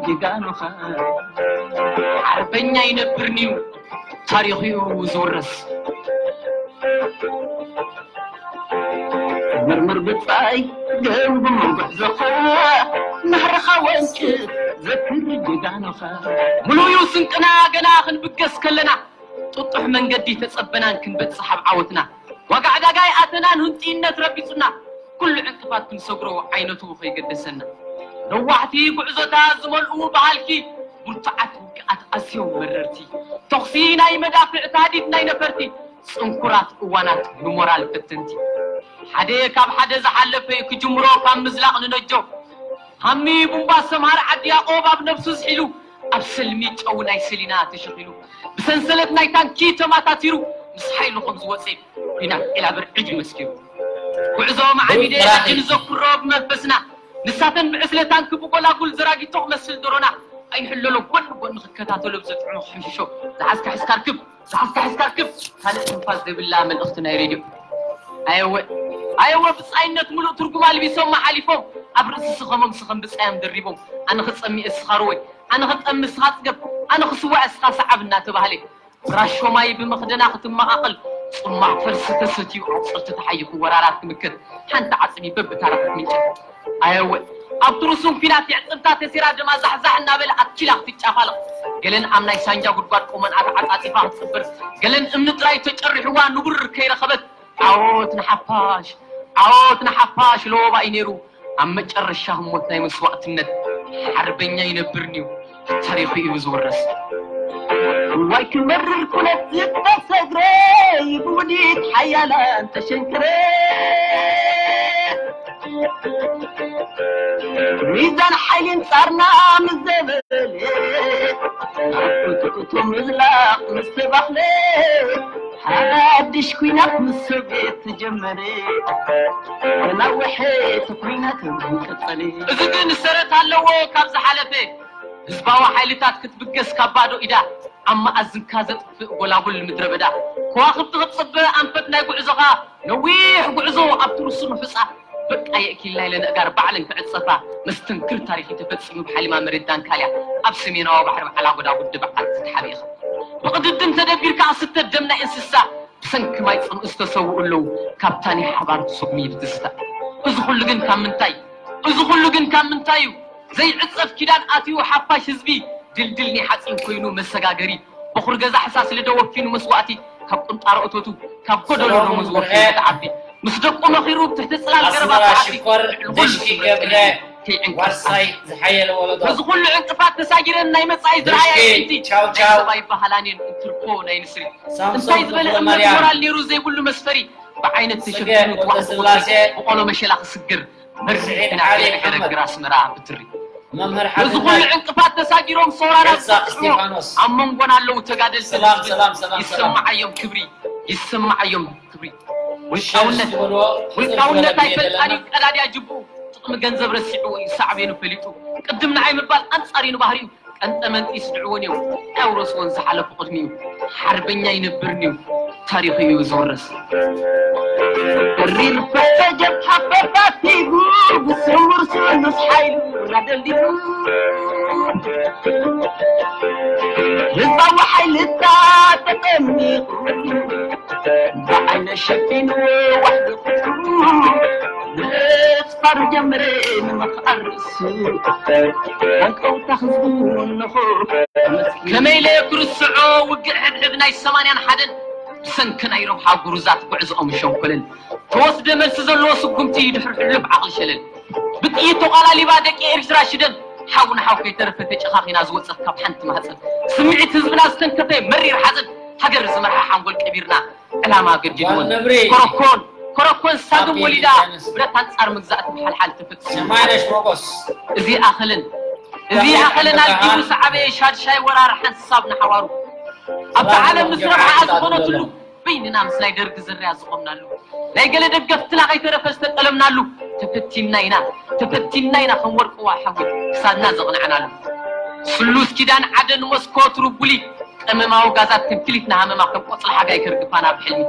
ጀጋኑኻ ሓርበኛ ይነብርንዩ ታሪኽዩ ዝውረስ። መርምር ብጻይ ገምግም ጉዕዞኻ ናህርኻ ወንጭ ዘክር ጀጋኑኻ። ሙሉዩ ስንቅና ገና ክንብገስ ከለና ጥጡሕ መንገዲ ተጸበናን ክንበጽሕ ኣብ ዓወትና ዋጋ ዕዳጋ ይኣተናን ህንጥይነት ረቢጹና ኩሉ ዕንቅፋት ክንሰግሮ ዓይነቱ ከይገደሰና ነዋሕቲ ጉዕዞታት ዝመልኡ በሃልኪ ብርቱዓት ውግኣት ኣዝዮም መረርቲ ተኹሲ ናይ መዳፍዕ ታህዲድ ናይ ነፈርቲ ጽንኩራት እዋናት ንሞራል ፈተንቲ ሓደ ካብ ሓደ ዝሓለፈ ክጅምሮ ካብ ምዝላቕ ንነጆ ሃሚ ቡምባ ሰምሃር ዓዲ ያቆብ ኣብ ነብሱ ዝሒሉ ኣብ ሰልሚ ጨው ናይ ሰሊና ተሸኺሉ ብሰንሰለት ናይ ታንኪ ተማታቲሩ ምስ ሓይሉ ከም ዝወፀ ቢና ዒላብር ዕጅ መስኪሩ ጉዕዞ ማዕቢደ ሕጂ ንዘክሮ ብመንፈስና ንሳተን ብዕስለ ታንኪ ብጎላጉል ዘራጊቶ ክመስል ዶሮና ኣይንሕለሎ ጎን ጎን ክከታተሎ ብዘጥዕሞ ክሕምሽሾ ዝሓዝካ ሕዝካ ርክብ ዝሓዝካ ሕዝካ ርክብ ካልእ ትንፋስ ዘይብላ መልእኽቲ ናይ ሬድዮ ኣየወ ኣየወ ብጻይነት ሙሉእ ትርጉም ኣልቢሶም ሓሊፎም ኣብ ርእሲ ስኸሞም ስኸም ብጻዮም ደሪቦም ኣነ ክጸሚ እስኻ ርወይ ኣነ ክጠሚ እስኻ ጽገብ ኣነ ክስዋዕ እስኻ ሰዓብ እናተባህለ ብራሾ ማይ ብመኽደና ክትመቓቐል ጽማቕ ፈልሲ ተሰትዩ ኣጽርቲ ተሓይኹ ወራራት ክምክት ሓንቲ ዓጽሚ በብታራ ክትምንጭል ኣየወ ኣብቲ ርሱን ኲናት የዕጽምታ ተሲራ ደማ ዛሕዛሕ እናበለ ኣትኪላ ክትጫፋለቕ ገለን ኣብ ናይ ሳንጃ ጉድጓድ ቆመን ኣተዓጻጺፋ ክትጽብር ገለን እምኒ ጥራይ ተጨሪሕዋ ንቡር ከይረኸበት ዓወት ንሓፋሽ ዓወት ንሓፋሽ ለወባ እዩ ነይሩ ኣብ መጨረሻ ህሞት ናይ መስዋእትነት ሓርበኛ ይነብርንዩ ታሪኹ እዩ ዝውረስ እዋይ ክመርር ኩነት ዝተሰግረ ብውዲት ሓያላን ተሸንክረ ሚዛን ሓይሊ እንጻርና ምስ ዘበለ ኣቁጥቁጡ ምዝላቕ ምስ ተባህለ ሓድሽ ኲናት ምስ ሶቪየት ተጀመረ ተናወሐ እቲ ኲናት ቀጸለ እዚ ግን ሰረት ኣለዎ ካብ ዝሓለፈ ህዝባዊ ሓይልታት ክትብገስ ካብ ባዶ ኢዳ ኣብ መኣዝንካ ዘጥፍእ ጎላጉል ምድረ በዳ ከዋኽብቲ ክትጽበ ኣንፈት ናይ ጉዕዞኻ ነዊሕ ጉዕዞ ኣብቲ ርሱን ሑጻ በቃ የእኪልና ኢለ ነእጋር ባዕለን ክዕጸፋ መስተንክር ታሪኽ ተፈጺሙ ብሓሊማ መሬት ዳንካልያ ኣብ ሰሜናዊ ባሕሪ በዓል ኣጎዳ ውድብ ዓዲ ተሓቢእኻ ብቕድድም ተደቢርካ ክስተ ደም ናይ እንስሳ ብሰንኪ ማይ ጽምኢ ዝተሰውኡ ኣለዉ ካብታ ናይ ሓባር ሱቕሚ ብትዝታ እዚ ኩሉ ግን ካብ ምንታይ እዚ ኩሉ ግን ካብ ምንታይ እዩ ዘይዕጸፍ ኪዳን ኣትዩ ሓፋሽ ህዝቢ ድልድል ናይ ሓጺን ኮይኑ መሰጋገሪ በኹሪ ገዛ ሕሳስ ልደ ወኪኑ መስዋእቲ ካብ ቁንጣሮ እቶቱ ካብ ጎደሎ ደሞዝ ወኪሉ ተዓቢ ምስ ደቁ መኺሩ ብትሕቲ ጽላል ገረባ ተዓቢ ልዕሊ ኩሉ ክብረት ቀሊሉ ከይዕንቀፍ ተዓቢ በዚ ኩሉ ዕንቅፋት ተሳጊረን ናይ መጻኢ ዝረኣያ ይዕንቲ ናይ ሰብኣይ በሃላን እየን እንትርኮ ናይ ንስሪ እንታይ ዝበለ እምነት ሞራል ነይሩ ዘይብሉ መስፈሪ ብዓይነት ተሸፊኑ ትዋሕቲ ብቆሎ መሸላ ክስግር መርዚ ና ከይዕገረግር ኣስመራ ብትሪ እዚ ኩሉ ዕንቅፋት ተሳጊሮም ሰውራና ዝፈጽሞ ኣብ መንጎና ኣለዉ ተጋደልቲ ይሰማዓዮም ክብሪ ይሰማዓዮም ክብሪ ውልቃውነት ውልቃውነት ኣይፈልጣን እዩ ቀዳድያ ጅቡ ጥቕሚ ገንዘብ ረሲዑ እዩ ሳዕቤኑ ፈሊጡ ቅድም ንዓይ ምባል ኣንጻር እዩ ንባህሪኡ ቀንጠመንጢ ይስድዕዎን እዮም ኣውረስዎን ዝሓለፉ ቅድሚኡ ሓርበኛ ይነብርን እዩ ታሪኹ እዩ ዝውረስ ተሪር ፈሰጀብ ሓፈፋቲጉ ብስውር ስሉስ ሓይሉ ናደልዲሉ ህዝባዊ ሓይልታት ተጠሚቑ ብዓይነ ሸፊኑ ዋሕዲ ቁጥሩ ብስፋሩ ጀምረ ንምኽኣል ርእሱ ኣንቀውታ ህዝቡ እንኹ ከመይ ኢለ ክርስዖ ውግእ ሕድሕድ ናይ ሰማንያን ሓደን ብሰንኪ ናይ ረብሓ ጉሩዛት ጉዕዝኦም ሸንኮለል ተወስደ መልሲ ዘለዎ ስጉምቲ ድሕሪ ሕሉፍ ዓቕሊ ሸለል ብጥይት ተቋላሊባ ደቂ ኤርትራ ሽደን ሓው ንሓው ከይተረፈ ተጨኻኺና ዝወፀት ካብ ሓንቲ ማህፀን ስምዒት ህዝብና ዝተንከፈ መሪር ሓዘን ሃገር ዝመርሓ ሓንጎል ቀቢርና ዕላማ ገዲድወን ኮረኮን ኮረኮን ሳግም ወሊዳ ብረት ኣንጻር ምግዛእቲ ብሓልሓል ተፈጺሙ እዚ ኣኸለን እዚ ኣኸለን ኣልጊቡ ሰዓበየ ሻድሻይ ወራር ሓንሳብ ንሓዋሩ ኣብታ ዓለም ምስ ረብሓኣ ዝኾነትሉ በይንና ምስ ናይ ደርጊ ዝርያ ዝቖምናሉ ናይ ገለ ደገፍትና ከይተረፈ ዝተጠለምናሉ ተፈቲንና ኢና ተፈቲንና ኢና ከም ወርቅዋ ሓዊ ክሳድና ዘቕንዐናሉ ስሉስ ኪዳን ዓደን ሞስኮ ትርጉሊ ቀመማዊ ጋዛት ከም ክሊት ንሃመማ ከም ቆጽሊ ሓጋይ ከርግፋና ብሕልሚ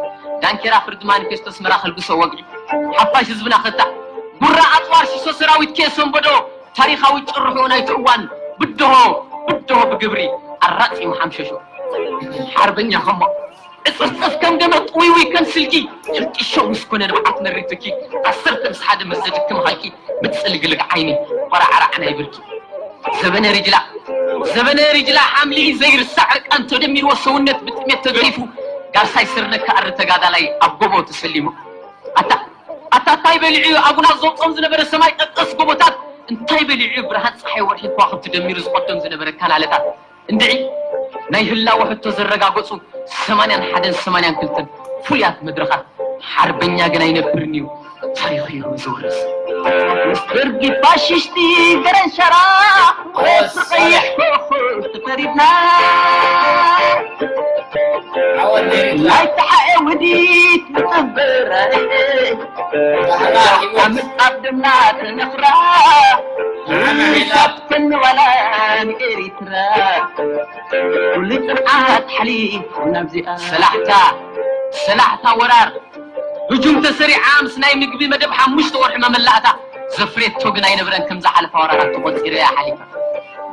ዳንኬራ ፍርዲ ማኒፌስቶ ኣስመራ ከልግሶ ወግዒ ሓፋሽ ህዝብና ክታዕ ጉራ ኣጽዋር ሽሶ ሰራዊት ኬሶምበዶ ታሪኻዊ ጭርሑ ናይቲ እዋን ብድሆ ብድሆ ብግብሪ ኣራጺሙ ሓምሸሾ። ሓርበኛ ከሞ ዕጽፍጽፍ ከም ገመድ ጥውይውይ ከም ስልኪ ሕንጢሾ ምስ ኮነ ንብዓት መሪር ትኪ ዓሰርተ ምስ ሓደ ምስ ዘድክም ሃልኪ ምጽልግልግ ዓይኒ ቆራዕራዕ ናይ ብርኪ ዘበነ ሪጅላ ዘበነ ሪጅላ ሓምሊ ዘይርሳዕ ዕርቃን ተደሚርዎ ሰውነት ብጥሜት ተገሪፉ ጋርሳይ ስርነካ ኣሪ ተጋዳላይ ኣብ ጎቦ ተሰሊሙ ኣታ ኣታ እንታይ በሊዑ ኣጉና ዘውጾም ዝነበረ ሰማይ ጠቀስ ጎቦታት እንታይ በሊዑ ብርሃን ፀሓይ ወርሒ ከዋኽብቲ ደሚሩ ዝቐዶም ዝነበረ ካናለታት እንድዒ ናይ ህላወ ሕቶ ዘረጋገፁ ሰማንያን ሓደን ሰማንያን ክልተን ፍሉያት መድረኻት ሓርበኛ ግን ኣይነብርን እዩ ታሪኹ እዩ ዝውርስ ምስ ደርጊ ፋሽሽቲ ገረንሸራ ወስ ቀይሕ ኮኾብ ተፈሪድና ናይ ተሓኤ ውዲት ንጥብረ ኣብ ምጣብ ድማ ተነኽራ ካብ ክንዋላ ንኤሪትራ ኩሉ ጽንዓት ሓሊፉ ናብዚኣ ሰላሕታ ሰላሕታ ወራር ህጁም ተሰሪዓ ምስ ናይ ምግቢ መደብ ሓሙሽተ ወርሒ መመላእታ ዘፍሬቶ ግን ኣይነብረን ከም ዝሓለፋ ወራራት ተቆፂረ እያ ሓሊፋ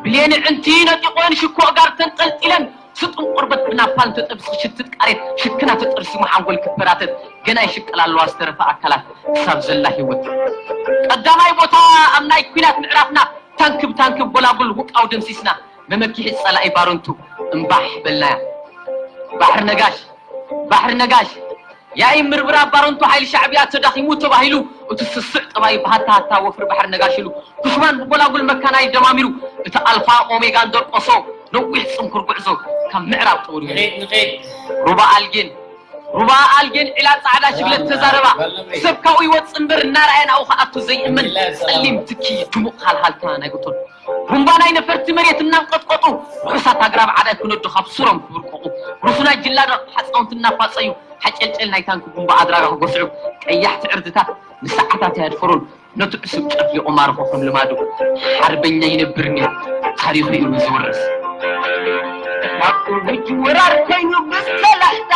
ብሌን ዕንቲ ነጢቆን ሽኮ ጋር ተንጠልጢለን ስጡም ቆርበት ብናፓል ተጠብሲ ሽትት ቃሬት ሽክና ተጠርሲሙ ሓንጎል ክበራተት ገና ይሽቅል ኣለዋ ዝተረፈ ኣካላት ክሳብ ዘላ ህይወት ቀዳማይ ቦታ ኣብ ናይ ኩናት ምዕራፍና ታንክብ ታንክብ ጎላጉል ውቃው ደምሲስና መመኪሒ ጸላኢ ባረንቱ እምባሕ በልናያ ባሕሪ ነጋሽ ባሕሪ ነጋሽ ያኢ ምርብራብ ባረንቱ ሓይሊ ሻዕብያ ተዳኺሙ ተባሂሉ እቲ ስስዕ ጠባይ ብሃታ ሃታ ወፍሪ ባሕሪ ነጋሽሉ ኩሽማን ብጎላጉል መካናይ ደማሚሩ እቲ ኣልፋ ኦሜጋን ደርቆሶ ነዊሕ ጽንኩር ጉዕዞ ካብ ምዕራብ ጠውሪሩ ሩባ ኣልጌን ሩባ ኣልጌን ዒላ ጻዕዳ ሽግለት ተዛረባ ሰብ ካብኡ ይወጽእ እምበር እናረኣየ ናብኡ ክኣቱ ዘይእመን ጸሊም ትኪ ድሙቕ ሃልሃልታ ናይ እቶን ቡምባ ናይ ነፈርቲ መሬት እናንቀጥቀጡ ርሑሳት ኣግራብ ዓዳይ ክነዱ ካብ ሱሮም ክብርቅቑ ሩፉናት ጅላዳ ሓፃውንቲ እናፋፀዩ ሓጨልጨል ናይ ታንኪ ቡምባ ኣድራጋ ክጎስዑ ቀያሕቲ ዕርድታት ንሰዓታት ኣየድፈሩን ነቲ ዕሱብ ጨፍሊቑ ማርኾ ከም ልማዱ ሓርበኛ ይነብርኒ ታሪኹ እዩ ዝውርስ ውጅ ወራር ኮይኑ ብሰላሕታ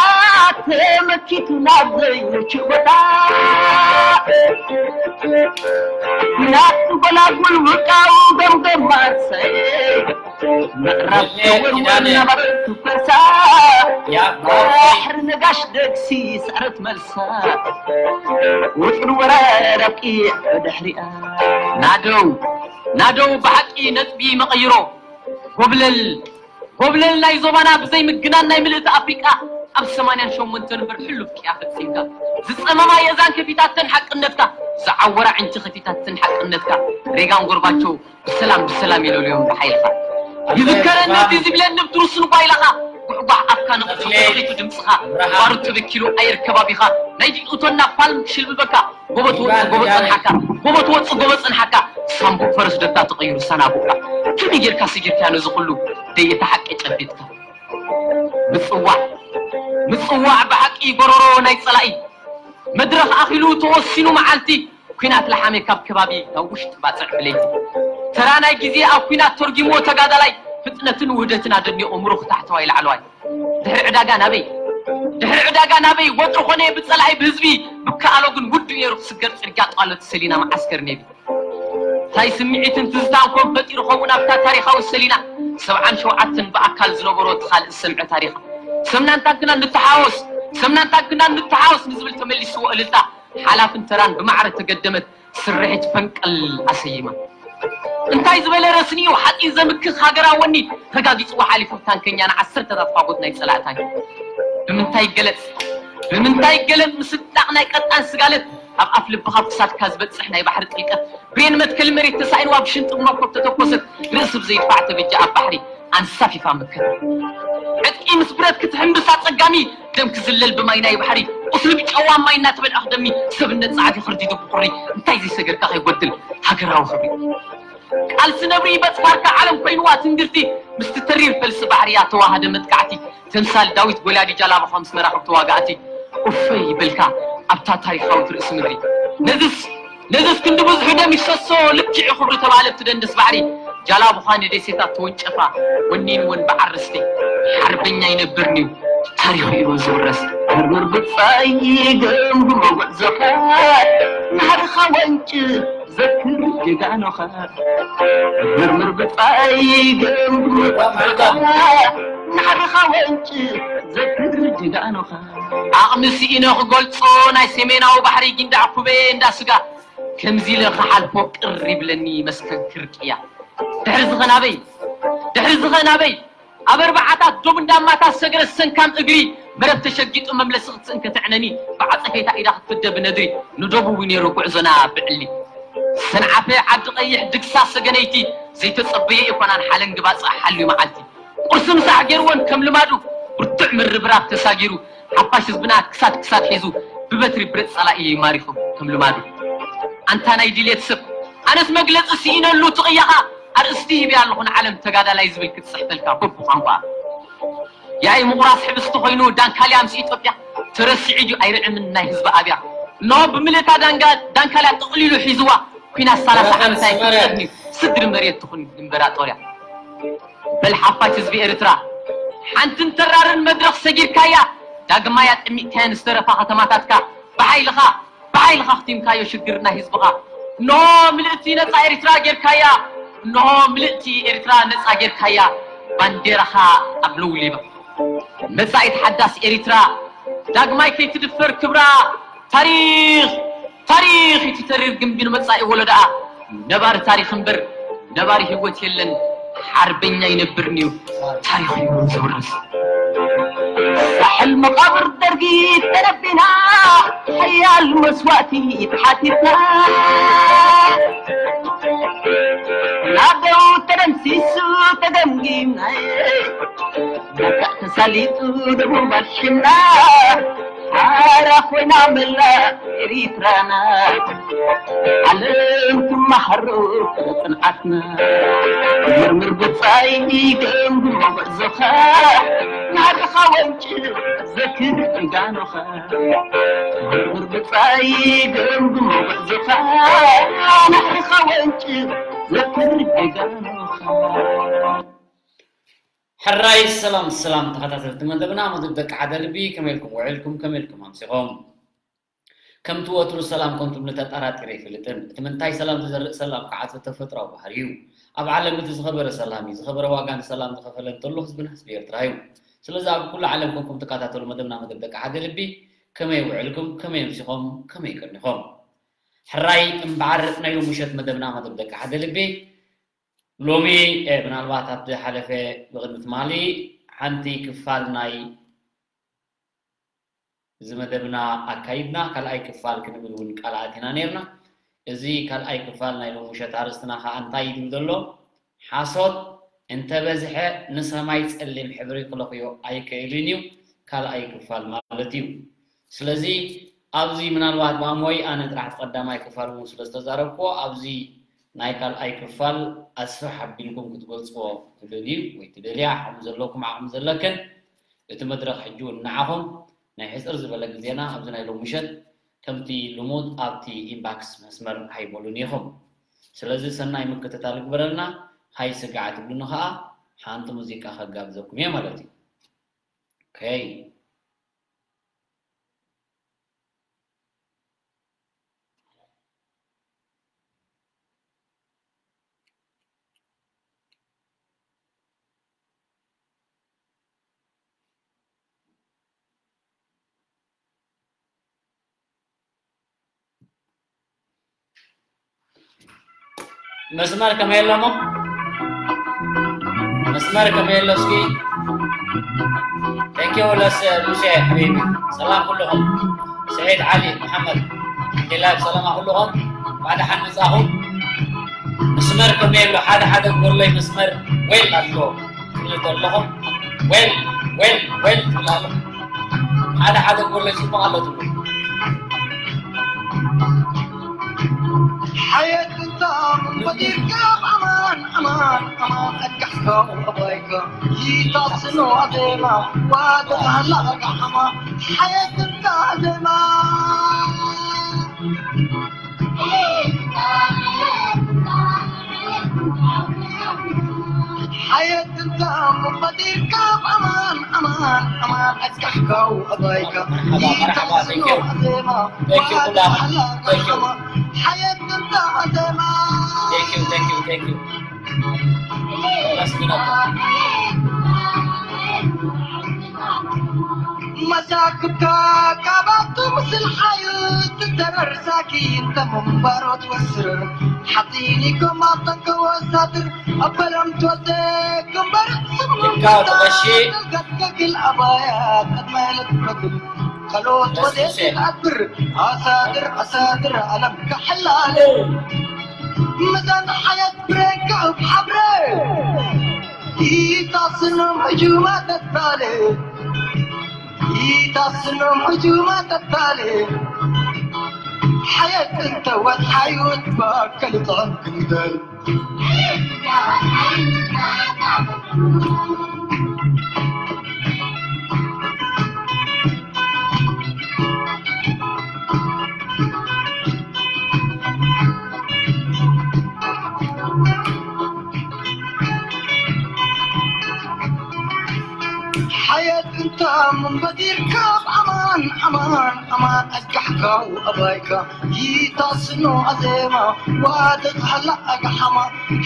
ተመኪቱ ናብ ዘይምችእ ቦታ ናቱ ጎላጉል ውቃው ገምገም ማርሰይ ምዕራብ ተወርወር ናባረቱ ፈሳ ባሕሪ ነጋሽ ደግሲ ስዕረት መልሳ ውጥን ወራር ኣብቂዕ ድሕሪኣ ናደው ናደው ብሓቂ ነጥቢ መቐይሮ ጎብለል ጎብለል ናይ ዞባና ብዘይ ምግናን ናይ ምልእቲ ኣፍሪቃ ኣብ ሰማንያን ሸሞንተን እምበር ሕሉፍ ቅያ ፈጺምካ ዝጸመማ የዛን ከፊታተን ሓቅነትካ ዝዓወራ ዕንቲ ከፊታተን ሓቅነትካ ሬጋን ጎርባቸው ብሰላም ብሰላም የለልዮም ብሓይልኻ ይዝከረኒ እቲ ዝብለኒ ብትሩስን ጓይላኻ ጉሕጓሕ ኣፍካ ነቕቱ ድምፅኻ ባሩ ተበኪሉ ኣየር ከባቢኻ ናይ ዲኡቶና ፓልም ክሽልብበካ ጎቦ ትወፅእ ጎቦ ፀንሓካ ጎቦ ትወፅእ ጎቦ ፀንሓካ ሳምቡእ ፈረስ ደታ ተቐይሩ ሰናቡእካ ከመይ ጌርካ ስጊርካ ነዚ ኩሉ ደየተ ሓቂ ጨቢጥካ ምፅዋዕ ምፅዋዕ ብሓቂ ጎረሮ ናይ ፀላኢ መድረኽ ኣኺሉ ተወሲኑ መዓልቲ ኩናት ለሓመ ካብ ከባቢ ናብ ውሽጢ ባፅዕ ብለይቲ ተራ ናይ ግዜ ኣብ ኩናት ተርጊምዎ ተጋዳላይ ፍጥነትን ውህደትን ኣደኒቑ ምሩኽ ታሕተዋይ ላዕለዋይ ድሕሪ ዕዳጋ ናበይ ድሕሪ ዕዳጋ ናበይ ወጥሪ ኾነ ብፀላኢ ብህዝቢ ብከኣሎ ግን ውዱ ነይሩ ክስገር ፅርግያ ጧለት ሰሊና መዓስከር ነቢ እንታይ ስምዒትን ትዝታን ኮን ፈጢሩ ከምኡ ናብታ ታሪኻዊ ሰሊና ሰብዓን ሸውዓተን ብኣካል ዝነበሮ እቲ ካልእ ዝሰምዐ ታሪኻ ሰምናን ታንክናን ንተሓወስ ሰምናን ታንክናን ንተሓወስ ንዝብል ተመሊስዎ እልልታ ሓላፍን ተራን ብማዕረ ተገደመት ስርሒት ፈንቀል ኣሰይማ እንታይ ዝበለ ረስኒኡ ሓፂን ዘምክኽ ሃገራዊ ወኒ ተጋጊፅዎ ሓሊፉ ታንከኛ ንዓሰርተታት ፋጎት ናይ ፀላእታን ብምንታይ ይገለፅ ብምንታይ ይገለፅ ምስጣቕ ናይ ቀጣን ስጋለት ኣብ ኣፍ ልብኻ ክሳድካ ዝበፅሕ ናይ ባሕሪ ጥልቀት ብሬን መትከል መሬት ተሳኢንዋ ብሽንጥብ መኮብ ተተኮሰት ርእሲ ብዘይድፋዕ ተበጃ ኣብ ባሕሪ ኣንሳፊፋ መከት ዕጥቂ ምስ ብረት ክትሕምብስ ኣፀጋሚ ደም ክዝለል ብማይ ናይ ባሕሪ ቁስሊ ብጨዋ ማይ እናተበልዐ ክደሚ ሰብነት ፃዕዲ ክርዲዱ ብቁሪ እንታይ ዘይሰገርካ ከይጎድል ሃገራዊ ክብሪ ቃልሲ ነብሪ በፅፋርካ ዓለም ኮይንዋ ትንግርቲ ምስቲ ተሪር ፈልሲ ባሕርያ ተዋሃደ መጥቃዕቲ ተምሳል ዳዊት ጎልያድ ጃላብኻ ምስ መራኽብ ተዋጋእቲ ኡፈይ በልካ ኣብታ ታሪኻዊት ርእሲ ምድሪ ነዝስ ነዝስ ክንዲ ብዙሑ ደም ይፍሰሶ ልክዕ ክብሪ ተባለ እቲ ደንደስ ባሕሪ ጃላብኻ ንደሴታት ተወንጨፋ ወኒንወን ብዓር ርስቲ ሓርበኛ ይነብርንዩ ታሪኹ ኢሉ ዝውረስ ምርምር ብጻይ ገምግሞ ጉዕዞኻ ናህርኻ ወንጭ ዘክር ጀጋኑኻ መርምር ብጻይ ገምግም ናዕርኻ ወንጭ ዘክር ጀጋኑኻ ዓቕሚ ስኢነ ክገልጾ ናይ ሰሜናዊ ባሕሪ ጊንዳዕ ኩበየ እንዳ ስጋ ከምዚ ኢለ ክሓልፎ ቅር ይብለኒ መስተንክር ቅያ ድሕሪ ዝኸ ናበይ ድሕሪ ዝኸ ናበይ ኣብ ኣርባዓታት ዶብ እንዳማታ ሰገረ ሰንካም እግሪ መረብ ተሸጊጡ መምለሲ ክትስእን ከተዕነኒ ብዓጸፌታ ኢዳ ክትፍደ ብነድሪ ንዶብ እውን ነይሩ ጉዕዞና ብዕሊ ሰንዓፈ ዓዲ ቀይሕ ድግሳ ሰገነይቲ ዘይተጸበየ ይኮናን ሓለንጊ ባጽዕ ሓልዩ መዓልቲ ቁርሲ ምሳሕ ገይርወን ከም ልማዱ ብርቱዕ ምርብራብ ተሳጊሩ ሓፋሽ ህዝብና ክሳድ ክሳድ ሒዙ ብበትሪ ብረት ጸላኢ ማሪኹ ከም ልማዱ ኣንታ ናይ ድልየት ሰብ ኣነስ መግለጺ ስኢነሉ ትቕያኻ ኣርእስቲ ሂብያ ኣለኹ ንዓለም ተጋዳላይ ዝብል ክትጽሕፈልካ በብቋንቋ ያኢ ምቑራስ ሕብስቲ ኮይኑ ዳንካልያ ምስ ኢትዮጵያ ተረሲዑ ድዩ ኣይርዕምን ናይ ህዝቢ ኣብያ እነሆ ብምልእታ ዳንካልያ ጥቕሊሉ ሒዝዋ ኩናት ሰላሳ ዓመት ኣይክፍጸም እዩ ስድሪ መሬት ትኹን ድንበራ ጦርያ በል ሓፋሽ ህዝቢ ኤርትራ ሓንትን ተራርን መድረኽ ሰጊርካያ ዳግማይ ኣጠሚቕካየን ዝተረፋ ከተማታትካ ብሓይልኻ ብሓይልኻ ኣኽቲምካዮ ሽግር ናይ ህዝብኻ እንሆ ምልእቲ ነጻ ኤርትራ ጌርካያ እንሆ ምልእቲ ኤርትራ ነጻ ጌርካያ ባንዴራኻ ኣብ ለውሊባ መጻኢት ሓዳስ ኤርትራ ዳግማይ ከይትድፈር ክብራ ታሪኽ ታሪኽ እቲ ተሪር ግንቢ ንመጻኢ ወለዶኣ ነባሪ ታሪኽ እምበር ነባሪ ህይወት የለን ሓርበኛ ይነብር ንዩ ታሪኽ እዩ ዝውረስ ሳሕል መቓብር ደርጊ ተነቢና ሓያል መስዋእቲ ተሓቲትና ናደው ተደምሲሱ ተገምጊምና ተሳሊጡ ደቡብ ኣሽና ሓራ ኮይና መላ ኤሪትራና ዓለም ትመሃሮ ጽንዓትና መርምር ብጻይ ገምግሞ ጉዕዞኻ ናድኻ ወንጭ ዘክር ጀጋኑኻ መርምር ብጻይ ገምግሞ ጉዕዞኻ ናድኻ ወንጭ ዘክር ጀጋኑኻ ሕራይ ሰላም ሰላም ተኸታተልቲ መደብና መደብ ደቂ ሓደ ልቢ ከመይ ኢልኩም ውዒልኩም ከመይ ኢልኩም ኣምሲኹም ከምቲ ወትሩ ሰላም ከም ትብሉ ተጠራጢረ ኣይፈልጥን እቲ ምንታይ ሰላም ዝዘርእ ሰላም ከዓ ተፈጥራዊ ባህሪ እዩ ኣብ ዓለም እቲ ዝኸበረ ሰላም እዩ ዝኸበረ ዋጋ ንሰላም ዝኸፈለ እንተሎ ህዝብና ህዝቢ ኤርትራ እዩ ስለዚ ኣብ ኩሉ ዓለም ኮንኩም ትከታተሉ መደብና መደብ ደቂ ሓደ ልቢ ከመይ ውዕልኩም ከመይ ኣምሲኹም ከመይ ቀኒኹም ሕራይ እምበዓር ናይ ሎሚ ምሸት መደብና መደብ ደቂ ሓደ ልቢ ሎሚ ምናልባት ኣብቲ ሓለፈ ብቕድሚ ትማሊ ሓንቲ ክፋል ናይ እዚ መደብና ኣካይድና ካልኣይ ክፋል ክንብል እውን ቃል ኣቲና ነርና። እዚ ካልኣይ ክፋል ናይ ሎሚ ምሸት ኣርእስትና ከዓ እንታይ እዩ ዝብል ዘሎ? ሓሶት እንተበዝሐ ንሰማይ ፀሊም ሕብሪ ክለኽዮ ኣይክእልን እዩ ካልኣይ ክፋል ማለት እዩ። ስለዚ ኣብዚ ምናልባት ማሞይ ኣነ ጥራሕ እቲ ቀዳማይ ክፋል እውን ስለ ዝተዛረብክዎ ኣብዚ ናይ ካልኣይ ክፋል ኣስፍሕ ኣቢልኩም ክትገልፅዎ ትደልዩ ወይ ትደልያ ዓቕሚ ዘለኩም ዓቕሚ ዘለክን እቲ መድረኽ ሕጂ እውን ንዓኹም ናይ ሕፅር ዝበለ ግዜና ኣብዚ ናይ ሎሚ ምሸት ከምቲ ልሙድ ኣብቲ ኢንባክስ መስመር ኣይበሉን ኢኹም። ስለዚ ሰናይ ምክትታል ይግበረልና። ሃይ ስጋዕ ትብሉኒ ኸዓ ሓንቲ ሙዚቃ ከጋብዘኩም እየ ማለት እዩ። ኦኬ። መስመር ከመይ ኣሎ እሞ መስመር ከመይ ኣሎ እስኪ ቴንኪው ለስ ሙሴ ሓቢቢ ሰላም ኩልኹም ስዒድ ዓሊ መሓመድ ቴላብ ሰላማ ኩልኹም ባዕዲ ሓንፃኹም መስመር ከመይ ኣሎ ሓደ ሓደ ጎሎይ መስመር ዌል ኣሎ ትብሉ ኣለኹም ዌል ዌል ዌል ትብሉ ኣለኹም ሓደ ሓደ ጎሎይ ፅቡቕ ኣሎ ትብሉ ሓየት እንታም በዲርካ ኣማን ኣማን ኣማን ኣጋሕካ ኣባይካ ይታስኖ ኣደማ ዋተታላ ኣጋሕማ ሓየት እንታ ኣደማ ሓየት እንታም በዲርካ ኣማን أمان أمان أسكحكو أبايكا. مرحبا، مرحبا، thank you. Thank you كلها. Thank you. حياة انت أزيما. Thank you, thank you, thank you. That's good. መሳክብካ ካባቱ ምስል ሓዩ ትደረር ሳኪ እንተ ምንባሮ ትወስር ሓጢኒኩም ኣብ ጠንከ ወሳድር ኣበለም ትወልደ ግንበር ይካ ተቐሺ። ገትገግል ኣባያ ቅድመ ልትበግል ከሎት ወደ ተቐሺ። ትኣብር ኣሳድር ኣሳድር ኣለም ከሐላለ ምዛን ሓየት ብሬካ እብ ሓብረ ይታስኖም ሕጁማ ተታለ ይታስኖም ሕጁማ ተታለ ሓየት እንተ ወትሓዩ ትባከል ጥዕም ክንደል ሓየት እንተ ምንበዲርካ ኣማን ኣማን ኣማን ኣስጋሕካው ኣባይካ ይታስኖ ኣዜማ ዋደት ሃላ ኣግሓማ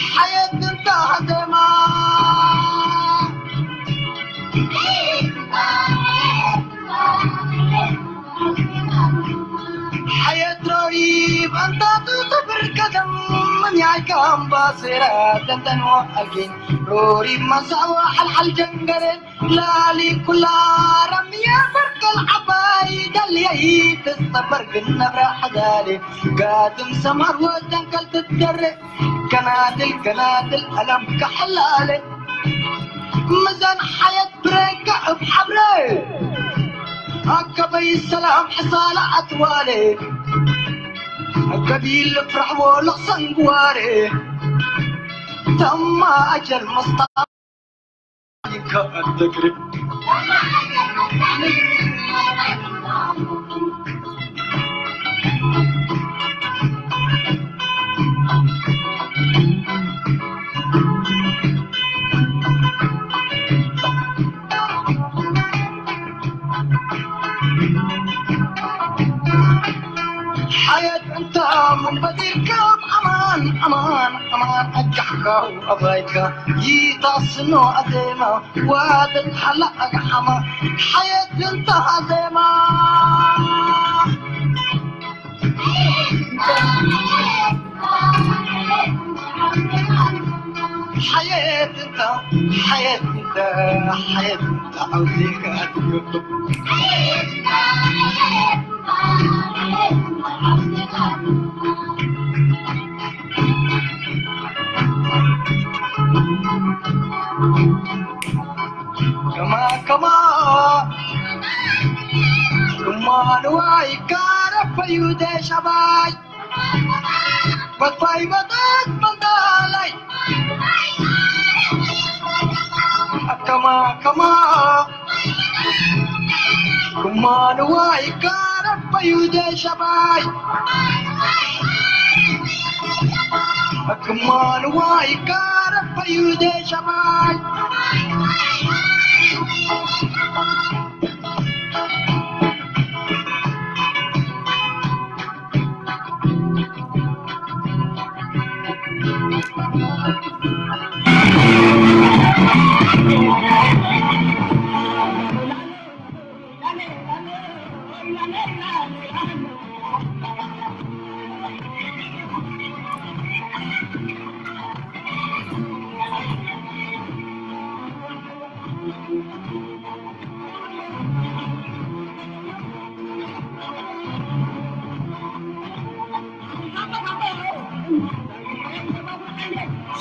ሓየት እንተ ኣዜማ ሓየት ሮሪብ ኣንታቱ ትብር ቀደም ምንያይካ ኣምባሴራ ደንደንዋ ኣጌን ሮሪብ ማሳዋ ሓልሓል ጀንገረ ላሊ ኩላ ረምያ በርቀል ዓባይ ደልየይ ትጸበር ግን ነብራ ሓዳለ ጋድም ሰማር ወደንከል ትደረ ገናድል ገናድል ኣለም ከሐላለ ምዛን ሓየት ብሬካ እብ ሓብረ ኣከበይ ሰላም ሕሳላ ኣትዋለ ገቢል ፍራሕዎ ለኽሰንግዋረ ተማ ኣጀል መስታ ይከኣል ተግርብ ሓየት እንተ ምንበዲርካ ኣማን ኣማን ኣማን ኣጃሕካው ኣባይካ ይታስኖ ኣዜማ ዋደት ሓላ ኣግሓማ ሓየት እንተ ኣዜማ ሓየት እንተ ሓየት እንተ ሓየት እንተ ዓውዜካ ኣትዮ ከማ ከማ እማ ንዋይ ካረፈዩ ደሻባይ በፋይ በጣት በንዳላይ ከማ ከማ እማ ንዋይ ካረፈዩ ደሻባይ እማ ንዋይ ካረፈዩ ደሻባይ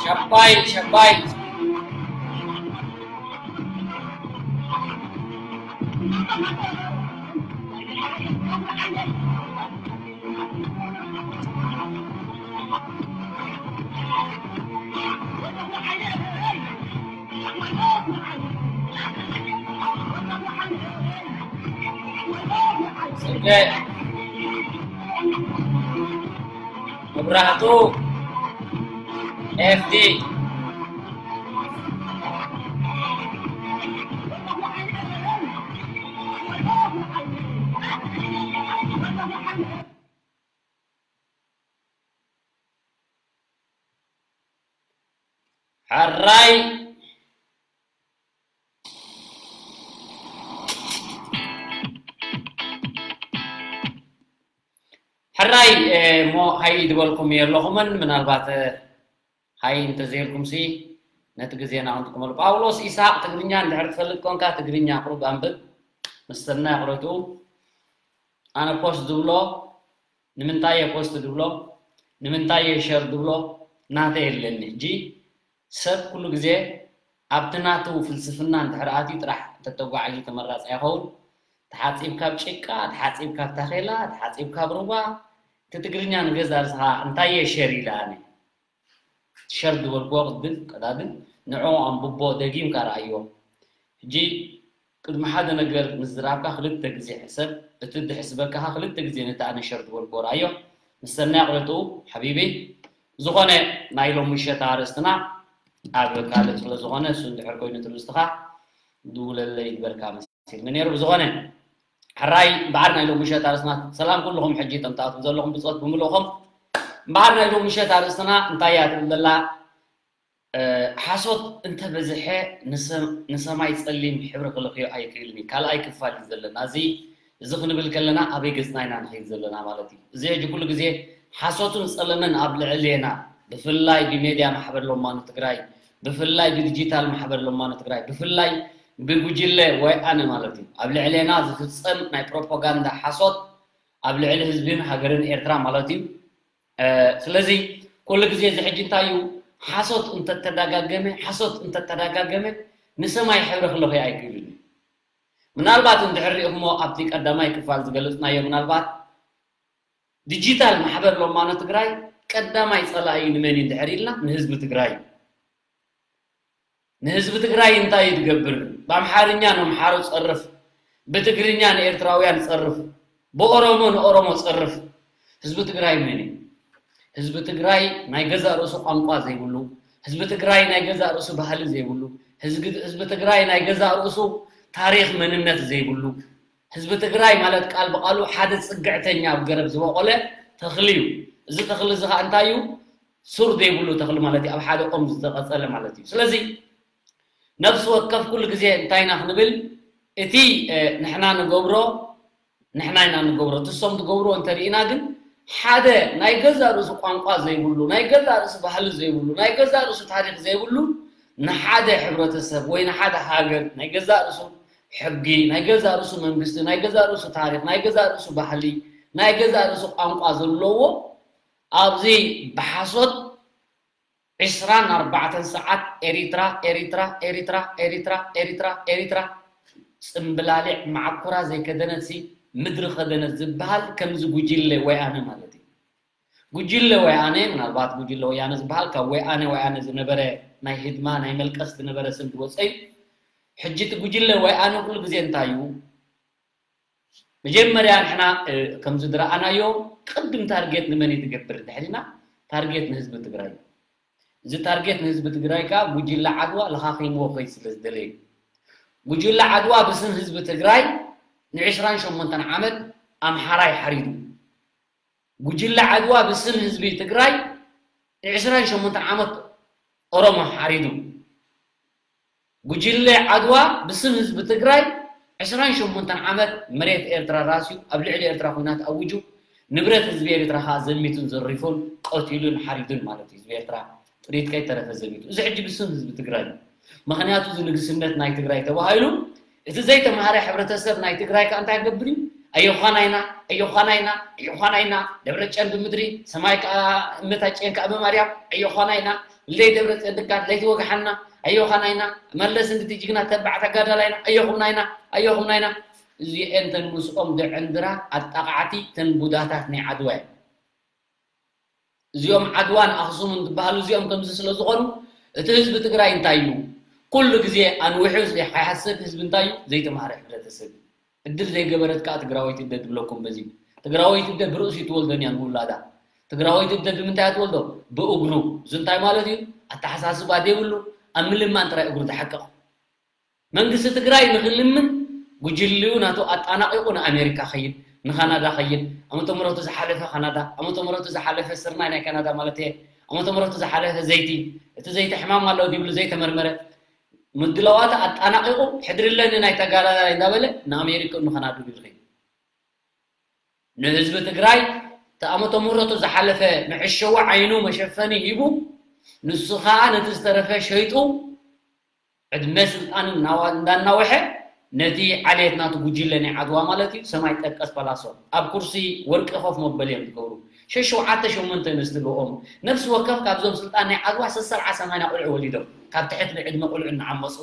ሸባይ ሸባይ መብራህቱ ኤፍዲ ሕራይ ሕራይ እሞ ሃይ ዝበልኩም የለኹምን። ምናልባት ሃይ እንተዘይልኩም ሲ ነቲ ግዜና ክንጥቀመሉ። ጳውሎስ ኢስሓቅ ትግርኛ እንድሕር ትፈልጥ ኮንካ ትግርኛ ቁሩብ ኣንብብ። ምስተና ይቕረቱ ኣነ ፖስት ዝብሎ ንምንታይ እየ ፖስት ዝብሎ ንምንታይ እየ ሸር ዝብሎ ናተ የለኒ። ሕጂ ሰብ ኩሉ ግዜ ኣብቲ ናቱ ፍልስፍና እንድሕር ኣትዩ ጥራሕ እንተተጓዓዩ ተመራፂ ኣይኸውን። ተሓፂብ ካብ ጭቃ፣ ተሓፂብ ካብ ታኼላ፣ ተሓፂብ ካብ ሩባ፣ እቲ ትግርኛ ንገዛ ርእስኻ እንታይ እየ ሸር ኢለ ኣነ ሸር ዝበልክዎ ቅድም ቀዳድም ንዕኡ ኣንብቦ ደጊምካ ረኣዮ። ሕጂ ቅድሚ ሓደ ነገር ምዝራብካ ክልተ ግዜ ሕሰብ። እቲ ድሕስበካኻ ክልተ ግዜ ነቲ ኣነ ሸር ዝበልክዎ ረኣዮ። ምሰናይ ቅረትኡ ሓቢቢ። ዝኾነ ናይ ሎም ምሸት ኣርእስትና ኣብ ካልእ ስለ ዝኾነ እሱ እንድሕር ኮይኑ ትርዝትኻ ድውለለይ ይግበርካ መሲልኒ ነይሩ። ብዝኾነ ሕራይ እምበዓር ናይ ሎም ምሸት ኣርእስትና ሰላም ኩልኹም ሕጂ እቶም ትኣትዉ ዘለኹም ብፆት ብምልእኹም እምበዓር ናይ ሎም ምሸት ኣርእስትና እንታይ እያ ትብል ዘላ ሓሶት እንተበዝሐ ንሰማይ ጸሊም ሕብሪ ክልኽዮ ኣይክእልን እዩ። ካልኣይ ክፋል እዩ ዘለና። እዚ እዚ ክንብል ከለና ኣበይ ገጽና ኢና ንኸይድ ዘለና ማለት እዩ። እዚ ሕጂ ኩሉ ግዜ ሓሶትን ጸለመን ኣብ ልዕሌና ብፍላይ ብሜድያ ማሕበር ሎማኑ ትግራይ ብፍላይ ብዲጂታል ማሕበር ሎማኑ ትግራይ ብፍላይ ብጉጅለ ወይ ኣነ ማለት እዩ ኣብ ልዕሌና ዝፍጸም ናይ ፕሮፓጋንዳ ሓሶት ኣብ ልዕሊ ህዝብን ሃገርን ኤርትራ ማለት እዩ። ስለዚ ኩሉ ግዜ እዚ ሕጂ እንታይ እዩ ሓሶት እንተተዳጋገመ ሓሶት እንተተዳጋገመ ንሰማይ ሕብሪ ክለኽዮ ኣይክእልን እዩ። ምናልባት እንድሕር ሪእኹሞ ኣብቲ ቀዳማይ ክፋል ዝገለፅናዮ ምናልባት ዲጂታል ማሕበር ሎማኖ ትግራይ ቀዳማይ ፀላኢ ንመን እዩ እንድሕር ኢልና ንህዝቢ ትግራይ እዩ። ንህዝቢ ትግራይ እንታይ እዩ ዝገብር? ብኣምሓርኛ ነምሓሮ ፀርፍ፣ ብትግርኛ ንኤርትራውያን ፀርፍ፣ ብኦሮሞ ንኦሮሞ ፀርፍ። ህዝቢ ትግራይ መን እዩ? ህዝቢ ትግራይ ናይ ገዛእ ርእሱ ቋንቋ ዘይብሉ፣ ህዝቢ ትግራይ ናይ ገዛእ ርእሱ ባህሊ ዘይብሉ፣ ህዝቢ ትግራይ ናይ ገዛእ ርእሱ ታሪኽ መንነት ዘይብሉ፣ ህዝቢ ትግራይ ማለት ቃል ብቃሉ ሓደ ፅግዕተኛ ኣብ ገረብ ዝበቆለ ተኽሊ እዩ። እዚ ተኽሊ እዚ ከዓ እንታይ እዩ? ሱር ዘይብሉ ተኽሊ ማለት እዩ። ኣብ ሓደ ኦም ዝተቐፀለ ማለት እዩ። ስለዚ ነብሲ ወከፍ ኩሉ ግዜ እንታይ ኢና ክንብል እቲ ንሕና ንገብሮ ንሕና ኢና ንገብሮ እቲ እሶም ዝገብርዎ እንተሪኢና ግን ሓደ ናይ ገዛ ርእሱ ቋንቋ ዘይብሉ ናይ ገዛ ርእሱ ባህሊ ዘይብሉ ናይ ገዛ ርእሱ ታሪክ ዘይብሉ ንሓደ ሕብረተሰብ ወይ ንሓደ ሃገር ናይ ገዛ ርእሱ ሕጊ ናይ ገዛ ርእሱ መንግስቲ ናይ ገዛ ርእሱ ታሪክ ናይ ገዛ ርእሱ ባህሊ ናይ ገዛ ርእሱ ቋንቋ ዘለዎ ኣብዚ ብሓሶት ዕስራን ኣርባዕተን ሰዓት ኤሪትራ ኤሪትራ ኤሪትራ ኤሪትራ ኤሪትራ ኤሪትራ ጽምብላሊዕ ማዕኮራ ዘይከደነትሲ ምድሪ ከደነት ዝበሃል ከምዚ ጉጅለ ወያነ ማለት እዩ። ጉጅለ ወያነ ምናልባት ጉጅለ ወያነ ዝበሃል ካብ ወያነ ወያነ ዝነበረ ናይ ህድማ ናይ መልቀስ ዝነበረ ስም ዝወፀ እዩ። ሕጂ እቲ ጉጅለ ወያነ ኩሉ ግዜ እንታይ እዩ? መጀመርያ ንሕና ከምዚ ዝረኣናዮ ቅድም ታርጌት ንመን እዩ ትገብር እንድሕር ኢልና ታርጌት ንህዝቢ ትግራይ እዩ። እዚ ታርጌት ንህዝቢ ትግራይ ከዓ ጉጅለ ዓድዋ ለኻኺምዎ ከይድ ስለ ዝደለየ እዩ። ጉጅለ ዓድዋ ብስም ህዝቢ ትግራይ ንዕስራን ሸሞንተን ዓመት ኣምሓራይ ሓሪዱ። ጉጅለ ዓድዋ ብስም ህዝቢ ትግራይ ንዕስራን ሸሞንተን ዓመት ኦሮሞ ሓሪዱ። ጉጅለ ዓድዋ ብስም ህዝቢ ትግራይ ዕስራን ሸሞንተን ዓመት መሬት ኤርትራ ራስዩ ኣብ ልዕሊ ኤርትራ ኩናት ኣውጁ ንብረት ህዝቢ ኤርትራ ከዓ ዘሚቱን ዘሪፉን ቀቲሉን ሓሪዱን ማለት እዩ። ህዝቢ ኤርትራ ጥሪት ከይተረፈ ዘሚቱ። እዚ ሕጂ ብስም ህዝቢ ትግራይ እዩ። ምክንያቱ እዚ ንግስነት ናይ ትግራይ ተባሂሉ እቲ ዘይተማሃረ ሕብረተሰብ ናይ ትግራይ ከዓ እንታይ ክገብር እዩ? ኣዮዃና ኢና ኣዮዃና ኢና ኣዮዃና ኢና ደብረጨን ብምድሪ ሰማይ ከዓ እመታጨን ከዓ ብማርያም ኣዮዃና ኢና ልደይ ደብረፅዮን ድካ ለይቲ ወግሓና ኣዮኻና ኢና መለስ እንድቲ ጅግና ተባዕ ተጋዳላይና ኣዮኹምና ኢና ኣዮኹምና ኢና። እዚኤን ተን ምስኦም ዘዕንድራ ኣጣቃዕቲ ተን ቡዳታት ናይ ዓድዋ እየን። እዚኦም ዓድዋን ኣኽሱምን ዝበሃሉ እዚኦም ከምዚ ስለ ዝኾኑ እቲ ህዝቢ ትግራይ እንታይ እዩ ኩሉ ግዜ ኣንዊሑ ከይሓስብ ህዝቢ እንታይ እዩ ዘይተማሃረ ሕብረተሰብ እዩ። እድል ዘይገበረት ከዓ ትግራወይቲ እደ ትብለኩም በዚ ትግራወይቲ እደ ብርእሲ ትወልደን እያ ንውላዳ ትግራወይቲ እደ ብምንታይ እያ ትወልዶ ብእግሩ እዚ እንታይ ማለት እዩ ኣተሓሳስባ ዘይብሉ ኣብ ምልማን ጥራይ እግሩ ዝሓቅቕ መንግስቲ ትግራይ ንክልምን ጉጅልኡ ናቱ ኣጣናቂቁ ንኣሜሪካ ከይድ ንካናዳ ከይድ ዓመተ ምረቱ ዝሓለፈ ካናዳ ዓመተ ምረቱ ዝሓለፈ ስርናይ ናይ ካናዳ ማለት እየ ዓመተ ምረቱ ዝሓለፈ ዘይቲ እቲ ዘይተሕማም ኣሎ ድብሉ ዘይተመርመረ ምድላዋት ኣጣናቂቑ ሕድርለኒ ናይ ተጋዳላይ እንዳበለ ንኣሜሪካ እንኸናዱ ይልኺ። ንህዝቢ ትግራይ ተኣመቶ ምረቱ ዝሓለፈ መዕሸዊ ዓይኑ መሸፈኒ ሂቡ፣ ንሱ ከዓ ነቲ ዝተረፈ ሸይጡ ዕድመ ስልጣን እናዋ- እንዳናወሐ ነቲ ዓሌት ናቱ ጉጅለ ናይ ዓድዋ ማለት እዩ ሰማይ ጠቀስ ፓላሶ ኣብ ኩርሲ ወርቂ ኮፍ መበል እዮም ዝገብሩ። ሸሸውዓተ ሸሞንተ ኣንስቲ ልኦም ነፍሲ ወከፍ ካብዞም ስልጣን ናይ ዓድዋ ሰሰብዓ ሰማንያ ቁልዑ ወሊዶም ካብ ትሕቲ ዕድመ ቁልዑ እናዓመፁ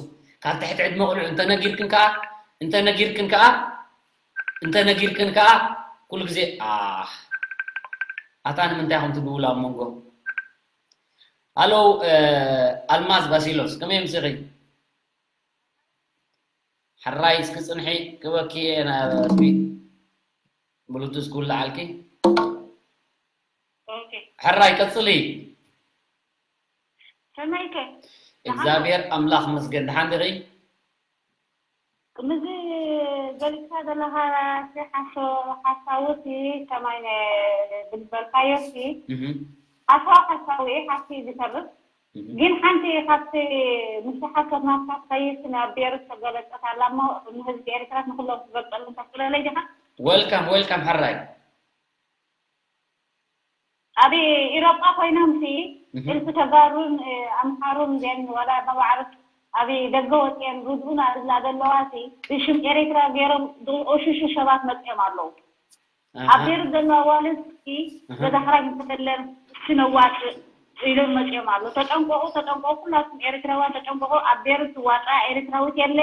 ካብ ትሕቲ ዕድመ ቁልዑ እንተነጊርክን ከዓ እንተነጊርክን ከዓ እንተነጊርክን ከዓ ኩሉ ግዜ ኣህ ኣታ ንምንታይ ከም ትድውላ ኣብ መንጎ ኣለው ኣልማዝ ባሲሎስ ከመይ ምስኺ ሕራይ እስኪ ፅንሒ ክበኪ እየ ናበስቢ ብሉቱዝ ክውልዓልኪ ሕራይ ቀፅሊ ሰማይከ እግዚኣብሔር ኣምላኽ መስገን ድሓን ድኺ ምዚ ገሊፅካ ዘለኻ ሓሳውቲ ከማይ ብዝበልካዮሲ ሓሳዊ ሓሳዊ ሓሲ ዝተርፍ ግን ሓንቲ ካብቲ ምስ ሓሶት ናትካ ትኸይድ ናብ ቤሩት ተገለጸት ኣላ እሞ ንህዝቢ ኤርትራ ንኩሎም ክገልጸሉ ተኽእለለይ ዲኻ? Welcome welcome ሕራይ ኣብ ኢሮጳ ኮይኖም ሲ እልፊ ተጋሩን ኣምሓሩን ዜን ዋላ መባዕርት ኣብ ደገ ወፅየን ርድኡና ዝብላ ዘለዋ ሲ ብሽም ኤርትራ ገይሮም ዝቆሽሹ ሰባት መፅኦም ኣለዉ። ኣብ ቤሩት ዘለዋ ኣዋልድ እስኪ ገዛ ክራይ እንተለን እስኪ ነዋፅእ ኢሎም መፂኦም ኣሎ። ተጠንቀቑ፣ ተጠንቀቑ፣ ኩላትኩም ኤርትራውያን ተጠንቀቑ። ኣብ ቤሩት ዝዋፅኣ ኤርትራዊት የለ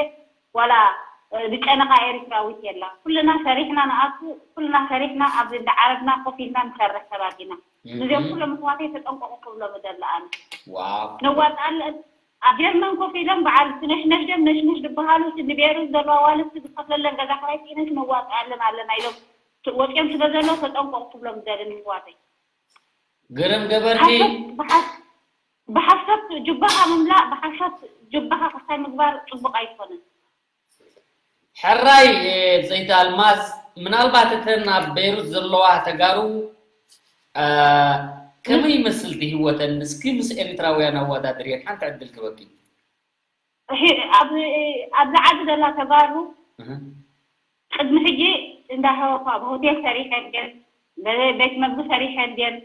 ዋላ ዝጨነኻ ኤርትራዊት የላ። ኩልና ሰሪሕና ንኣቱ፣ ኩልና ሰሪሕና ኣብዚ እንዳዓረብና ኮፍ ኢልና ንሰርሕ ሰባት ኢና። እዚኦም ኩሎም ኣሕዋተይ ተጠንቀቑ ክብሎም እደሊ ኣነ። ነዋፅኣለን ኣብ ጀርመን ኮፍ ኢሎም በዓል እቲ ነሽነሽ ደም ነሽነሽ ዝበሃሉ እቲ ንቤሩት ዘለዋ ኣዋልድ ዝኸፍለለን ገዛ ክራይ ስኢነን ነዋፅኣለን ኣለና ኢሎም ወፂኦም ስለ ዘለዉ ተጠንቀቑ ክብሎም ዝደሊ ንኣሕዋተይ። ግርም ገበርኪ። ብሓሶት ጁባኻ ምምላእ ብሓሶት ጁባኻ ክስታይ ምግባር ፅቡቕ ኣይኮነን። ሕራይ ብፀይቲ ኣልማዝ ምናልባት እተን ኣብ ቤይሩት ዘለዋ ተጋሩ ከመይ ይመስል እቲ ህይወተን እስኪ ምስ ኤሪትራውያን ኣወዳድርየን ሓንቲ ዕድል ክበኪ ኣብዚ ዓዲ ዘላ ተጋሩ ቅድሚ ሕጂ እንዳሃወኳ ብሆቴል ሰሪሐን ድየን ቤት መግቢ ሰሪሐን ድየን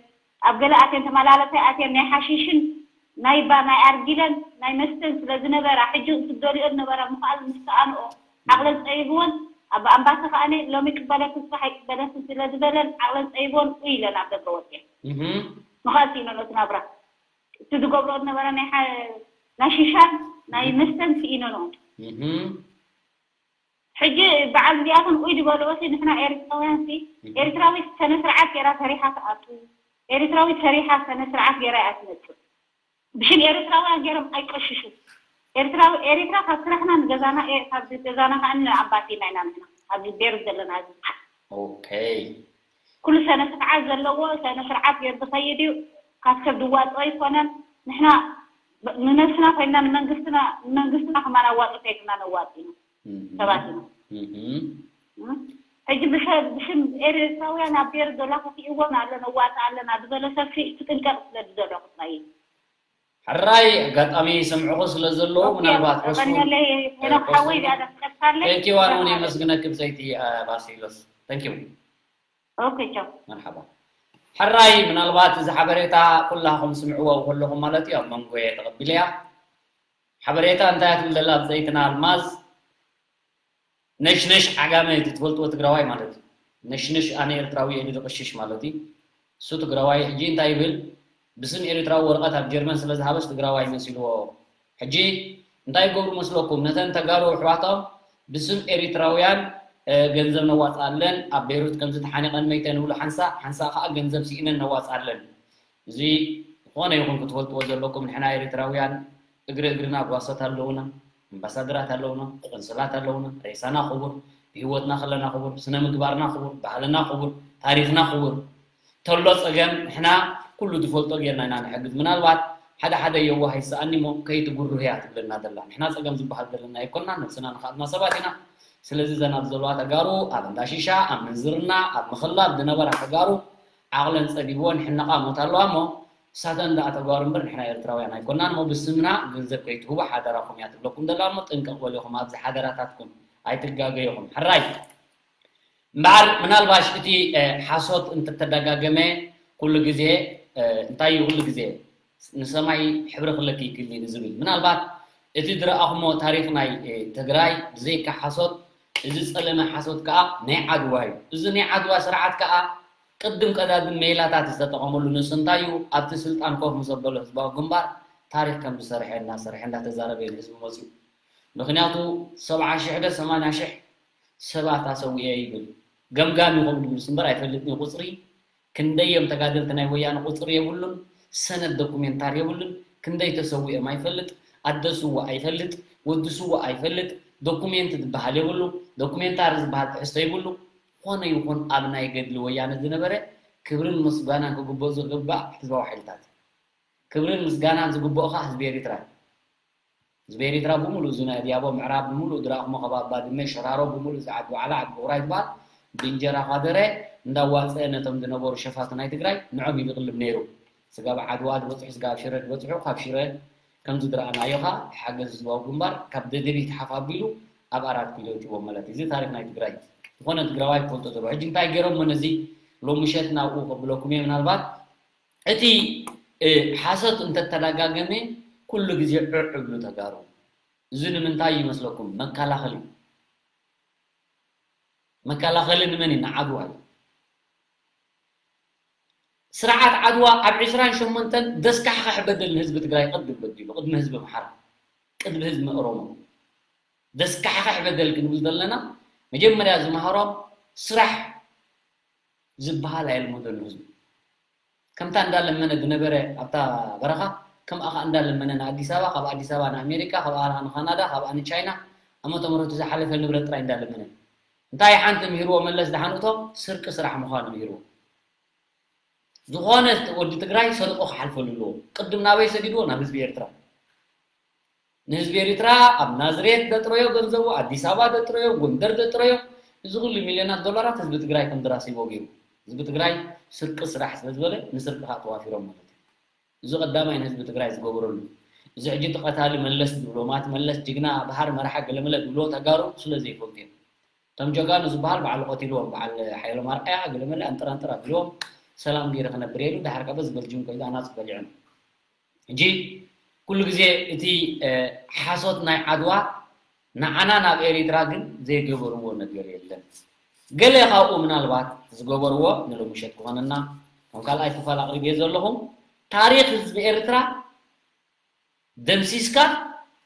ኣብ ገለ ኣትየን ተመላለሰ ኣትየን ናይ ሓሺሽን ናይ ባ ናይ ኣርጊለን ናይ መስተን ስለ ዝነበራ ሕጂ ዝደልኦ ዝነበራ ምኽኣል ምስ ሰኣንኦ ዓቕለን ፀቢብወን ኣብ ኣምባሲ ከኣነ ሎሚ ይቅበለኪ ስራሕ ኣይቅበለኪ ስለ ዝበለን ዓቕለን ፀቢብወን ኡይ ኢለን ኣብ ደገ ወፅየን ምኽኣል ስኢነን እቲ ናብራ እቲ ዝገብርኦ ዝነበራ ናይ ሓ- ናይ ሽሻን ናይ መስተን ስኢነንኦ ሕጂ በዓል እዚኣቶም ኡይ ዝበልኦ ሲ ንሕና ኤርትራውያን ሲ ኤርትራዊት ሰነ ስርዓት ገይራ ሰሪሓ ትኣቱ ኤርትራዊት ሰሪሓ ሰነ ስርዓት ገይራ እያ ትመፅእ ብሽም ኤርትራውያን ገይሮም ኣይቀሽሹ ኤርትራዊ ኤርትራ ካብ ስራሕና ንገዛና ካብ ገዛና ከዓ ንኣባቴና ኢና ንሕና ኣብዚ ቤሩት ዘለና ህዝቢ Okay ኩሉ ሰነ ስርዓት ዘለዎ ሰነ ስርዓት ገይሩ ዝኸይድ እዩ ካብ ሰብ ዝዋፅኦ ኣይኮነን ንሕና ንነብስና ኮይንና ንመንግስትና ንመንግስትና ከማን ኣዋፅኦ ከይድና ነዋፂ ኢና ሰባት ኢና ሕጂ ብሰብ ብሽም ኤርትራውያን ኣብ ቤሩት ዘሎ ከፊእዎን ኣሎ ነዋፅእ ኣለና ዝበለ ሰብሲ ትጥንቀቕ ስለ ዝደለኹ ጥራይ እዩ ሕራይ ኣጋጣሚ ይሰምዕኹ ስለ ዘለዉ ምናልባት ሕሱን ቀንየለይ ሄኖክ ሓወይ ዝያዳ ትቀጥካለይ ቴንኪዋን እውን የመስግነኪ ብፀይቲ ባሲሎስ ቴንኪው ኦኬ ቻው መርሓባ ሕራይ ምናልባት እዚ ሓበሬታ ኩላኹም ስምዕዎ ከለኹም ማለት እዩ ኣብ መንጎ እየ ተቐቢለያ ሓበሬታ እንታይ ትብል ዘላ ብፀይትና ኣልማዝ ነሽነሽ ዓጋመ እቲ ትፈልጥዎ ትግራዋይ ማለት እዩ ነሽነሽ ኣነ ኤርትራዊ እየ ዝቕሽሽ ማለት እዩ እሱ ትግራዋይ ሕጂ እንታይ ይብል ብስም ኤርትራዊ ወረቐት ኣብ ጀርመን ስለ ዝሃበስ ትግራዋይ መሲልዎ ሕጂ እንታይ ይገብሩ መስለኩም ነተን ተጋሩ ኣሕዋቶም ብስም ኤርትራውያን ገንዘብ ነዋፅኣለን ኣብ ቤይሩት ከምዚ ተሓኒቐን መይተን ይብሉ ሓንሳእ ሓንሳእ ከዓ ገንዘብ ስኢነን ነዋፅኣለን እዚ ዝኾነ ይኹን ክትፈልጥዎ ዘለኩም ንሕና ኤርትራውያን እግሪ እግርና ጓሶት ኣለውና፣ ኣምባሳደራት ኣለውና፣ ቆንስላት ኣለውና፣ ሬሳና ክቡር፣ ብህይወትና ከለና ክቡር፣ ስነ ምግባርና ክቡር፣ ባህልና ክቡር፣ ታሪኽና ክቡር። ተሎ ፀገም ንሕና ኩሉ ዝፈልጦ ጌርና ኢና ንሕግዝ። ምናልባት ሓደ ሓደ የዋህ ይሰኣኒ እሞ ከይትጉርህ እያ ትብለና ዘላ። ንሕና ፀገም ዝበሃል ዘለና ኣይኮንና፣ ነብስና ንኸኣልና ሰባት ኢና። ስለዚ እዘን ኣብ ዘለዋ ተጋሩ ኣብ እንዳ ሺሻ፣ ኣብ ምንዝርና፣ ኣብ ምኽላብ ዝነበራ ተጋሩ ዓቕለን ፀቢብወን ሕነቓ ሞት ኣለዋ እሞ እሳተን ደኣ ተጋሩ እምበር ንሕና ኤርትራውያን ኣይኮናን። እሞ ብስምና ገንዘብ ከይትህቡ ሓደራኹም እያ ትብለኩም ዘላ። እሞ ጥንቀቕ በሉ ኢኹም ኣብዚ ሓደራታትኩም ኣይትጋገዩኹም። ሕራይ እምበኣር ምናልባሽ እቲ ሓሶት እንተተደጋገመ ኩሉ ግዜ እንታይ እዩ ኩሉ ግዜ ንሰማይ ሕብሪ ክለኪ ይክእል እዩ ዝብል ምናልባት እቲ ዝረኣኹሞ ታሪኽ ናይ ትግራይ ብዘይካ ሓሶት እዚ ጸለመ ሓሶት ከዓ ናይ ዓድዋ እዩ። እዚ ናይ ዓድዋ ስርዓት ከዓ ቅድም ቀዳድም ሜላታት ዝተጠቐመሉ ንሱ እንታይ እዩ ኣብቲ ስልጣን ኮፍ ምስ ኣበሎ ህዝባዊ ግንባር ታሪኽ ከም ዝሰርሐ እናሰርሐ እንዳተዛረበ እዩ ንህዝቢ መፅዩ። ምክንያቱ ሰብዓ ሽሕ ዶ ሰማንያ ሽሕ ሰባት ኣሰዊኤ ይብል። ገምጋም ይኸውን ይብልስ እምበር ኣይፈልጥን እዩ ቁፅሪ። ክንደይ እዮም ተጋደልቲ ናይ ወያነ ቁፅሪ የብሉን። ሰነድ ዶኩሜንታር የብሉን። ክንደይ ተሰዊኦም ኣይፈልጥ። ኣደ ስዋ ኣይፈልጥ። ወዲ ስዋ ኣይፈልጥ። ዶኩሜንት ዝበሃል የብሉ። ዶኩሜንታሪ ዝበሃል ትሕዝቶ የብሉ። ዝኾነ ይኹን ኣብ ናይ ገድሊ ወያነ ዝነበረ ክብርን ምስጋናን ክግብኦ ዝግባእ ህዝባዊ ሓይልታት ክብርን ምስጋናን ዝግብኦ ከዓ ህዝቢ ኤሪትራ እዩ። ህዝቢ ኤሪትራ ብምሉእ እዚ ናይ ኣድያቦ ምዕራብ ብምሉእ ድራቕሞ ከባቢ ባድመ ሸራሮ ብምሉእ እዚ ዓዲ ዋዕላ ዓዲ ውቕራይ ዝበሃል ብእንጀራ ካደረ እንዳዋፀአ ነቶም ዝነበሩ ሸፋቱ ናይ ትግራይ ንዖም እዩ ዝቕልብ ነይሩ። ስጋብ ዓድዋ ዝበፅሑ ስጋብ ሽረ ዝበፅሑ ካብ ሽረ ከምዚ ዝረኣናዮ ከዓ ሓገዝ ህዝባዊ ግንባር ካብ ደደቢት ሓፍ ኣቢሉ ኣብ ኣራት ኪሎ ይእትዎም ማለት እዩ። እዚ ታሪክ ናይ ትግራይ እዩ። ዝኾነ ትግራዋይ ክፈልጦ ዘለዎ ሕጂ እንታይ ገይሮሞ ነዚ ሎሚ ምሸት ናብኡ ከብለኩም እየ ምናልባት እቲ ሓሶት እንተተደጋገመ ኩሉ ግዜ ዕዕ እብሉ ተጋሩ። እዚ ንምንታይ ይመስለኩም? መከላኸሊ እዩ። መከላኸሊ ንመን እዩ? ንዓድዋ እዩ። ስርዓት ዓድዋ ኣብ ዕስራን ሸሞንተን ደስካሕካሕ በደል ንህዝቢ ትግራይ ቅድም በዲሉ፣ ቅድሚ ህዝቢ ኣምሓራ፣ ቅድሚ ህዝቢ ኦሮሞ ደስካሕካሕ በደል ክንብል ዘለና መጀመርያ ዝመሃሮም ስራሕ ዝበሃል ኣየልመደሉ ህዝቢ። ከምታ እንዳለመነ ዝነበረ ኣብታ በረኻ ከምኣ ኸዓ እንዳለመነ ንኣዲስ ኣበባ፣ ካብ ኣዲስ ኣበባ ንኣሜሪካ፣ ካብ ኣበባ ንካናዳ፣ ካብኣ ንቻይና ዓመተ ምህረቱ ዝሓለፈ ንብረት ጥራይ እንዳለመነ እንታይ ሓንቲ ምሂርዎ መለስ ደሓን እቶም ስርቂ ስራሕ ምዃኑ ምሂርዎ። ዝኾነ ወዲ ትግራይ ሰሪቑ ክሓልፈሉ ኣለዎ። ቅድም ናበይ ሰዲድዎ? ናብ ህዝቢ ኤርትራ። ንህዝቢ ኤሪትራ ኣብ ናዝሬት ደጥረዮ ገንዘቡ ኣዲስ ኣበባ ደጥረዮ ጎንደር ደጥረዮ እዚ ኩሉ ሚልዮናት ዶላራት ህዝቢ ትግራይ ከም ድራሲዎ ገይሩ ህዝቢ ትግራይ ስርቂ ስራሕ ስለ ዝበለ ንስርቂ ከዓ ተዋፊሮም ማለት እዩ። እዚ ቀዳማይ ንህዝቢ ትግራይ ዝገበረሉ እዚ ሕጂ እቲ ቀታሊ መለስ ዝብሎ ማት መለስ ጅግና ባህር መርሓ ገለመለ ዝብሎ ተጋሩ ስለ ዘይፈልጡ እዮም። እቶም ጀጋኑ ዝበሃል በዓል ቀቲልዎም በዓል ሓይሎም ኣርኣያ ገለመለ ኣንጥራንጥር ኣቢልዎም ሰላም ገይረ ክነብር ኢሉ ድሓር ከዓ በዚ በልጅም ከይዱ ኣናፁ በሊዖም። ሕጂ ኩሉ ግዜ እቲ ሓሶት ናይ ዓድዋ ንዓና ናብ ኤሪትራ ግን ዘይገበርዎ ነገር የለን። ገለ ካብኡ ምናልባት ዝገበርዎ ንሎሚ ምሸት ክኾነና ከም ካልኣይ ክፋል ኣቕሪብዮ ዘለኹም ታሪኽ ህዝቢ ኤርትራ ደምሲስካ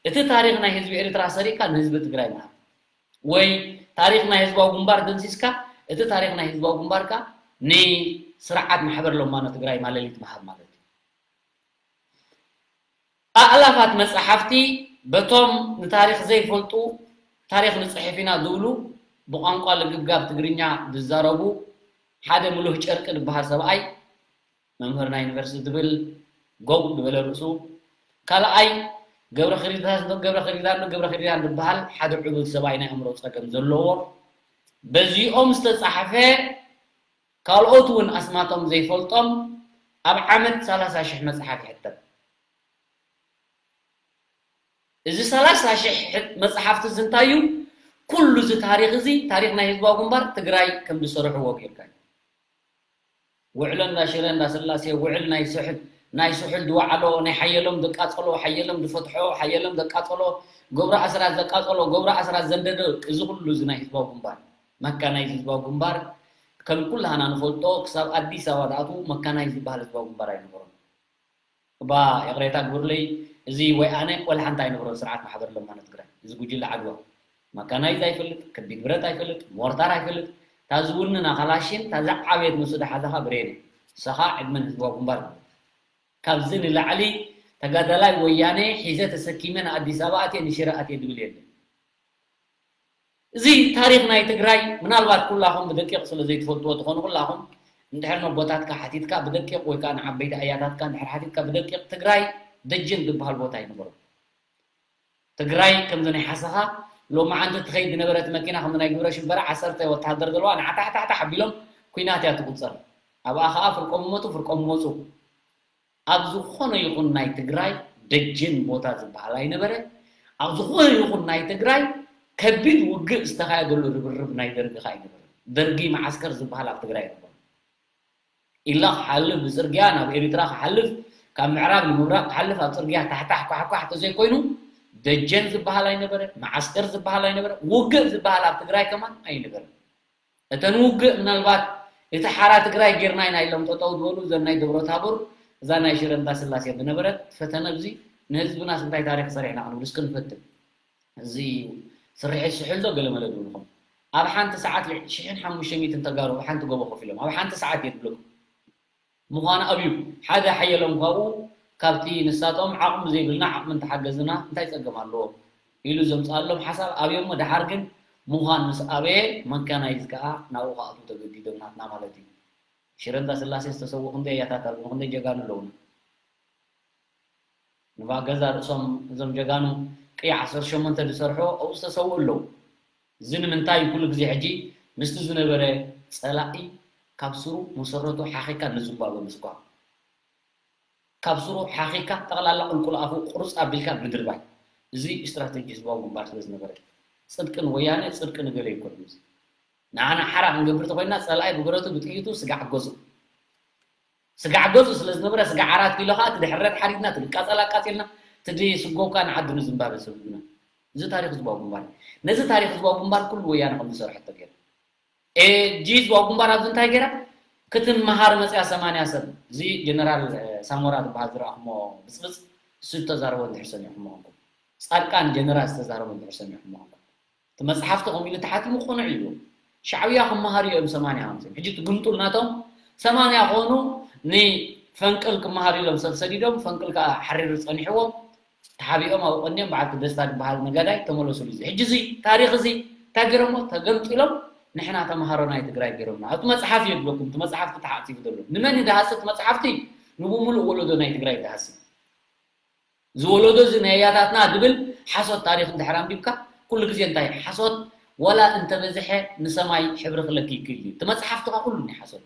እቲ ታሪኽ ናይ ህዝቢ ኤርትራ ሰሪቕካ ንህዝቢ ትግራይ ምሃብ ወይ ታሪኽ ናይ ህዝባዊ ግንባር ደምሲስካ እቲ ታሪኽ ናይ ህዝባዊ ግንባርካ ንስርዓት ማሕበር ለማኖ ትግራይ ማለሊት ምሃብ ማለት እዩ። ኣእላፋት መጻሕፍቲ በቶም ንታሪኽ ዘይፈልጡ ታሪኽ ንጽሕፍ ኢና ዝብሉ ብቋንቋ ልግብጋብ ትግርኛ ዝዛረቡ ሓደ ምሉህ ጨርቂ ዝበሃል ሰብኣይ መምህር ናይ ዩኒቨርሲቲ ዝብል ጎው ዝበለ ርእሱ ካልኣይ ገብረ ክሪዳን ገብረ ክሪዳን ገብረ ክሪዳን ዝበሃል ሓደ ዕቡድ ሰብኣይ ናይ ኣእምሮ ጸገም ዘለዎ በዚኦም ዝተጻሕፈ ካልኦት እውን ኣስማቶም ዘይፈልጦም ኣብ ዓመት ሰላሳ ሽሕ መጽሓፍ ይሕተም። እዚ ሰላሳ ሽሕ መጽሓፍቲ እዚ እንታይ እዩ? ኩሉ እዚ ታሪኽ እዚ ታሪኽ ናይ ህዝባዊ ግንባር ትግራይ ከም ዝሰርሕዎ ጌርካ እዩ። ውዕሎ እንዳ ሽረ እንዳ ስላሴ ውዕል ናይ ስሑል ናይ ስሑል ዝወዓሎ ናይ ሓየሎም ዘቃጸሎ ሓየሎም ዝፈትሖ ሓየሎም ዘቃጸሎ ገብረ ኣስራት ዘቃጸሎ ገብረ ኣስራት ዘንደዶ እዚ ኩሉ እዚ ናይ ህዝባዊ ግንባር መካናይዝ ህዝባዊ ግንባር ከም ኩላህና ንፈልጦ ክሳብ ኣዲስ ኣበባ ዝኣትዉ መካናይዝ ዝበሃል ህዝባዊ ግንባር ኣይነበሮም። እባ ይቕሬታ ግብርለይ እዚ ወይ ኣነ ወላ ሓንቲ ኣይነበሮን ስርዓት ማሕበር ለማኖ ትግራይ እዚ ጉጅለ ዓድዋ መካናይዝ ኣይፈልጥ ከቢድ ብረት ኣይፈልጥ ሞርታር ኣይፈልጥ ታዝውንና ካላሽን ታዛ ዓብየት ንሱ ዝሓዛኻ ብሬን ሰኻ ዕድመን ህዝባዊ ግንባር ካብዚ ንላዕሊ ተጋዳላይ ወያነ ሒዘ ተሰኪመ ንኣዲስ ኣበባ ኣትየ ንሽረ ኣትየ ዝብል የለን። እዚ ታሪኽ ናይ ትግራይ ምናልባት ኩላኹም ብደቂቕ ስለ ዘይትፈልጥዎ ትኾኑ ኩላኹም እንድሕር ነቦታትካ ሓቲትካ ብደቂቕ ወይ ከዓ ንዓበይቲ ኣያታትካ እንድሕር ሓቲትካ ብደቂቕ ትግራይ ደጀን ዝበሃል ቦታ ኣይነበሮም። ትግራይ ከምዚ ናይ ሓሰኻ ሎማዓንቲ ትኸይድ ዝነበረት መኪና ከምዚ ናይ ግብረ ሽበራ ዓሰርተ ወተሃደር ዘለዋ ንዓታሕታሕታሕ ኣቢሎም ኩናት እያ ትቁፀር። ኣብኣ ከዓ ፍርቆም ይሞቱ ፍርቆም ይመፁ። ኣብ ዝኾነ ይኹን ናይ ትግራይ ደጀን ቦታ ዝበሃል ኣይነበረ። ኣብ ዝኾነ ይኹን ናይ ትግራይ ከቢድ ውግእ ዝተኻየደሉ ርብርብ ናይ ደርጊ ከ ኣይነበረ። ደርጊ መዓስከር ዝበሃል ኣብ ትግራይ ኣይነበረ። ኢላ ክሓልፍ ብፅርግያ ናብ ኤሪትራ ክሓልፍ ካብ ምዕራብ ንምብራቕ ክሓልፍ ኣብ ፅርግያ ታሕታሕ ኳሕኳሕ ተዘይኮይኑ ደጀን ዝበሃል ኣይነበረ፣ መዓስከር ዝበሃል ኣይነበረ፣ ውግእ ዝበሃል ኣብ ትግራይ ከማን ኣይነበረ። እተን ውግእ ምናልባት እቲ ሓራ ትግራይ ጌርና ኢና ኢሎም ጠጠው ዝበሉ እዘን ናይ ደብረ ታቦር እዛ ናይ ሽረ እንዳስላሴ ዝነበረት ፈተነ እዚ ንህዝብናስ እንታይ ታሪክ ሰሪሕና ክንብል እስኪ ንፈትን። እዚ ስርሒት ስሑል ዶ ገለመለ ድብልኹም ኣብ ሓንቲ ሰዓት ሽሕን ሓሙሽተ ሚእትን ተጋሩ ኣብ ሓንቲ ጎቦ ኮፍ ኢሎም ኣብ ሓንቲ ሰዓት እየ ድብለኩም ምዃኑ ኣብዩ ሓደ ሓየሎም ካብኡ ካብቲ ንሳቶም ዓቕሚ ዘይብልና ዓቕሚ እንተሓገዝና እንታይ ፀገም ኣለዎ ኢሉ ዘምፅኣሎም ሓሳብ ኣብዮሞ ደሓር ግን ምዃን ምስ ኣበየ መካናይዝ ከዓ ናብኡ ክኣትዉ ተገዲዶም ናትና ማለት እዩ ሽረ እንዳስላሴ ዝተሰውኡ ክንደይ ኣያታት ኣለዉ ክንደይ ጀጋኑ ኣለዉና ንባገዛ ርእሶም እዞም ጀጋኑ ቅያ ዓሰርተ ሸሞንተ ዝሰርሑ ኣብኡ ዝተሰውኡ ኣለዉ እዚ ንምንታይ ኩሉ ግዜ ሕጂ ምስቲ ዝነበረ ፀላኢ ካብ ስሩ መሰረቱ ሓኺካ ንዝባበ ምስኳም ካብ ስሩ ሓኺካ ጠቕላላ ቁልቁል ኣፉ ቁርፅ ኣቢልካ ምድርባይ እዚ ስትራተጂ ህዝባዊ ግንባር ስለ ዝነበረ ፅድቂ ንወያነ ፅድቂ ንገለ ይኮን እዚ ንዓና ሓራ ክንገብር ተኮይና ፀላኢ ብብረቱ ብጥይቱ ስጋዕ ገዙ ስጋዕ ገዙ ስለ ዝነበረ ስጋዕ ዓራት ኪሎ ከዓ እቲ ድሕረት ሓሪድና እቲ ድቃፀል ኣቃፂልና እቲ ድስጎብካ ንዓዲ ንዝምባበ ሰብ ህዝብና እዚ ታሪክ ህዝባዊ ግንባር ነዚ ታሪክ ህዝባዊ ግንባር ኩሉ ወያነ ከም ዝሰርሐቶ ገይሩ ሕጂ ህዝባዊ ግንባር ኣብዚ እንታይ ገይራ ክትመሃር መፅያ ሰማንያ ሰብ እዚ ጀነራል ሳሞራ ዝበሃል ዝረኣኹሞ ብፅብፅ እሱ ዝተዛረቦ እንድሕር ሰሚዕኹሞ ኮንኩም ፃድቃን ጀነራል ዝተዛረቦ እንድሕር ሰሚዕኹሞ ኮንኩም እቲ መፅሓፍቲ ከምኡ ኢሉ ተሓቲሙ ቅኑዕ እዩ ሻዕብያ ክመሃሩ እዮም ሰማንያ ሃምሳ ሕጂ ትግምጡል ናቶም ሰማንያ ኮኑ ንፈንቅል ክመሃሩ ኢሎም ሰብ ሰዲዶም ፈንቅል ከዓ ሓሪሩ ፀኒሕዎም ተሓቢኦም ኣብ ቀንዲኦም በዓልቲ ደስታ ዝበሃል ነጋዳይ ተመለሱሉ እዚ ሕጂ እዚ ታሪክ እዚ እንታይ ገይሮሞ ተገምጢሎም ንሕና ተምሃሮ ናይ ትግራይ ገይሮምና ኣብቲ መፅሓፍ እዩ ዝብለኩም እቲ መፅሓፍቲ ተሓፂቡ ዘሎ ንመን እዩ ዝሃሲ እቲ መፅሓፍቲ ንብሙሉእ ወለዶ ናይ ትግራይ ዝሃሲ ዝወለዶ እዚ ናይ ኣያታትና ዝብል ሓሶት ታሪክ እንድሕር ኣንቢብካ ኩሉ ግዜ እንታይ ሓሶት ዋላ እንተበዝሐ ንሰማይ ሕብሪ ክለኪ ይክእል እዩ እቲ መፅሓፍትኻ ኩሉ ናይ ሓሶት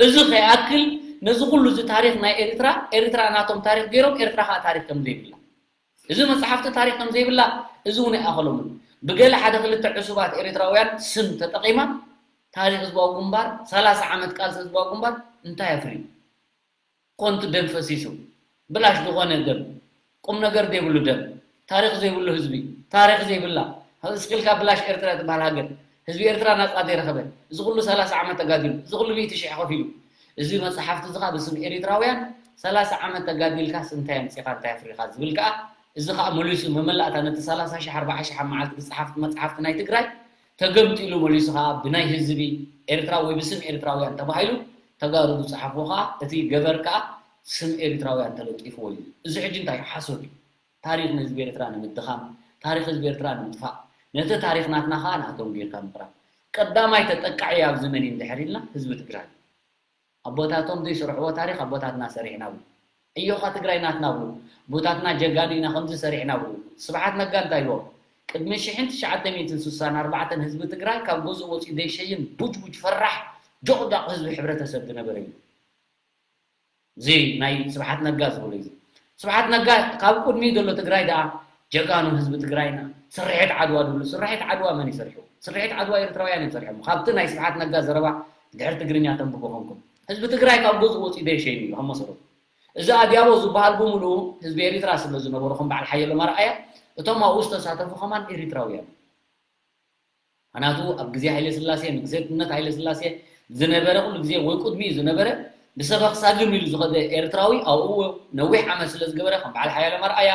እዚ ከይኣክል ነዚ ኩሉ እዚ ታሪክ ናይ ኤርትራ ኤርትራ ናቶም ታሪክ ገይሮም ኤርትራ ከዓ ታሪክ ከም ዘይብላ እዚ መፅሓፍቲ ታሪክ ከም ዘይብላ እዚ እውን ኣይኣኸሎምን ብገለ ሓደ ክልተ ዕሱባት ኤርትራውያን ስም ተጠቂማ ታሪክ ህዝባዊ ግንባር ሰላሳ ዓመት ቃልሲ ህዝባዊ ግንባር እንታይ ኣፍርዩ ኮንቱ ደም ፈሲሱ ብላሽ ዝኾነ ደም ቁም ነገር ዘይብሉ ደም ታሪክ ዘይብሉ ህዝቢ ታሪክ ዘይብላ እስክልካ ብላሽ ኤርትራ ትበሃል ሃገር ህዝቢ ኤርትራ ናፃ ዘይረኸበ እዚ ኩሉ ሰላሳ ዓመት ተጋዲሉ እዚ ኩሉ ሚእቲ ሽሕ ከፊሉ እዚ መፅሓፍቲ እዚ ከዓ ብስም ኤሪትራውያን ሰላሳ ዓመት ተጋዲልካስ እንታይ ኣምፂኻ እንታይ ኣፍሪኻ ዝብል ከዓ እዚ ከዓ መሊሱ መመላእታ ነቲ ሰላሳ ሽሕ ኣርባዓ ሽሕ ኣብ መዓልቲ ዝፀሓፍቲ መፅሓፍቲ ናይ ትግራይ ተገምጢሉ መሊሱ ከዓ ብናይ ህዝቢ ኤርትራ ወይ ብስም ኤርትራውያን ተባሂሉ ተጋሩ ዝፀሓፍዎ ከዓ እቲ ገበር ከዓ ስም ኤርትራውያን ተለጢፍዎ እዩ እዚ ሕጂ እንታይ ሓሶት እዩ ታሪክ ንህዝቢ ኤርትራ ንምድኻም ታሪክ ህዝቢ ኤርትራ ንምጥፋእ ነቲ ታሪክ ናትና ከዓ ንኣቶም ጌርካ ምቅራብ ቀዳማይ ተጠቃዒ ኣብዚ መን እዩ እንድሕር ኢልና ህዝቢ ትግራይ ኣቦታቶም ዘይሰርሕዎ ታሪክ ኣቦታትና ሰሪሕና ብሉ ዕዮኻ ትግራይ ናትና ብሉ ኣቦታትና ጀጋኑ ኢና ከምዚ ሰሪሕና ብሉ ስብሓት ነጋ እንታይ ኢልዎም ቅድሚ ሽሕን ትሽዓተ ሚእትን ስሳን ኣርባዕተን ህዝቢ ትግራይ ካብ ገዝኡ ወፂኡ ዘይሸይን ቡጅቡጅ ፈራሕ ጆቕጃቕ ህዝቢ ሕብረተሰብ ዝነበረ እዩ እዚ ናይ ስብሓት ነጋ ዝብሉ እዩ ስብሓት ነጋ ካብ ቅድሚ ዘሎ ትግራይ ደኣ ጀጋኑ ህዝቢ ትግራይና ስርሒት ዓድዋ ዝብሉ ስርሒት ዓድዋ መን ይሰርሑ ስርሒት ዓድዋ ኤርትራውያን እዮም ሰርሖም ካብቲ ናይ ስብሓት ነጋ ዘረባ ድሕር ትግርኛ ተንብቦ ኮንኩም ህዝቢ ትግራይ ካብ ገዝኡ ወፂኡ ዘይሸይኑ እዩ ከም መሰረቱ እዚ ኣድያቦ ዝበሃል ብምሉኡ ህዝቢ ኤሪትራ ስለ ዝነበሩ ከም በዓል ሓየሎም ኣርኣያ እቶም ኣብኡ ዝተሳተፉ ከማን ኤሪትራውያን ምክንያቱ ኣብ ግዜ ሃይለ ስላሴ ንግስነት ሃይለ ስላሴ ዝነበረ ኩሉ ግዜ ወይ ቅድሚኡ ዝነበረ ብሰበኽ ሳግም ኢሉ ዝኸደ ኤርትራዊ ኣብኡ ነዊሕ ዓመት ስለ ዝገበረ ከም በዓል ሓያሎም ኣርኣያ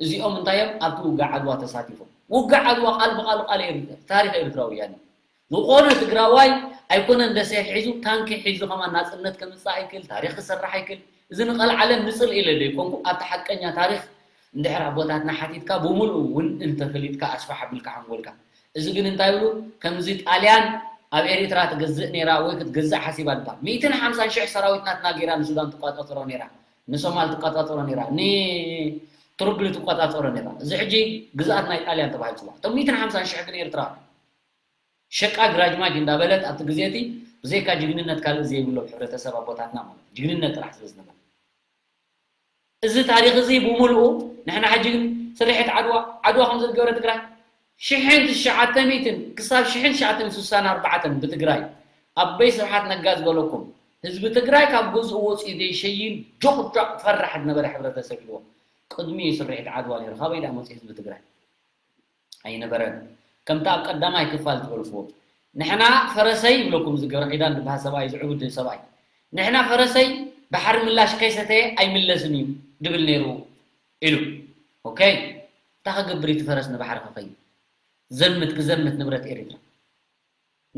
እዚኦም እንታይ እዮም ኣብቲ ውግዕ ዓድዋ ተሳቲፎም ውግዕ ዓድዋ ቃል ብቃሉ ቃል ታሪክ ኤርትራውያን እዩ ዝኾነ ትግራዋይ ኣይኮነን ደሴት ሒዙ ታንኪ ሒዙ ከማን ናፅነት ከምፅእ ኣይክእል ታሪክ ክሰርሕ ኣይክእል እዚ ንቐልዓለም ንፅል ኢለ ዘይኮንኩ ኣብቲ ሓቀኛ ታሪክ እንድሕር ኣቦታትና ሓቲትካ ብምሉኡ እውን እንተፈሊጥካ ኣስፋሕ ኣቢልካ ሓንጎልካ እዚ ግን እንታይ ብሉ ከምዚ ጣልያን ኣብ ኤሪትራ ትገዝእ ነይራ ወይ ክትገዝእ ሓሲባ ድባል ሚእትን ሓምሳን ሽሕ ሰራዊት ናትና ገይራ ንሱዳን ትቋፃፀሮ ነይራ ንሶማል ትቋፃፀሮ ነይራ ንትርግሊ ትቋፃፀሮ ነይራ እዚ ሕጂ ግዝኣት ናይ ጣልያን ተባሂሉ ፅዋዕ እቶም ሚእትን ሓምሳን ሽሕ ግን ኤርትራ ሸቃ ግራጅማጅ እንዳበለት ኣብቲ ግዜ እቲ ብዘይካ ጅግንነት ካልእ ዘይብሎም ሕብረተሰብ ኣቦታትና ማለት ጅግንነት ጥራሕ ስለ ዝነበረ እዚ ታሪኽ እዚ ብምልኡ ንሕና ሕጂ ግን ስርሒት ዓድዋ ዓድዋ ከም ዝገበረ ትግራይ ሽሕን ትሽዓተ ሚእትን ክሳብ ሽሕን ትሽዓተ ሚእትን ስሳን ኣርባዕተን ብትግራይ ኣበይ ስብሓት ነጋ ዝበለኩም ህዝቢ ትግራይ ካብ ገዝኡ ወፂኡ ዘይሸይን ጆቕጃቕ ፈራሕ ዝነበረ ሕብረተሰብ ኢልዎ ቅድሚ ስርሒት ዓድዋ ነይሩ ካበይ ደኣ መፂኡ ህዝቢ ትግራይ ኣይነበረን። ከምቲ ኣብ ቀዳማይ ክፋል ዝበልኩዎ ንሕና ፈረሰይ ይብለኩም እዚ ገብረ ኪዳን ዝበሃል ሰብኣይ ዝዕቡድ ሰብኣይ ንሕና ፈረሰይ ባሕሪ ምላሽ ከይሰተየ ኣይምለስን እዩ ድብል ነይሩ ኢሉ። ኦኬ እንታይ ክገብር እቲ ፈረስ ንባሕሪ ክኸይድ ዘምት ክዘምት ንብረት ኤሪትራ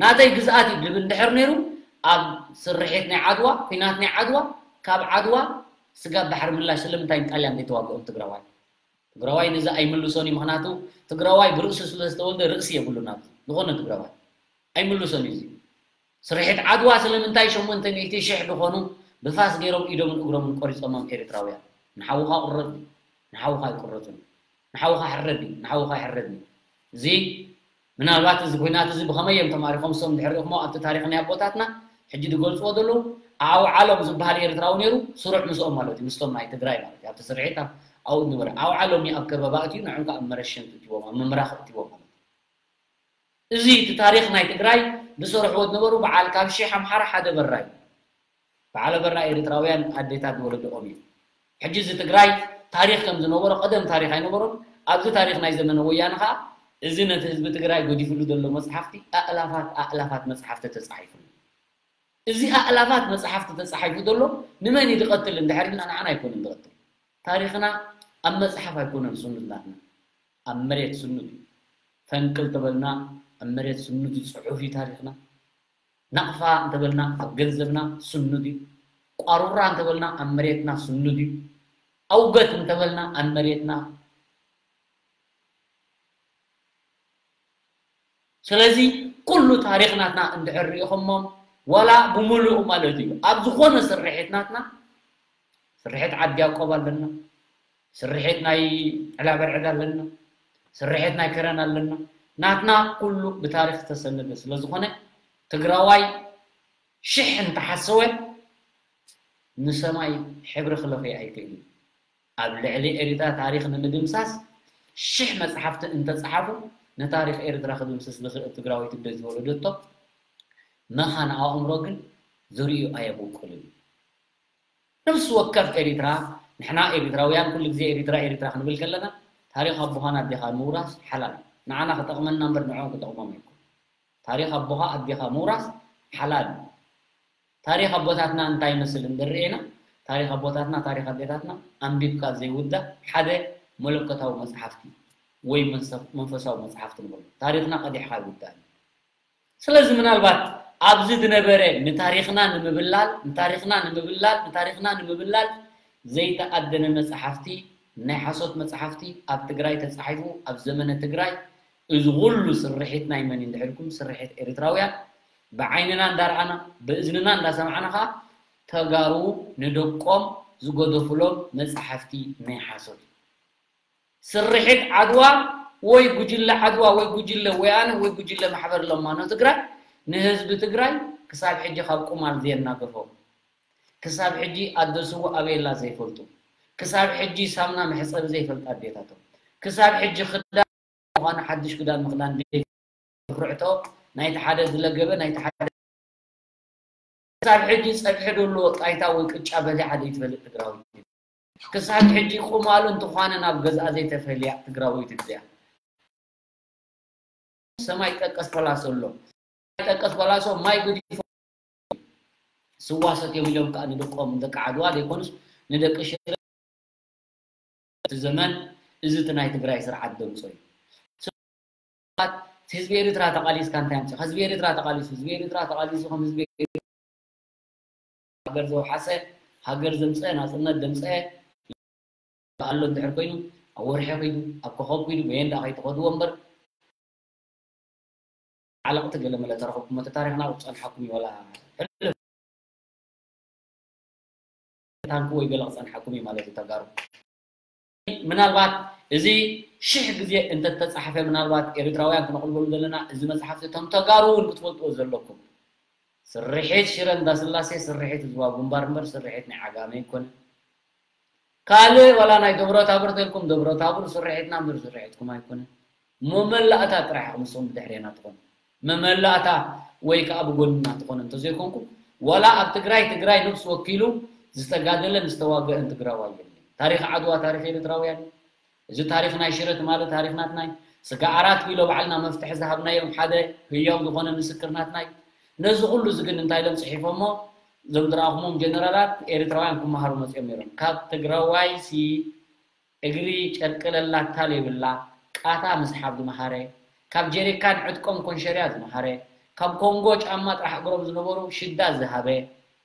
ናተይ ግዝኣት እዩ ድብል እንድሕር ነይሩ ኣብ ስርሒት ናይ ዓድዋ ኲናት ናይ ዓድዋ ካብ ዓድዋ ስጋብ ባሕሪ ምላሽ ስለምንታይ ንጣልያን ዘይተዋግኦም ትግራዋይ ትግራዋይ ነዚ ኣይምልሶን እዩ ምክንያቱ ትግራዋይ ብርእሱ ስለ ዝተወልደ ርእሲ የብሉን ኣብዚ ዝኾነ ትግራዋይ ኣይምልሶን እዩ እዚ ስርሒት ዓድዋ ስለምንታይ ሸሞንተ ሚእቲ ሽሕ ዝኾኑ ብፋስ ገይሮም ኢዶምን እግሮምን ቆሪፆሞም ኤርትራውያን ንሓውኻ ቁረፅ እዩ ንሓውኻ ኣይቁረፅን እዩ ንሓውኻ ሕረድ እዩ ንሓውኻ ኣይሕረድን እዩ እዚ ምናልባት እዚ ኩናት እዚ ብኸመይ እዮም ተማሪኾም እሶም ድሕሪ ሪእኹሞ ኣብቲ ታሪኽ ናይ ኣቦታትና ሕጂ ዝገልፅዎ ዘለዉ ኣውዓሎም ዝበሃል ኤርትራዊ ነይሩ ስሩዕ ምስኦም ማለት እዩ ምስቶም ናይ ትግራይ ማለት እዩ ኣብቲ ስርሒት ኣብኡ ዝነበረ ኣውዓሎም እዩ ኣብ ከበባ እትዩ ንዕም ከዓ ኣብ መረሸንቲ እትዎም ኣብ ምምራኽ እትዎም ማለት እዩ እዚ እቲ ታሪኽ ናይ ትግራይ ዝሰርሕዎ ዝነበሩ በዓል ካብ ሺሕ ኣምሓራ ሓደ በራይ በዓል በራ ኤርትራውያን ኣዴታት ዝወለድኦም እዩ ሕጂ እዚ ትግራይ ታሪኽ ከም ዝነበሮ ቀደም ታሪኽ ኣይነበሮን ኣብዚ ታሪኽ ናይ ዘመነ ወያነ ከዓ እዚ ነቲ ህዝቢ ትግራይ ገዲፍሉ ዘሎ መፅሓፍቲ ኣእላፋት ኣእላፋት መፅሓፍቲ ተፃሒፉ እዚ ኣእላፋት መፅሓፍቲ ተፃሒፉ ዘሎ ንመን እዩ ዝቐትል እንድሕር ኢልና ንዓና ኣይኮነን ዝቐትል ታሪኽና ኣብ መፅሓፍ ኣይኮነን ስኑድ ናትና ኣብ መሬት ስኑድ እዩ ፈንቅል ተበልና ኣብ መሬት ስኑድ እዩ ፅሑፍ እዩ ታሪኽና ናቕፋ እንተበልና ኣብ ገንዘብና ስኑድ እዩ ቋሩራ እንተበልና ኣብ መሬትና ስኑድ እዩ ኣውገት እንተበልና ኣብ መሬትና ስለዚ ኩሉ ታሪኽ ናትና እንድሕር ሪኢኹሞ ዋላ ብምሉኡ ማለት እዩ ኣብ ዝኾነ ስርሒት ናትና ስርሒት ዓዲ ያቆብ ኣለና ስርሒት ናይ ዕላበርዕድ ኣለና ስርሒት ናይ ከረን ኣለና ናትና ኩሉ ብታሪኽ ዝተሰነደ ስለ ዝኾነ ትግራዋይ ሽሕ እንተሓሰወ ንሰማይ ሕብሪ ክለኽዮ ኣይክእልን ኣብ ልዕሊ ኤሪትራ ታሪኽ ንምድምሳስ ሽሕ መፅሓፍቲ እንተፀሓፉ ንታሪኽ ኤሪትራ ክድምስስ ዝኽእል ትግራዊት እንደ ዝወለደቶ መኻን ኣእምሮ ግን ዝርእዩ ኣየብቁልን ነብሲ ወከፍ ኤሪትራ ንሕና ኤሪትራውያን ኩሉ ግዜ ኤሪትራ ኤሪትራ ክንብል ከለና ታሪኽ ኣቦኻን ኣዴኻ ምውራስ ሓላል ንዓና ክጠቕመና እምበር ንዕኦም ክጠቕሞም ኣይኮን ታሪኽ ኣቦኻ ኣዴኻ ምውራስ ሓላል ታሪኽ ኣቦታትና እንታይ ይመስል እንድርኤና ታሪኽ ኣቦታትና ታሪኽ ኣዴታትና ኣንቢብካ ዘይውዳእ ሓደ መለኮታዊ መፅሓፍቲ ወይ መንፈሳዊ መፅሓፍቲ ንበሎ ታሪኽና ቀዲሕካ ይውዳእ ስለዚ ምናልባት ኣብዚ ዝነበረ ንታሪኽና ንምብላል ንታሪኽና ንምብላል ንታሪኽና ንምብላል ዘይተኣደነ መፅሓፍቲ ናይ ሓሶት መፅሓፍቲ ኣብ ትግራይ ተፃሒፉ ኣብ ዘመነ ትግራይ እዚ ኩሉ ስርሒት ናይ መን እንድሕልኩም ስርሒት ኤርትራውያን ብዓይንና እንዳርኣና ብእዝንና እንዳሰማዕና ከዓ ተጋሩ ንደቆም ዝገደፉሎም መፅሓፍቲ ናይ ሓሶት ስርሒት ዓድዋ ወይ ጉጅለ ዓድዋ ወይ ጉጅለ ወያነ ወይ ጉጅለ ማሕበር ለማኖ ትግራይ ንህዝቢ ትግራይ ክሳብ ሕጂ ካብ ቁማል ዘየናገፎ ክሳብ ሕጂ ኣደ ስውእ ኣበየላ ዘይፈልጡ ክሳብ ሕጂ ሳምና መሕፀቢ ዘይፈልጣ ኣዴታቶም ክሳብ ሕጂ ክዳን ምዃኑ ሓድሽ ክዳን ምኽዳን ዘይርዕቶ ናይቲ ሓደ ዝለገበ ናይቲ ሓደ ክሳብ ሕጂ ፀብሒ ደሎ ጣይታ ወይ ቅጫ በሊዓ ዘይትፈልጥ ትግራዊት ክሳብ ሕጂ ቁማሉ እንትዃነ ናብ ገዝኣ ዘይተፈልያ ትግራዊት እዚኣ ሰማይ ጠቀስ ፓላሶ ኣሎ ሰማይ ጠቀስ ፓላሶ ማይ ገዲፎ ስዋ ሰትዮም ኢሎም ከዓ ንደቆም ደቂ ዓድዋ ዘይኮኑስ ንደቂ ሽረ እቲ ዘመን እዚ እቲ ናይ ትግራይ ስርዓት ደምፆ እዩ ህዝቢ ኤርትራ ተቃሊስካ እንታይ ኣምፅእ ህዝቢ ኤርትራ ተቃሊሱ ህዝቢ ኤርትራ ተቃሊሱ ከም ህዝቢ ሃገር ዘውሓሰ ሃገር ዘምፀ ናፅነት ዘምፀ ኣሎ እንድሕር ኮይኑ ኣብ ወርሒ ኪዱ ኣብ ኮኸብ ኪዱ በየን ደኣ ከይትኸድዎ እምበር ዓለቕቲ ገለ መለ ተረኸብኩም እቲ ታሪኽና ክፀንሓኩም እዩ ወላ ሕልፍ ታንኪ ወይ ገለ ክፀንሓኩም እዩ ማለት እዩ ተጋሩ ምናልባት እዚ ሽሕ ግዜ እንተተፃሕፈ ምናልባት ኤርትራውያን ክነቕልበሉ ዘለና እዚ መፅሓፍቲ እቶም ተጋሩ እውን ክትፈልጥዎ ዘለኩም ስርሒት ሽረ እንዳስላሴ ስርሒት ህዝባዊ ግንባር እምበር ስርሒት ናይ ዓጋመ ኣይኮነን። ካልእ ዋላ ናይ ደብረታቦር ተልኩም ደብረታቦር ስርሒትና እምበር ስርሒትኩም ኣይኮነን። መመላእታ ጥራሕ ኢኹም ንስኹም ብድሕሬና ትኾኑ። መመላእታ ወይ ከዓ ብጎንና ትኾኑ እንተዘይኮንኩም ዋላ ኣብ ትግራይ ትግራይ ነብሱ ወኪሉ ዝተጋደለን ዝተዋገአን ትግራዋይ የለን። ታሪኽ ዓድዋ ታሪኽ ኤርትራውያን እዩ። እዚ ታሪኽ ናይ ሽረ ትማሊ ታሪኽ ናትና እዩ። ስጋ ኣራት ኪሎ ባዕልና መፍትሒ ዝሃብናዮም ሓደ ህያው ዝኾነ ምስክር ናትና እዩ። ነዚ ኩሉ እዚ ግን እንታይ ኢሎም ፅሒፎሞ? እዞም ዝረኣኹሞም ጀነራላት ኤርትራውያን ክመሃሩ መፅኦም ነይሮም። ካብ ትግራዋይ ሲ እግሪ ጨርቂ ለላታ ለይብላ ቃታ ምስሓብ ዝመሃረ፣ ካብ ጀሪካን ዕጥቆም ኮንሸርያ ዝመሃረ፣ ካብ ኮንጎ ጫማ ጥራሕ እግሮም ዝነበሩ ሽዳ ዝሃበ፣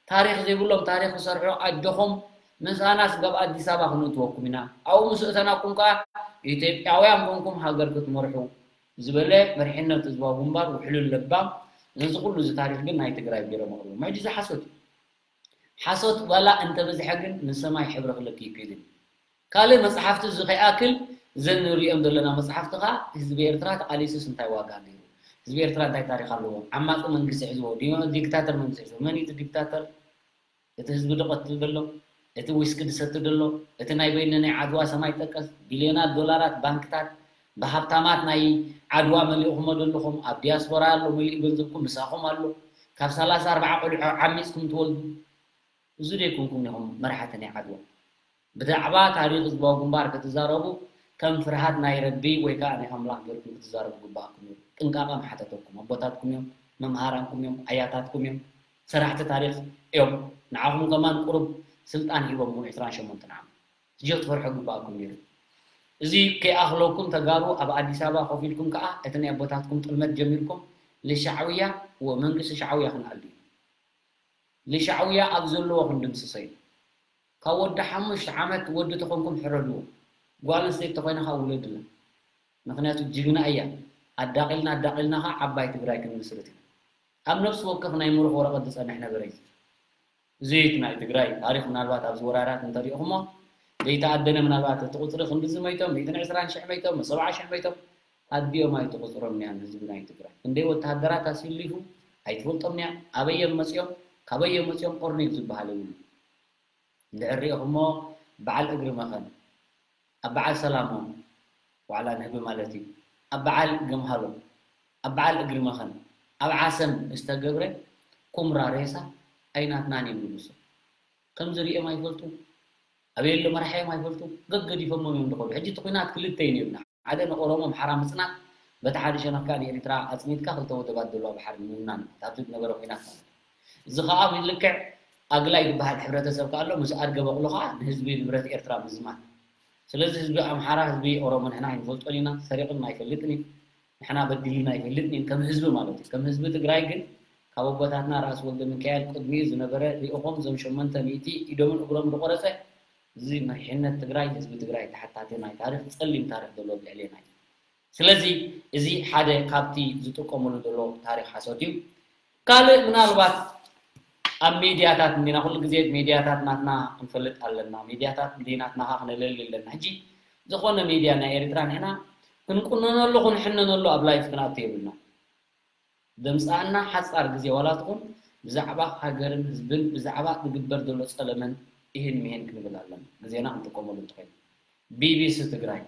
ታሪኽ ዘይብሎም ታሪኽ ክሰርሑ ኣጆኹም ምሳና ስጋብ ኣዲስ ኣበባ ክንእትወኩም ኢና። ኣብኡ ምስ እተናኩም ከኣ ኢትዮጵያውያን ኮንኩም ሃገር ክትመርሑ ዝበለ መሪሕነት ህዝባዊ ግንባር ውሕሉል ለባም ነዚ ኩሉ እዚ ታሪኽ ግን ናይ ትግራይ ገይሮም ኣቕርቦም። ሕጂ እዚ ሓሶት እዩ። ሓሶት ዋላ እንተበዝሐ ግን ንሰማይ ሕብሪ ክልክ ይክእል እዩ። ካልእ መጽሓፍቲ እዚ ከይኣክል እዘን ንሪኦም ዘለና መጽሓፍቲ ኸኣ ህዝቢ ኤርትራ ተቓሊሱስ እንታይ ዋጋ ኣለዎ? ህዝቢ ኤርትራ እንታይ ታሪኽ ኣለዎ? ዓማጺ መንግስቲ ሒዝዎ፣ ዲክታተር መንግስቲ ሒዝዎ። መን እዩ እቲ ዲክታተር? እቲ ህዝቢ ድቐትል ዘሎ፣ እቲ ዊስኪ ድሰቲ ዘሎ፣ እቲ ናይ በይነ ናይ ዓድዋ ሰማይ ጠቀስ ቢልዮናት ዶላራት ባንክታት ብሃብታማት ናይ ዓድዋ መሊእኹሞ ዘለኹም፣ ኣብ ዲያስፖራ ኣሎ መሊኡ ገንዘብኩም ምሳኹም ኣሎ። ካብ ሰላሳ ኣርባዓ ቆልዑ ዓሚፅኩም ትወልዱ። እዚ ደይኮንኩም ኢኹም መራሕቲ ናይ ዓድዋ። ብዛዕባ ታሪኽ ህዝባዊ ግንባር ክትዛረቡ ከም ፍርሃት ናይ ረቢ ወይ ከዓ ናይ ኣምላኽ ገይርኩም ክትዛረቡ ግባኣኩም እዩ። ጥንቃቐ ምሓተተኩም። ኣቦታትኩም እዮም፣ መምሃራንኩም እዮም፣ ኣያታትኩም እዮም፣ ሰራሕቲ ታሪኽ እዮም። ንዓኹም ከማን ቁሩብ ስልጣን ሂቦምኩም ዕስራን ሸሞንተን ዓመት። ሕጂ ክትፈርሑ ግባኣኩም ነይሩ። እዚ ከይኣኽለኩም ተጋሩ ኣብ ኣዲስ ኣበባ ኮፍ ኢልኩም ከዓ እቲ ናይ ኣቦታትኩም ጥልመት ጀሚርኩም ልሻዕውያ ወመንግስቲ ሻዕውያ ክንኣል እዩ። ልሻዕውያ ኣብ ዘለዎ ክንድምስሶ እዩ። ካብ ወዲ ሓሙሽተ ዓመት ወዲ ተኾንኩም ሕረድዎ። ጓል ኣንስተይቲ ተኾይና ከዓ ውለድላ። ምኽንያቱ ጅግና እያ። ኣዳቒልና ኣዳቒልና ከዓ ዓባይ ትግራይ ክንምስርት ኢና። ኣብ ነፍሲ ወከፍ ናይ ምሩኽ ወረቐት ዝጸንሕ ነበረ እዩ። እዚ ናይ ትግራይ ታሪኽ ምናልባት ኣብዚ ወራራት እንተሪእኹሞ ዘይተኣደነ ምናልባት እቲ ቁፅሪ ክንድዚ መይቶም፣ ሚእትን ዕስራን ሽሕ መይቶም፣ ሰብዓ ሽሕ መይቶም ኣዲኦም ኣይትቑፅሮም እያ ህዝቢ ናይ ትግራይ። ክንደይ ወተሃደራት ኣስሊፉ ኣይትፈልጦም እያ። ኣበይ እዮም መፂኦም? ካበይ እዮም መፂኦም? ኦርኒግ ዝበሃል የብሉ። እንድሕር ሪእኹሞ በዓል እግሪ መኸን ኣብ በዓል ሰላሞም ዋዕላ ንህቢ ማለት እዩ። ኣብ በዓል ገምሃሎ፣ ኣብ በዓል እግሪ መኸን፣ ኣብ ዓሰም ዝተገብረ ኩምራ ሬሳ ኣይናትናን እዮም ንጉሶ። ከምዚ ሪኦም ኣይፈልጡ፣ ኣበይ ኣሎ መራሓዮም ኣይፈልጡ፣ ገገዲፎሞም እዮም ዝኸዱ። ሕጂ እቲ ኲናት ክልተ እዩ ነይሩና። ሓደ ንኦሮሞ ኣምሓራ ምጽናት፣ በቲ ሓደ ሸነኽ ከኣ ንኤርትራ ኣጽኒትካ ክልተ ወደባት ዘለዋ ባሕሪ ምውናን፣ ኣብቲ ዝነበረ ኲናት ማለት እዩ። እዚ ከኣ ልክዕ ኣግላይ ዝበሃል ሕብረተሰብ ከኣ ኣሎ፣ ምስ ኣድገ በቕሉ ከኣ ንህዝቢ ንብረት ኤርትራ ምዝማት። ስለዚ ህዝቢ ኣምሓራ፣ ህዝቢ ኦሮሞ ንሕና ኣይንፈልጦን ኢና፣ ሰሪቕና ኣይፈልጥን እዩ። ንሕና በዲሉና ኣይፈልጥን እዩ፣ ከም ህዝቢ ማለት እዩ። ከም ህዝቢ ትግራይ ግን ካብ ኣቦታትና ራእሲ ወልደ ሚካኤል ቅድሚኡ ዝነበረ ልኡኾም እዞም ሸሞንተ ሚእቲ ኢዶምን እግሮም ዝቆረጸ እዚ መሪሕነት ትግራይ፣ ህዝቢ ትግራይ ተሓታቲ ናይ ታሪኽ፣ ጸሊም ታሪኽ ዘሎ ኣብ ልዕሌና እዩ። ስለዚ እዚ ሓደ ካብቲ ዝጥቀምሉ ዘሎ ታሪኽ ሓሶት እዩ። ካልእ ምናልባት ኣብ ሚድያታት እንዲና፣ ኩሉ ግዜ ሚድያታት ናትና ክንፈልጥ ኣለና፣ ሚድያታት እንዲ ናትና ከዓ ክነለሊ ኣለና። ሕጂ ዝኾነ ሚድያ ናይ ኤርትራ ንሕና ክንቁነነሉ ክንሕነነሉ ኣብ ላይፍ ክንኣቱ የብልና። ደምፃና ሓፃር ግዜ ዋላ ትኹን ብዛዕባ ሃገርን ህዝብን ብዛዕባ ዝግበር ዘሎ ፀለመን ይህን ምሄን ክንብል ኣለና። ግዜና ክንጥቀመሉ እንተኾይኑ ቢቢሲ ትግራይ፣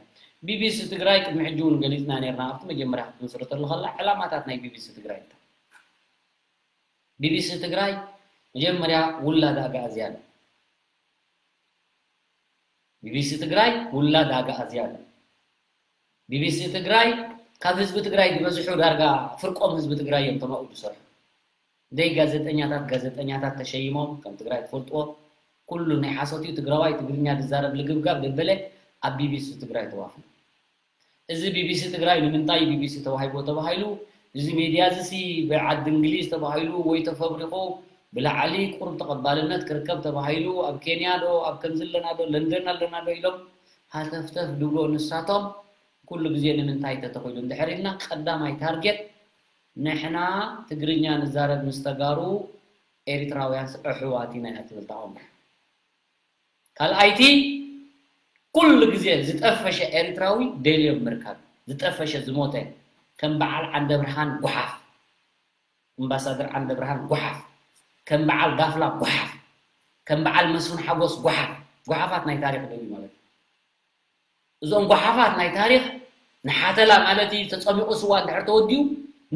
ቢቢሲ ትግራይ ቅድሚ ሕጂ እውን ገሊፅና ነርና። ኣብቲ መጀመርያ ክትምስርተሉ ከላ ዕላማታት ናይ ቢቢሲ ትግራይ እንታይ? ቢቢሲ ትግራይ መጀመርያ ውላድ ኣግኣዝያን። ቢቢሲ ትግራይ ውላድ ኣግኣዝያን። ቢቢሲ ትግራይ ካብ ህዝቢ ትግራይ ዝበዝሑ ዳርጋ ፍርቆም ህዝቢ ትግራይ እዮም ተማኡ ዝሰርሑ። ደይ ጋዜጠኛታት ጋዜጠኛታት ተሸይሞም ከም ትግራይ ትፈልጥዎ ኩሉ ናይ ሓሶት እዩ። ትግራዋይ ትግርኛ ዝዛረብ ልግብጋብ ደበለ ኣብ ቢቢሲ ትግራይ ተዋፊሩ። እዚ ቢቢሲ ትግራይ ንምንታይ ቢቢሲ ተዋሂቦ ተባሂሉ? እዚ ሜድያ እዚ ሲ ብዓዲ እንግሊዝ ተባሂሉ ወይ ተፈብሪኹ ብላዕሊ ቁሩብ ተቐባልነት ክርከብ ተባሂሉ ኣብ ኬንያ ዶ ኣብ ከምዚ ኣለና ዶ ለንደን ኣለና ዶ ኢሎም ሃተፍተፍ ድብሎ ንሳቶም ኩሉ ግዜ ንምንታይ ተተኺሉ እንድሕር ኢልና ቀዳማይ ታርጌት ንሕና ትግርኛ ንዛረብ ምስ ተጋሩ ኤሪትራውያን ኣሕዋት ኢና እያ ትብል እታ ቆንዳፍ። ካልኣይቲ ኩሉ ግዜ ዝጠፈሸ ኤሪትራዊ ደልዮም ምርካብ ዝጠፈሸ ዝሞተ ከም በዓል ዓንደብርሃን ጓሓፍ ኣምባሳደር ዓንደብርሃን ጓሓፍ ከም በዓል ዳፍላ ጓሓፍ፣ ከም በዓል መስፍን ሓጎስ ጓሓፍ፣ ጓሓፋት ናይ ታሪኽ ደልዩ ማለት እዩ። እዞም ጓሓፋት ናይ ታሪኽ ንሓተላ ማለት እዩ፣ ተጸሚቑ ስዋ እንድሕር ተወዲኡ፣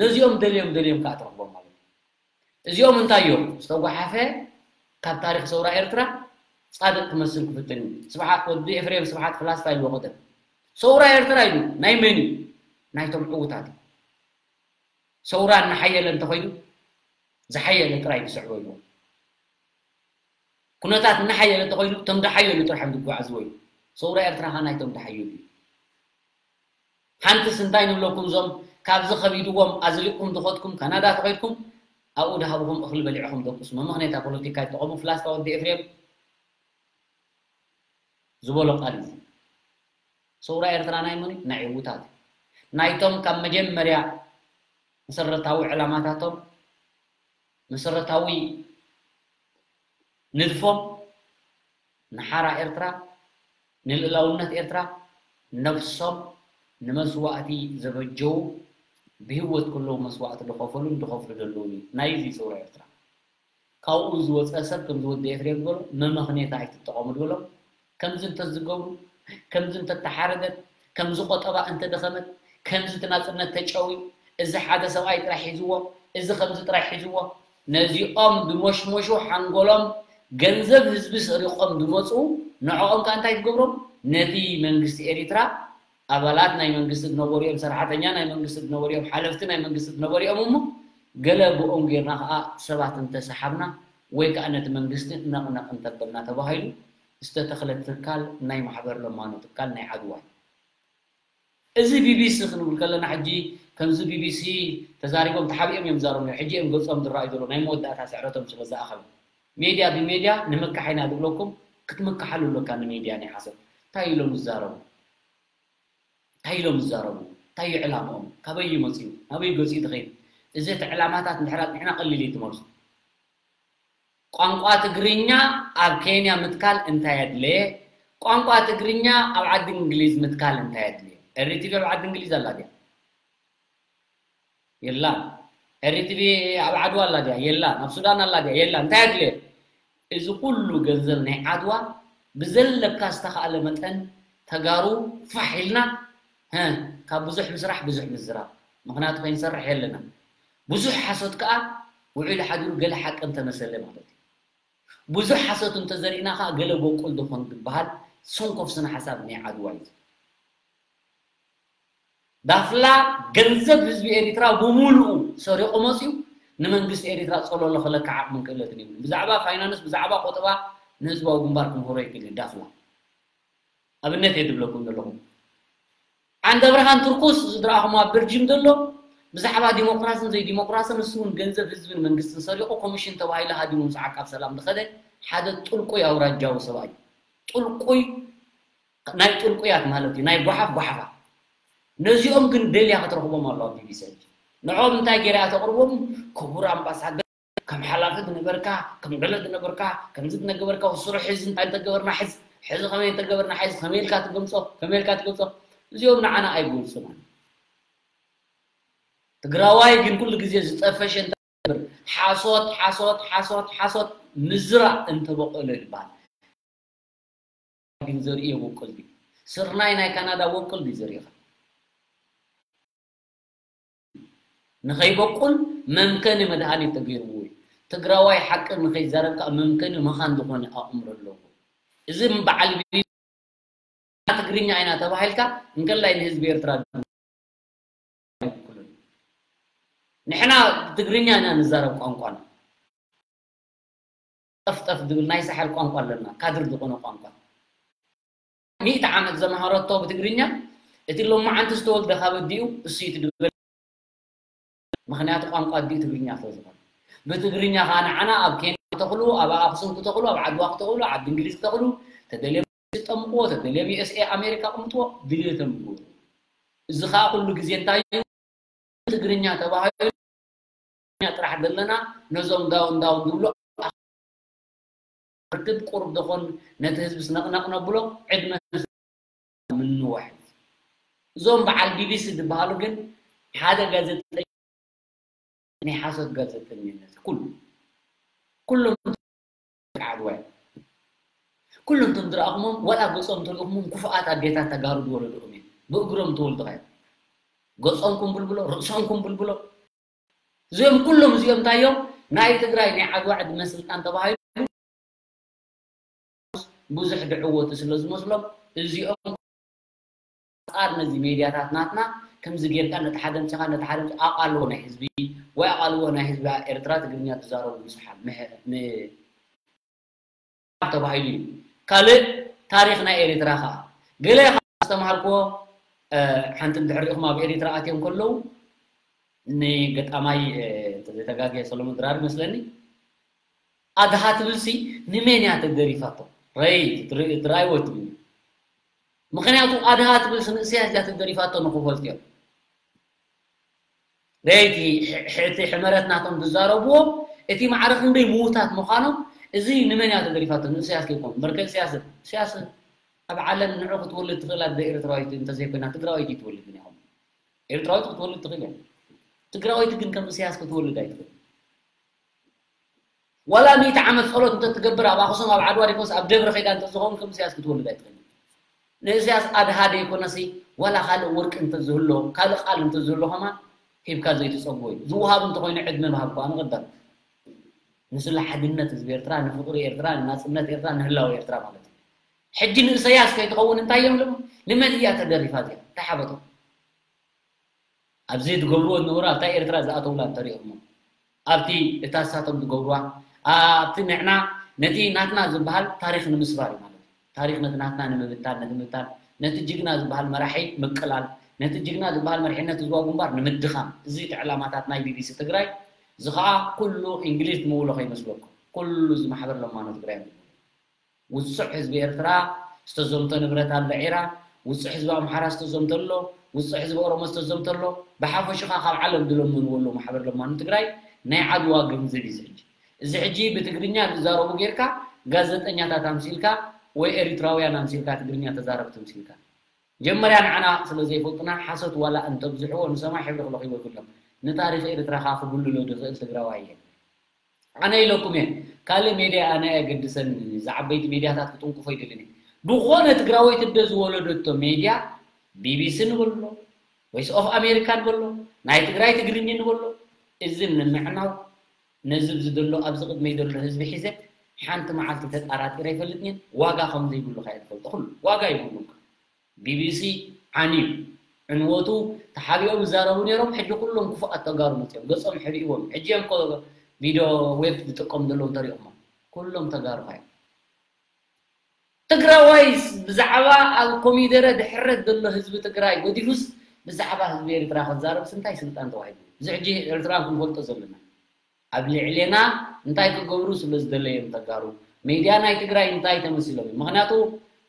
ነዚኦም ደልዮም ደልዮም ከኣ ትረኽቦም ማለት እዩ። እዚኦም እንታይ እዮም? ዝተጓሓፈ ካብ ታሪኽ ሰውራ ኤርትራ ጻድቕ ክመስል ክፍትን እዩ። ስብሓት ወዲ ኤፍሬም ስብሓት ፍላስፋ ኢልዎ ቀደም። ሰውራ ኤርትራ ኢሉ ናይ መን እዩ? ናይቶም ዕዉታት እዩ። ሰውራ እናሓየለ እንተኾይኑ ዝሓየለ ጥራይ ዝስዕቦ ኢልዎ። ኩነታት እናሓየለ እንተኾይኑ እቶም ዝሓየሉ ጥራሕ እዮም ዝጓዓዝዎ እዩ። ሰውራ ኤርትራ ኸዓ ናይቶም ዝሓየሉ እዩ። ሓንትስ እንታይ ንብለኩም፣ እዞም ካብዚ ከቢድዎም ኣዝሊቕኩም ዝኸድኩም ካናዳ ተኸድኩም ኣብኡ ድሃብኹም እኽሊ በሊዕኹም ደቁስ። መመኽነይታ ፖለቲካ ይጠቐሙ። ፍላስፋ ወዲ ኤፍሬም ዝበሎ ቃል እዩ። ሰውራ ኤርትራ ናይ መን እዩ? ናይ ዕዉታት እዩ። ናይቶም ካብ መጀመርያ መሰረታዊ ዕላማታቶም፣ መሰረታዊ ንድፎም ንሓራ ኤርትራ፣ ንልእላውነት ኤርትራ ነብሶም ንመስዋእቲ ዘበጀዉ፣ ብህይወት ከለዉ መስዋእቲ ዝኸፈሉን ዝኸፍሉ ዘለዉን እዩ። ናይዚ ሰውራ ኤርትራ ካብኡ ዝወፀ ሰብ ከምዚ ወዲ ኤፍሬም ዝበሎ መመኽኔታ ኣይትጠቐሙ ዝበሎም፣ ከምዚ እንተዝገብሩ፣ ከምዚ እንተተሓረደት፣ ከምዚ ቆጠባ እንተደኸመት፣ ከምዚ እቲ ናፅነት ተጨውዩ፣ እዚ ሓደ ሰብኣይ ጥራሕ ሒዝዎ፣ እዚ ከምዚ ጥራሕ ሒዝዎ፣ ነዚኦም ድሞሽሞሹ ሓንጎሎም ገንዘብ ህዝቢ ሰሪቖም ድመፁ፣ ንዕኦም ከ እንታይ ትገብሮም? ነቲ መንግስቲ ኤሪትራ ኣባላት ናይ መንግስቲ ዝነበሩ እዮም፣ ሰራሕተኛ ናይ መንግስቲ ዝነበሩ እዮም፣ ሓለፍቲ ናይ መንግስቲ ዝነበሩ እዮም። እሞ ገለ ብኦም ጌርና ከዓ ሰባት እንተሰሓብና ወይ ከዓ ነቲ መንግስቲ ነቕነቕ እንተበልና ተባሂሉ ዝተተኽለ ትካል ናይ ማሕበር ለማኖ ትካል ናይ ዓድዋ እዩ። እዚ ቢቢሲ ክንብል ከለና ሕጂ ከምዚ ቢቢሲ ተዛሪቦም ተሓቢኦም እዮም ዝዛረቡ ነይሩ። ሕጂ እዮም ገጾም ዝረኣዩ ዘለዉ ናይ መወዳእታ ስዕረቶም ስለ ዝኣኸለ። ሜድያ ብሜድያ ንምካሕ ኢና ዝብለኩም፣ ክትምክሓሉ ኣለካ ንሜድያ ናይ ሓሶት። እንታይ ኢሎም ዝዛረቡ? እንታይ ኢሎም ዝዛረቡ? እንታይ እዩ ዕላምኦም? ካበይ እዩ መፂኡ? ናበይ ገፂኡ ዝኸይድ? እዚ እቲ ዕላማታት እንድሕር ኣፅኒሕና ቀሊል እዩ ትመልሱ። ቋንቋ ትግርኛ ኣብ ኬንያ ምትካል እንታይ ኣድለየ? ቋንቋ ትግርኛ ኣብ ዓዲ እንግሊዝ ምትካል እንታይ ኣድለየ? ኤሪቲቪ ኣብ ዓዲ እንግሊዝ ኣላ ድያ? የላን። ኤሪቲቪ ኣብ ዓድዋ ኣላ ድያ? የላን። ኣብ ሱዳን ኣላ ድያ? የላን። እንታይ ኣድለየ? እዚ ኩሉ ገንዘብ ናይ ዓድዋ ብዘለካ ዝተኻእለ መጠን ተጋሩ ፋሕ ኢልና፣ ሀ፣ ካብ ብዙሕ ምስራሕ ብዙሕ ምዝራብ። ምኽንያቱ ከይንሰርሕ የለና። ብዙሕ ሓሶት ከኣ ውዒሉ ሓዲሩ ገለ ሓቂ እንተመሰለ ማለት እዩ። ብዙሕ ሓሶት እንተዘሪእና ከኣ ገለ በቁል ዝኾን ዝበሃል ሰንኮፍ ስነ ሓሳብ ናይ ዓድዋ እዩ። ዳፍላ ገንዘብ ህዝቢ ኤሪትራ ብምሉኡ ሰሪቑ መፅዩ ንመንግስቲ ኤሪትራ ጸሎሎ ክለካ ዓቕምን ክእለትን የብሉን። ብዛዕባ ፋይናንስ፣ ብዛዕባ ቆጠባ ንህዝባዊ ግንባር ክምህሮ ይክእል እዩ ዳፍላ። ኣብነት እየ ዝብለኩም ዘለኹ። ዓንደ ብርሃን ትርኩስ ዝድረኣኹም ኣብ በልጅም ዘሎ ብዛዕባ ዲሞክራስን ዘይዲሞክራስን ንሱ እውን ገንዘብ ህዝብን መንግስትን ሰሪቑ ኮሚሽን ተባሂሉ ሃዲሙ ምስ ዓቃብ ሰላም ዝኸደ ሓደ ጥልቁይ ኣውራጃዊ ሰብኣይ እዩ። ጥልቁይ ናይ ጥልቁያት ማለት እዩ፣ ናይ ጓሓፍ ጓሓፋ። ነዚኦም ግን ደልያ ክትረኽቦም ኣለዋ ቢቢሲ ሕጂ። ንዕኦም እንታይ ገይራ እያ ተቕርቦም? ክቡር ኣምባሳደር፣ ከም ሓላፊ ዝነበርካ፣ ከም ገለ ዝነበርካ፣ ከምዚ ዝነገበርካ፣ ስሩሕ ሕዚ እንታይ እንተገበርና ሕዝ፣ ሕዚ ከመይ እንተገበርና ሕዝ፣ ከመይ ኢልካ ትገምጾ፣ ከመይ ኢልካ ትገምጾ። እዚኦም ንዓና ኣይገልጹና። ትግራዋይ ግን ኩሉ ግዜ ዝጠፈሸ እንታይ ይገብር? ሓሶት፣ ሓሶት፣ ሓሶት፣ ሓሶት ምዝራእ እንተበቆለ ይባሃል። ግን ዘርኢ የበቁል ድዩ? ስርናይ ናይ ካናዳ በቁል ድዩ ዘሪእኻ? ንኸይበቁል መምከኒ መድሃኒት ተገይርዎ እዩ። ትግራዋይ ሓቂ ንኸይዛረብ ከዓ መምከኒ መኻን ዝኾነ ኣእምሮ ኣለዎ። እዚ በዓል ቢ-፣ ትግርኛ ኢና ተባሂልካ እንከላይ ንህዝቢ ኤርትራ ኣይውክልን። ንሕና ትግርኛ ኢና ንዛረብ ቋንቋና። ጠፍጠፍ ዝብል ናይ ሳሕል ቋንቋ ኣለና፣ ካድር ዝኾነ ቋንቋ። ሚእቲ ዓመት ዘምሃረቶ ብትግርኛ፣ እቲ ሎማዓንቲ ዝተወልደ ካብ ኣዲኡ እሱ እዩ ትድበል። ምኽንያቱ ቋንቋ ኣዲኡ ትግርኛ ስለ ዝኾነ። ብትግርኛ ኸዓ ንዓና ኣብ ኬንያ ክተኽሉ፣ ኣብ ኣኽሱም ክተኽሉ፣ ኣብ ዓድዋ ክተኽሉ፣ ኣብ እንግሊዝ ክተኽሉ፣ ተደልዮም ዝጠምቅዎ፣ ተደልዮም ዩ ኤስ ኤ ኣሜሪካ ቅምጥዎ፣ ድልየቶም ይገብሩ። እዚ ኸዓ ኩሉ ግዜ እንታይ እዩ? ትግርኛ ተባሂሉ ትግርኛ ጥራሕ ዘለና ነዞም ዳውን ዳውን ዝብሉ ርክብ ቁሩብ ደኾን ነቲ ህዝቢ ስነቕነቕ ነብሎ ዕድመ ምንዋሕ እዩ። እዞም በዓል ቢቢሲ ዝበሃሉ ግን ሓደ ጋዜጠኛ ናይ ሓሶት ጋዜጠኝነት ኩሉ ኩሎም ዓድዋ እዮም። ኩሎም እቶም ዝረኣኹሞም ዋላ ገጾም ተሪእኹሞም ክፉኣት ኣዴታት ተጋሩ ዝወለድኹም እዮም። ብእግሮም ተወልድኻ እዮም። ገጾም ኩምብልብሎ፣ ርእሶም ኩምብልብሎ። እዚኦም ኩሎም እዚኦም እንታይ እዮም? ናይ ትግራይ ናይ ዓድዋ ዕድመ ስልጣን ተባሂሉ ብዙሕ ድዕወቱ ስለ ዝመስሎም እዚኦም ኣንጻር ነዚ ሜድያታት ናትና ከምዚ ጌርካ ነቲ ሓደ ኣምጺኻ ነቲ ሓደ ኣምጺ-፣ ኣቓልቦ ናይ ህዝቢ ወይ ኣቓልቦ ናይ ህዝቢ ኤርትራ ትግርኛ ትዛረቡ ብዙሓት ምሕ-፣ ም-፣ ተባሂሉ እዩ። ካልእ ታሪኽ ናይ ኤርትራ ኸኣ ገለ ካብ ዝተምሃርክዎ፣ እ፣ ሓንቲ እንድሕር ሪእኹም ኣብ ኤርትራ ኣትዮም ከለዉ ንገጣማይ፣ እ፣ እንተዘይተጋግየ ሰሎሞን ድራር ይመስለኒ ኣድሃ ትብልሲ ንመን እያ ተደሪፋቶ? ረይ ትር-፣ ትርኣይዎ ትብሉ። ምኽንያቱ ኣድሃ ትብልሲ ንእስያስ እያ ተደሪፋቶ ንኽፈልጥዮ። ረይቲ ሕ-፣ እቲ ሕመረት ናቶም ዝዛረብዎ እቲ ማዕረ ክንደይ ምዉታት ምዃኖም እዚ ንመን እያ ተደሪፋቶ? ንእስያስ ከይኮኑ። እምበር ከ እስያስ፣ እስያስ ኣብ ዓለም ንዑ ክትወልድ ትኽእል ኣደ ኤርትራዊት እንተዘይኮይና ትግራወይቲ ትወልድ ግን ኢኹም። ኤርትራዊት ክትወልድ ትኽእል እያ። ትግራወይቲ ግን ከም እስያስ ክትወልድ ኣይትኽእል። ዋላ ሚእቲ ዓመት ጸሎት እንተትገብር ኣብ ኣኽሱም ኣብ ዓድዋ ዲኮስ ኣብ ደብረ ኸይዳ እንተዝኸውን ከም እስያስ ክትወልድ ኣይትኽእል። ንእስያስ ኣድሃ ደይኮነሲ ዋላ ካልእ ወርቂ እንተዝህሎ ካልእ ቃል እንተዝህሎ ከማን ሂብካ ዘይትጸግቦ እዩ። ዝወሃብ እንተኾይኑ ዕድመ ምሃብ እኳ ንቕደም። ንስለ ሓድነት ህዝቢ ኤርትራ፣ ንፍቕሪ ኤርትራ፣ ንናጽነት ኤርትራ፣ ንህላወ ኤርትራ ማለት እዩ። ሕጂ ንእሰያስ ከይትኸውን እንታይ እዮም ልቡ? ንመን እያ ተደሪፋ እዚኣ? እንታይ ሓበጦም? ኣብዚ ዝገብርዎ ዝነበሩ ኣብታ ኤርትራ ዝኣተውላ እንተሪኦሞ ኣብቲ እታ እሳቶም ዝገብርዋ ኣብቲ ንዕና ነቲ ናትና ዝበሃል ታሪኽ ንምስባር እዩ ማለት እዩ። ታሪኽ ነቲ ናትና ንምብታን፣ ነቲ ምብታን፣ ነቲ ጅግና ዝበሃል መራሒ ምቅላል፣ ነቲ ጅግና ዝበሃል መሪሕነት ህዝባዊ ግንባር ንምድኻም። እዚ እቲ ዕላማታት ናይ ቢቢሲ ትግራይ። እዚ ኸኣ ኩሉ እንግሊዝ ትምውሎ ከይመስለኩም። ኩሉ እዚ ማሕበር ለማኖ ትግራይ እዩ። ውጹዕ ህዝቢ ኤርትራ ዝተዘምቶ ንብረት ኣሎ ዒራ፣ ውጹዕ ህዝቢ ኣምሓራ ዝተዘምቶ ኣሎ፣ ውጹዕ ህዝቢ ኦሮሞ ዝተዘምቶ ኣሎ፣ ብሓፈሽኻ ካብ ዓለም ዝለመንዎ ኣለዉ ማሕበር ለማኒ ትግራይ ናይ ዓድዋ ገንዘብ እዩ እዚ ሕጂ። እዚ ሕጂ ብትግርኛ ዝዛረቡ ጌርካ ጋዜጠኛታት ኣምሲልካ ወይ ኤሪትራውያን ኣምሲልካ ትግርኛ ተዛረብቲ ኣምሲልካ። ጀመርያ ንዓና ስለ ዘይፈልጡና ሓሶት ዋላ እንተብዝሕዎ ንሰማይ ሕብሪ ክለኽይዎ ይብሎም። ንታሪኽ ኤርትራ ከኣ ክጉልሎ ዝኽእል ትግራዋይ እየ። ኣነ ኢለኩም እየ። ካልእ ሜድያ ኣነ ኣየገድሰኒ። ዝዓበይቲ ሜድያታት ክጥንቁፎ ይደልን እየ። ብኾነ ትግራወይቲ እደ ዝወለደቶ ሜድያ ቢቢሲ ንበሎ፣ ቮይስ ኦፍ ኣሜሪካ ንበሎ፣ ናይ ትግራይ ትግርኝ ንበሎ። እዚ ንምዕናው ነዚ ኣብዚ ዘሎ ኣብዚ ቅድመይ ዘሎ ህዝቢ ሒዘ ሓንቲ መዓልቲ ተጣራጢረ ኣይፈልጥን እየ። ዋጋ ከም ዘይብሉ ከኣ ትፈልጦ ኩሉ ዋጋ ይብሉ። ቢቢሲ ዓንዩ ዕንወቱ ተሓቢኦም ይዛረቡ ነይሮም። ሕጂ ኩሎም ክፉኣት ተጋሩ መፅዮም ገፆም ሕብእዎም። ሕጂ እዮም እኮ ቪድዮ ዌብ ዝጥቀሙ ዘለዉ እንተሪኦሞ ኩሎም ተጋሩ ካዮም። ትግራዋይስ ብዛዕባ ኣብ ኮሚደረ ድሕረት ዘሎ ህዝቢ ትግራይ ገዲፉስ ብዛዕባ ህዝቢ ኤርትራ ክዛረብስ እንታይ ስልጣን ተዋሂቡ? እዚ ሕጂ ኤርትራን ክንፈልጦ ዘለና። ኣብ ልዕሌና እንታይ ክገብሩ ስለ ዝደለዮም ተጋሩ? ሜድያ ናይ ትግራይ እንታይ ተመሲሎም እዮም? ምኽንያቱ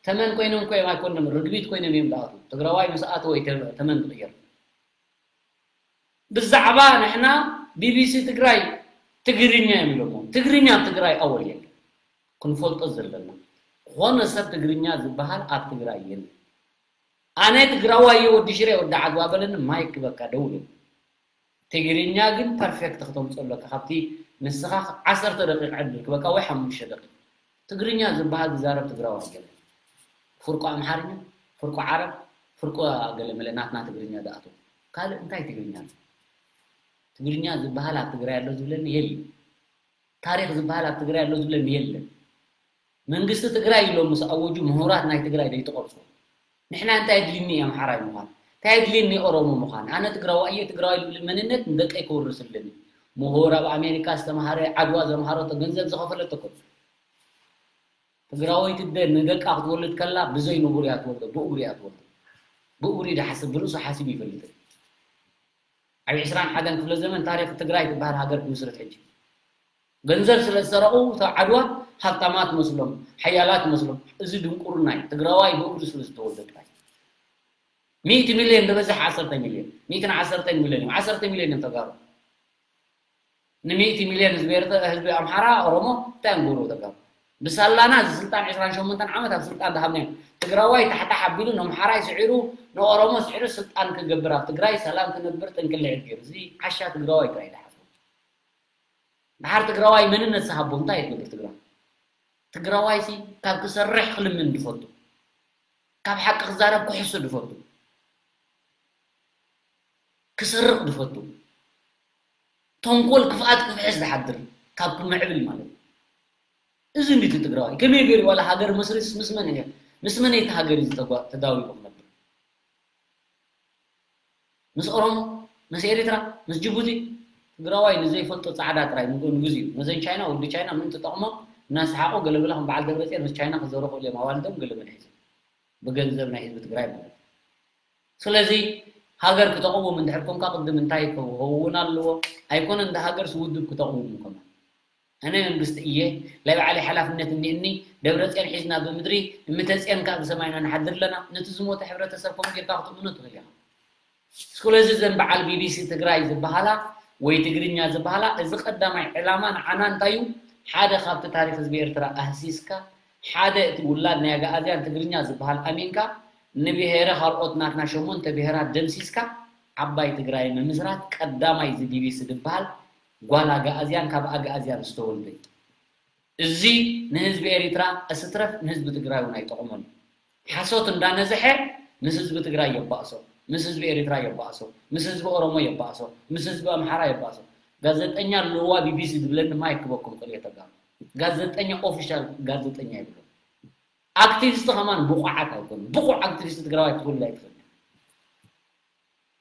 ተመን ኮይኖም እኮ እዮም ኣይኮንም፣ ርግቢት ኮይኖም እዮም ዝኣትዉ። ትግራዋይ ምስ ኣተወ እዩ ተ-፣ ተመን ዝቕየር። ብዛዕባ ንሕና ቢቢሲ ትግራይ ትግርኛ እዮም ኢሎሞ። ትግርኛ ኣብ ትግራይ ኣወል የለን። ክንፈልጦ ዘለና። ዝኾነ ሰብ ትግርኛ ዝበሃል ኣብ ትግራይ የለን። ኣነ ትግራዋይ እየ ወዲ ሽረ ወዲ ዓድዋ በለኒ ማይክ በቃ ደውል። ትግርኛ ግን ፐርፌክት ክተምፅኦ ኣለካ። ካብቲ ንስኻ ዓሰርተ ደቂቕ ዕድል ክበካ ወይ ሓሙሽተ ደቂቕ። ትግርኛ ዝበሃል ዝዛረብ ትግራዋይ የለን። ፍርቁ ኣምሓርኛ፣ ፍርቁ ዓረብ፣ ፍርቁ ገለ መለ ናትና ትግርኛ ዝኣተው። ካልእ እንታይ ትግርኛ ኣሎ? ትግርኛ ዝበሃል ኣብ ትግራይ ኣሎ ዝብለኒ የለን። ታሪኽ ዝበሃል ኣብ ትግራይ ኣሎ ዝብለኒ የለን። መንግስቲ ትግራይ ኢሎም ምስ ኣወጁ ምሁራት ናይ ትግራይ ዘይትቐርፁ። ንሕና እንታይ ኣድልኒ ኣምሓራይ ምዃን? እንታይ ኣድልኒ ኦሮሞ ምዃን? ኣነ ትግራዋይ እየ፣ ትግራዋይ ዝብል መንነት ንደቀይ ክውርስ ኣለኒ። ምሁር ኣብ ኣሜሪካ ዝተምሃረ፣ ዓድዋ ዘምሃረቶ፣ ገንዘብ ዝኸፈለቶ እኮ። ትግራወይቲ እደ ንደቃ ክትወልድ ከላ ብዘይ ንቡር እያ ትወልዶ፣ ብእግሩ እያ ትወልዶ። ብእግሩ እዩ ዝሓስብ፣ ብርእሱ ሓሲቡ ይፈልጥ። ኣብ ዕስራን ሓደን ክፍለ ዘመን ታሪኽ ትግራይ ትበሃል ሃገር ክምስርት ሕጂ። ገንዘብ ስለ ዝሰረቑ እቶም ዓድዋ ሃብታማት መስሎም፣ ሓያላት መስሎም። እዚ ድንቁርና እዩ። ትግራዋይ ብእግሩ ስለ ዝተወልደ ጥራይ። ሚእቲ ሚልዮን ዝበዝሕ ዓሰርተ ሚልዮን፣ ሚእትን ዓሰርተን ሚልዮን እዮም። ዓሰርተ ሚልዮን እዮም ተጋሩ። ንሚእቲ ሚልዮን ህዝቢ ኤርትራ፣ ህዝቢ ኣምሓራ፣ ኦሮሞ እንታይ እዮም ዝገብሩ ተጋሩ? ብሳላና እዚ ስልጣን ዕስራን ሸሞንተን ዓመት ኣብ ስልጣን ዝሃብናዮም። ትግራዋይ ታሕታሕ ኣቢሉ ንኣምሓራይ ስዒሩ፣ ንኦሮሞ ስዒሩ ስልጣን ክገብር ኣብ ትግራይ ሰላም ክነብር ጥንቅልዒት ገይሩ። እዚ ዓሻ ትግራዋይ ጥራይ ዝሓስቦ። ድሓር ትግራዋይ መንነት ዝሃቦ እንታይ ይገብር ትግራዋይ? ትግራዋይ ሲ ካብ ክሰርሕ ክልምን ድፈቱ፣ ካብ ሓቂ ክዛረብ ክሕሱ ድፈቱ፣ ክሰርቕ ድፈቱ፣ ተንኮል ክፍኣት ክፍሕስ ዝሓድር ካብ ክምዕብል ማለት እዩ። እዚ እንዲቲ ትግራዋይ ከመይ ገይሩ ዋላ ሃገር መስሪስ ምስ መን እየ ምስ መን እቲ ሃገር እዩ ዝተጓ- ተዳዊቑ ክነብር? ምስ ኦሮሞ፣ ምስ ኤርትራ፣ ምስ ጅቡቲ? ትግራዋይ ንዘይፈልጦ ፃዕዳ ጥራይ ንግኡ ንግዙ እዩ። ነዘን ቻይና ወዲ ቻይና ምእንቲ ጠቕሞም እናሰሓቑ ገለገለ ከም በዓል ደብረፅዮን ምስ ቻይና ክዘረፉ እዮም ኣዋልዶም ገለ መድሒዞም ብገንዘብ ናይ ህዝቢ ትግራይ ማለት እዩ። ስለዚ ሃገር ክተቕውም እንድሕር ኮንካ ቅድም እንታይ ክኸውን ኣለዎ? ኣይኮነን እንደ ሃገርስ ውድብ ክተቕውም ከማ ኣነ መንግስቲ እየ ናይ ባዕለይ ሓላፍነት እኒእኒ ደብረፅዮን ሒዝና ብምድሪ እምተፅዮን ከዓ ብሰማይና ንሓድር ኣለና። ነቲ ዝሞተ ሕብረተሰብ ከምኡ ጌርካ ክትእምኖ ትኽእል ኢኻ። ስለዚ እዘን በዓል ቢቢሲ ትግራይ ዝበሃላ ወይ ትግርኛ ዝበሃላ እዚ ቀዳማይ ዕላማ ንዓና እንታይ እዩ? ሓደ ካብቲ ታሪክ ህዝቢ ኤርትራ ኣህሲስካ ሓደ እቲ ውላድ ናይ ኣግኣዝያን ትግርኛ ዝበሃል ኣሚንካ ንብሄረ ካልኦት ናትና ሸሞንተ ብሄራት ደምሲስካ ዓባይ ትግራይ ምምስራት ቀዳማይ እዚ ቢቢሲ ዝበሃል ጓል ኣግኣዝያን ካብ ኣግኣዝያን ዝተወልደ እዩ። እዚ ንህዝቢ ኤሪትራ እስትረፍ ንህዝቢ ትግራይ እውን ኣይጠቕሞን እዩ። ሓሶት እንዳነዝሐ ምስ ህዝቢ ትግራይ የባእሶ፣ ምስ ህዝቢ ኤሪትራ የባእሶ፣ ምስ ህዝቢ ኦሮሞ የባእሶ፣ ምስ ህዝቢ ኣምሓራ የባእሶ። ጋዜጠኛ ኣለዋ ቢቢሲ ዝብለኒ ማይክ ክበኩም ክልኤ ተጋሩ። ጋዜጠኛ ኦፊሻል ጋዜጠኛ ይብሎ። ኣክቲቪስት ከማን ብቑዓት ኣይኮኑን። ብቑዕ ኣክቲቪስት ትግራዋይ ክትወልድ ኣይትኽእል።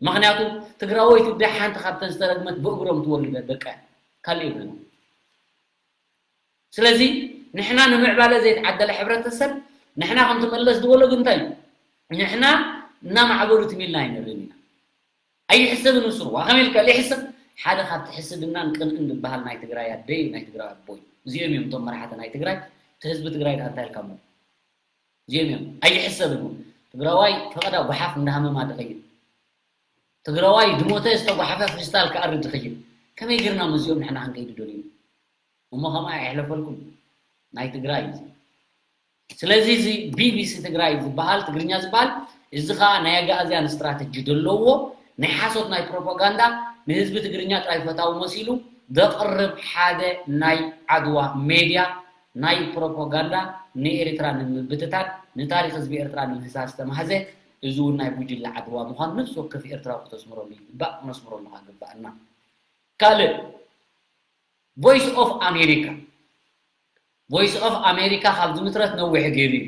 ምክንያቱ ትግራወይቲ ደ ሓንቲ ካብተን ዝተረግመት ብእግሮም ትወልደ ደቀ ካልእ ይብለና። ስለዚ ንሕና ንምዕባለ ዘይተዓደለ ሕብረተሰብ ንሕና ከም ትመለስ ዝበሎ ግን እንታይ እዩ? ንሕና እናማዕበሉ ትም ኢልና ኣይንርእን ኢና። ኣይሕሰብን ንሱ ዋ ከመይ ኢልካ ይሕሰብ? ሓደ ካብቲ ሕስድናን ቅንእን ዝበሃል ናይ ትግራይ ኣደይ ናይ ትግራይ ኣቦይ እዚኦም እዮም እቶም መራሕቲ ናይ ትግራይ። እቲ ህዝቢ ትግራይ ደኣ እንታይ ኢልካ እሞ እዚኦም እዮም ኣይሕሰብን እውን ትግራዋይ ፈቐዳ ጓሓፍ እንዳሃመማ ድኸይድ ትግራዋይ ድሞተ ዝተጓሓፈ ክሪስታል ክኣርድ ዝኽይድ ከመይ ጌርና ምስዚኦም ንሕና ክንከይድ ደልዩ እሞ ከምኣ የሕለፈልኩም ናይ ትግራይ እዩ። ስለዚ እዚ ቢቢሲ ትግራይ ዝበሃል ትግርኛ ዝበሃል እዚ ከዓ ናይ ኣጋእዝያን ስትራተጂ ዘለዎ ናይ ሓሶት ናይ ፕሮፓጋንዳ ንህዝቢ ትግርኛ ጥራይ ፈታዊ መሲሉ ዘቕርብ ሓደ ናይ ዓድዋ ሜድያ ናይ ፕሮፓጋንዳ ንኤርትራ ንምብትታን ንታሪክ ህዝቢ ኤርትራ ንምህሳስ ዝተማህዘ እዚ እውን ናይ ጉጅለ ዓድዋ ምዃኑ ነፍሲ ወከፍ ኤርትራዊ ክተስምረሉ ይግባእ ክነስምረሉ ከዓ ግባእና። ካልእ ቮይስ ኦፍ ኣሜሪካ ቮይስ ኦፍ ኣሜሪካ ካብ ዝምስረት ነዊሕ ገይሩ እዩ።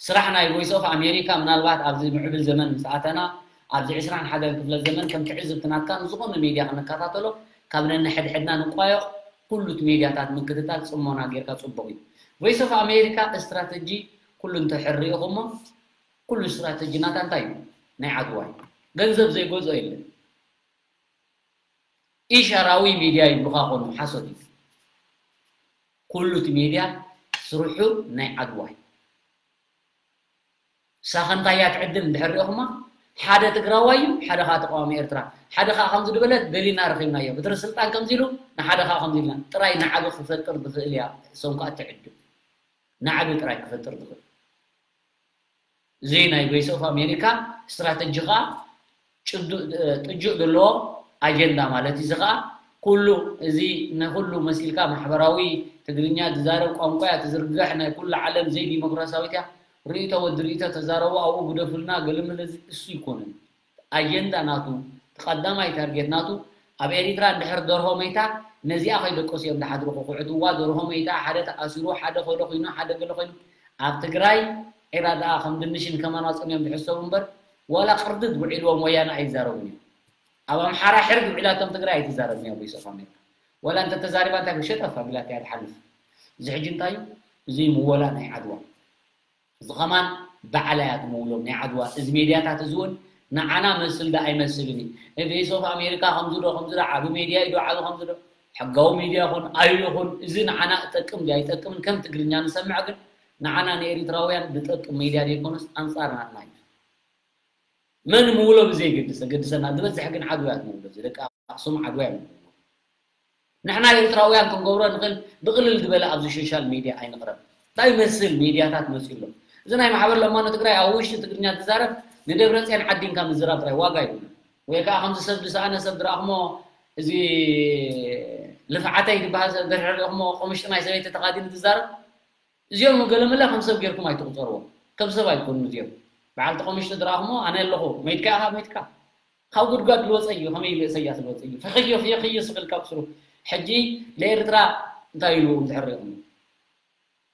ስራሕ ናይ ቮይስ ኦፍ ኣሜሪካ ምናልባት ኣብዚ ምዕብል ዘመን ምስ ኣተና ኣብዚ ዕስራን ሓደን ክፍለ ዘመን ከም ትዕዝብቲ ናትካ ንዝኾነ ሜድያ ክንከታተሎ ካብ ነንሕድሕድና ንቋየቕ ኩሉ እቲ ሜድያታት ምክትታል ፅሞና ጌርካ ፅቡቕ እዩ። ቮይስ ኦፍ ኣሜሪካ ስትራተጂ ኩሉ እንተሕር ርኢኹሞ ኩሉ ስትራተጂ ናታ እንታይ እዩ? ናይ ዓድዋ እዩ። ገንዘብ ዘይገዝኦ የለን። ኢሻራዊ ሚድያ ይብሉኻ ኮኑ ሓሶት እዩ። ኩሉ እቲ ሚድያ ስርሑ ናይ ዓድዋ እዩ። ሳኸንታያ ትዕድል እንድሕር ሪኦኹማ ሓደ ትግራዋይ እዩ ሓደ ከዓ ተቃዋሚ ኤርትራ ሓደ ከዓ ከምዚ ዝበለት ደሊና ረኺብናዮ ብትሪ ስልጣን ከምዚ ኢሉ ንሓደ ከዓ ከምዚ ኢልና ጥራይ ንዓቢ ክፈጥር ዝኽእል እያ እሶም ከዓ ትዕድል ንዓቢ ጥራይ ክፈጥር ዝኽእል እዚ ናይ ቮይስ ኦፍ ኣሜሪካ ስትራተጂ ከዓ ጥጁእ ዘለዎ ኣጀንዳ ማለት እዚ ከዓ ኩሉ እዚ ንኩሉ መሲልካ ማሕበራዊ ትግርኛ ዝዛረብ ቋንቋ እያ ትዝርግሕ ናይ ኩሉ ዓለም ዘይዲሞክራሲያዊት እያ ርእይቶ ወዲ ርእይቶ ተዛረቡ ኣብኡ ግደፉልና ገለመለ እዚ እሱ ይኮንን ኣጀንዳ ናቱ እቲ ቀዳማይ ታርጌት ናቱ ኣብ ኤሪትራ እንድሕር ደርሆ መይታ ነዚኣ ከይደቀሱ እዮም ዝሓድሩ ክኩዕትዋ ደርሆ መይታ ሓደ ተኣሲሩ ሓደ ከሎ ኮይኑ ሓደ ገለ ኮይኑ ኣብ ትግራይ ዒራ ደኣ ከም ድንሽን ከማን ኣፅምዮም ዝሕሰቡ እምበር ዋላ ቅርድድ ውዒልዎም ወያነ ኣይዛረቡን እዮም ኣብ ኣምሓራ ሕርድ ውዒላቶም ትግራይ ኣይትዛረብን እያ ቮይስ ኦፍ ኣሜሪካ ዋላ እንተተዛሪባ እንታይ ሸጠፍ ኣቢላት እያ ትሓልፍ እዚ ሕጂ እንታይ እዩ እዚ ምወላ ናይ ዓድዋ እዚ ከማን ባዕላ እያ ትምውሎም ናይ ዓድዋ እዚ ሜድያታት እዚ እውን ንዓና መስል ዶ ኣይመስልን እዩ ቮይስ ኦፍ ኣሜሪካ ከምዚ ዶ ከምዚ ዶ ዓቢ ሜድያ እዩ ዶ ዓቢ ከምዚ ዶ ሕጋዊ ሜድያ ይኹን ኣዩ ይኹን እዚ ንዓና እጠቅም ድዩ ኣይጠቅምን ከም ትግርኛ ንሰምዕ ግን ንዓና ንኤሪትራውያን ዝጠቅም ሜድያ ዘይኮነስ ኣንፃር ናትና እዩ መን ምውሎ ብዘይገድስ ዘገድሰና ዝበዝሕ ግን ዓድዋ እያ ትምውሎ እዚ ደቂ ኣክሱም ዓድዋ እያ ምውሎ ንሕና ኤርትራውያን ክንገብሮ ንኽእል ብቕልል ዝበለ ኣብዚ ሶሻል ሚድያ ኣይንቕረብ እንታይ ይመስል ሚድያታት መፂኡ ኣሎ እዚ ናይ ማሕበር ለማኖ ትግራይ ኣብ ውሽጢ ትግርኛ ትዛረብ ንደብረፅዮን ዓዲንካ ምዝራብ ጥራይ ዋጋ ይብሉ ወይ ከዓ ከምዚ ሰብ ዝሰኣነ ሰብ ዝረኣኽሞ እዚ ልፍዓተይ ዝበሃል ሰብ እንድሕር ርኢኹሞ፣ ቆምሽጢ ናይ ሰበይቲ ተኻዲኑ ዝዛረብ፣ እዚኦም ገለመለ ከም ሰብ ጌርኩም ኣይትቑጸርዎም። ከም ሰብ ኣይኮኑን እዚኦም። በዓልቲ ቆምሽጢ ዝረኣኹሞ፣ ኣነ ኣለኹ፣ መይትካ ኢኻ፣ መይትካ። ካብ ጉድጓድ ልወፀ እዩ፣ ከመይ ኢሉ ኢሰያስ ልወፀ እዩ። ፈኽዮ፣ ፍዮ፣ ክዮ ስብል ካብ ስሩ። ሕጂ ንኤርትራ እንታይ ኢሉ እንድሕር ርኢኹሞ?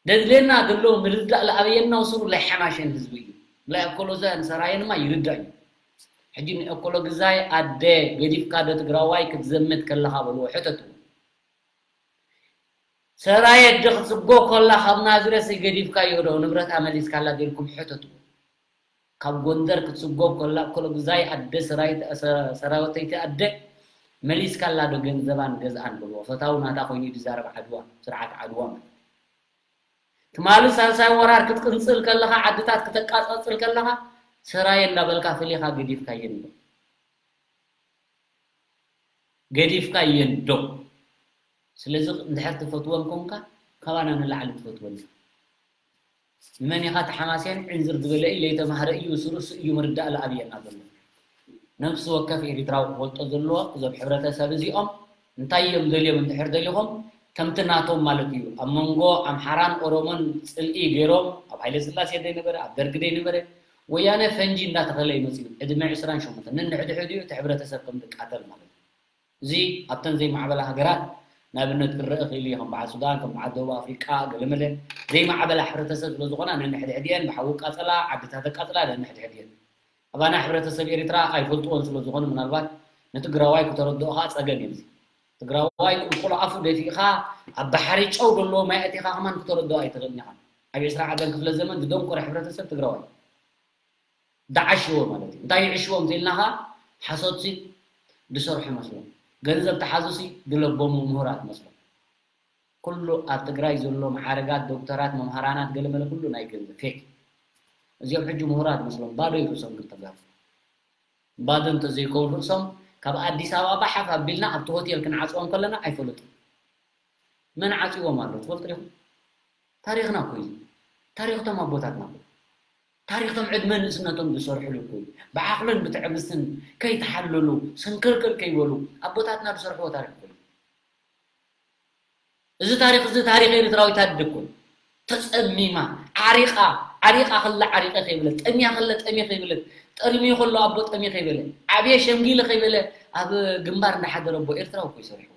ደድልየና ዘሎ ምርዳእ ለኣበየና ስሩ ላይ ሓማሸን ህዝቢ እዩ። ላይ ኣኮሎዛን ሰራየንማ ይርዳእ እዩ። ሕጂ ንኣኮሎ ግዛይ ኣደ ገዲፍካ ዶ ትግራዋይ ክትዘምት ከለኻ በልዎ፣ ሕተትዎ። ሰራየ ኣደ ክትስጎ ከላ ካብ ናዝሬት ገዲፍካዮ ዶ ንብረታ መሊስካላ ጌርኩም ሕተትዎ። ካብ ጎንደር ክትስጎ ከላ ኣኮሎ ግዛይ ኣደ ሰራዊት፣ ሰ-፣ ሰራዊተይቲ ኣደ መሊስካላ ዶ ገንዘባን ገዝኣን በልዎ። ፈታው ናታ ኮይኑ እዩ ዝዛረብ ዓድዋ፣ ስርዓት ዓድዋ ማለት። ትማሊ ሳልሳይ ወራር ክትቅንጽል ከለኻ፣ ዓድታት ክተቃጻጽል ከለኻ፣ ሰራየ እንዳበልካ ፍሊኻ ገዲፍካየን ዶ? ገዲፍካየን ዶ? ስለዚ እንድሕር ትፈትወን ኮንካ፣ ካባና ንላዕሊ ትፈትወን ኢኻ። ንመን ኢኻ ተሓማስየን? ዕንዝር ዝበለ እዩ፣ ለይተማህረ እዩ፣ ስሩስ እዩ ምርዳእ ለኣብየና ዘሎ። ነፍሲ ወከፍ ኤሪትራዊ ክፈልጦ ዘለዎ፣ እዞም ሕብረተሰብ እዚኦም እንታይ እዮም ደልዮም እንድሕር ደሊኹም፣ ከምቲ ናቶም ማለት እዩ። ኣብ መንጎ ኣምሓራን ኦሮሞን ጽልኢ ገይሮም፣ ኣብ ሃይለ ስላሴ ዘይነበረ፣ ኣብ ደርጊ ዘይነበረ፣ ወያነ ፈንጂ እንዳተኸለ ይመጽኡ። ዕድመ ዕስራን ሸሞንተን ነንሕድሕዱ እዩ እቲ ሕብረተሰብ ከም ዝቃተል ማለት እዩ። እዚ ኣብተን ዘይማዕበላ ሃገራት ንኣብነት ክረአ ክእል እዩ፣ ከም በዓል ሱዳን፣ ከም በዓል ደቡብ ኣፍሪቃ፣ ገለመለ ዘይማዕበላ ሕብረተሰብ ስለ ዝኾና ነንሕድሕድየን ብሓዊ ቃጸላ፣ ዓድታት ኣቃጽላ ነንሕድሕድየን። ኣባና ሕብረተሰብ ኤርትራ ኣይፈልጥዎን ስለ ዝኾኑ ምናልባት ንትግራዋይ ክተረድኦ ኸዓ ጸገም እዩ። እዚ ትግራዋይ ቁልቁል ኣፉ ደፊእኻ ኣብ ባሕሪ ጨው ዘለዎ ማይ ኣቲኻ ከማን ክተረድኦ ኣይትኽእልን ኢኻ። ኣብ ዕስራ ዓደን ክፍለ ዘመን ዝደንቆረ ሕብረተሰብ ትግራዋይ። ዳዓሽዎ ማለት እዩ። እንታይ ይዕሽዎም እንተኢልና ኸዓ ሓሶትሲ ድሰርሑ መስሎም። ገንዘብ ተሓዙሲ ድለቦሙ ምሁራት መስሎም። ኩሉ ኣብ ትግራይ ዘሎ መዓረጋት፣ ዶክተራት፣ መምሃራናት፣ ገለመለ ኩሉ ናይ ገንዘብ ፌክ። እዚኦም ሕጂ ምሁራት መስሎም፣ ባዶ እዩ ርእሶም ክልተ ጋር። ባዶ እንተዘይከውን ርእሶም ካብ ኣዲስ ኣበባ ባሓፍ ኣቢልና ኣብቲ ሆቴል ክንዓፅዎም ከለና ኣይፈለጡን። መን ዓፅዎም ኣሎ ትፈልጡ ዲኹም? ታሪኽና እኮ እዩ። ታሪኽቶም ኣቦታትና እኮ። ታሪኽቶም ዕድመ ንእስነቶም ዝሰርሕሉ እኮ እዩ። ብዓቕልን ብትዕግስትን ከይተሓለሉ፣ ስንክልክል ከይበሉ ኣቦታትና ዝሰርሕዎ ታሪኽ እኮ እዩ። እዚ ታሪኽ እዚ ታሪኽ ኤርትራዊት ኣደ እኮ እዩ። ተጸሚማ፣ ዓሪቓ፣ ዓሪቓ ከላ ዓሪቐ ከይበለት፣ ጠምያ ከላ ጠምየ ከይበለት፣ ጠርምዩ ከሎ ኣቦ ጠምየ ከይበለ፣ ዓብየ ሸምጊለ ከይበለ፣ ኣብ ግንባር እንዳሓደረ ኣቦ ኤርትራዊ እኮ እዩ ሰሪሕዎ።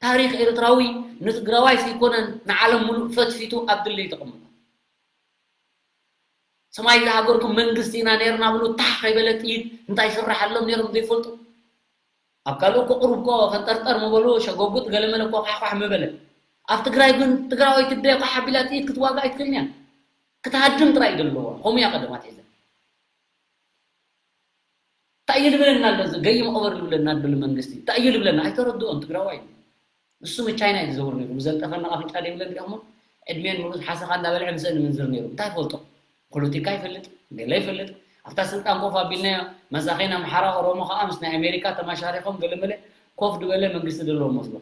ታሪኽ ኤርትራዊ ንትግራዋይ ዘይኮነን ንዓለም ሙሉእ ፈትፊቱ ኣብ ድልድል ተቐመጠ። ሰማይ ዝሃገርኩም መንግስቲ ኢና ነርና ብሉ ታሕ ከይበለ ጥይት እንታይ ይስራሓሎም ነሮም ዘይፈልጡ? ኣብ ካልእ እኮ ቁሩብ እኮ ፈንጠርጠር ምበሉ ሸጎጉጥ ገለመለ እኮ ኳሕኳሕ ምበለ። ኣብ ትግራይ ግን ትግራዋይ ትደ ኳሕ ኣቢላ ጥይት ክትዋጋ ኣይትክእልን እያ። ክትሃድም ጥራይ እዩ ዘለዋ። ከምኡ እያ ቀደም ኣትሒዛ። እንታይ እዩ ልብለና ኣሎ? እዚ ገይም ኦቨር ልብለና ኣሎ መንግስቲ። እንታይ እዩ ልብለና? ኣይተረድኦን ትግራዋይ። ንሱ ምስ ቻይና እዩ ዝዘውር ነይሩ። ብዘልጠፈና ኣፍንጫ ዘይብለን ሪኦሞ ዕድሜን ሙሉእ ሓሰኻ እንዳበልዐ ምስአን ምንዝር ነይሩ። እንታይ ፈልጦ? ፖለቲካ ይፈልጥ፣ ገለ ይፈልጥ። ኣብታ ስልጣን ኮፍ ኣቢልናዮ መሳኺን ኣምሓራ ኦሮሞ ከዓ ምስ ናይ ኣሜሪካ ተማሻሪኾም ገለመለ ኮፍ ዝበለ መንግስቲ ዘለዎ መስሎ።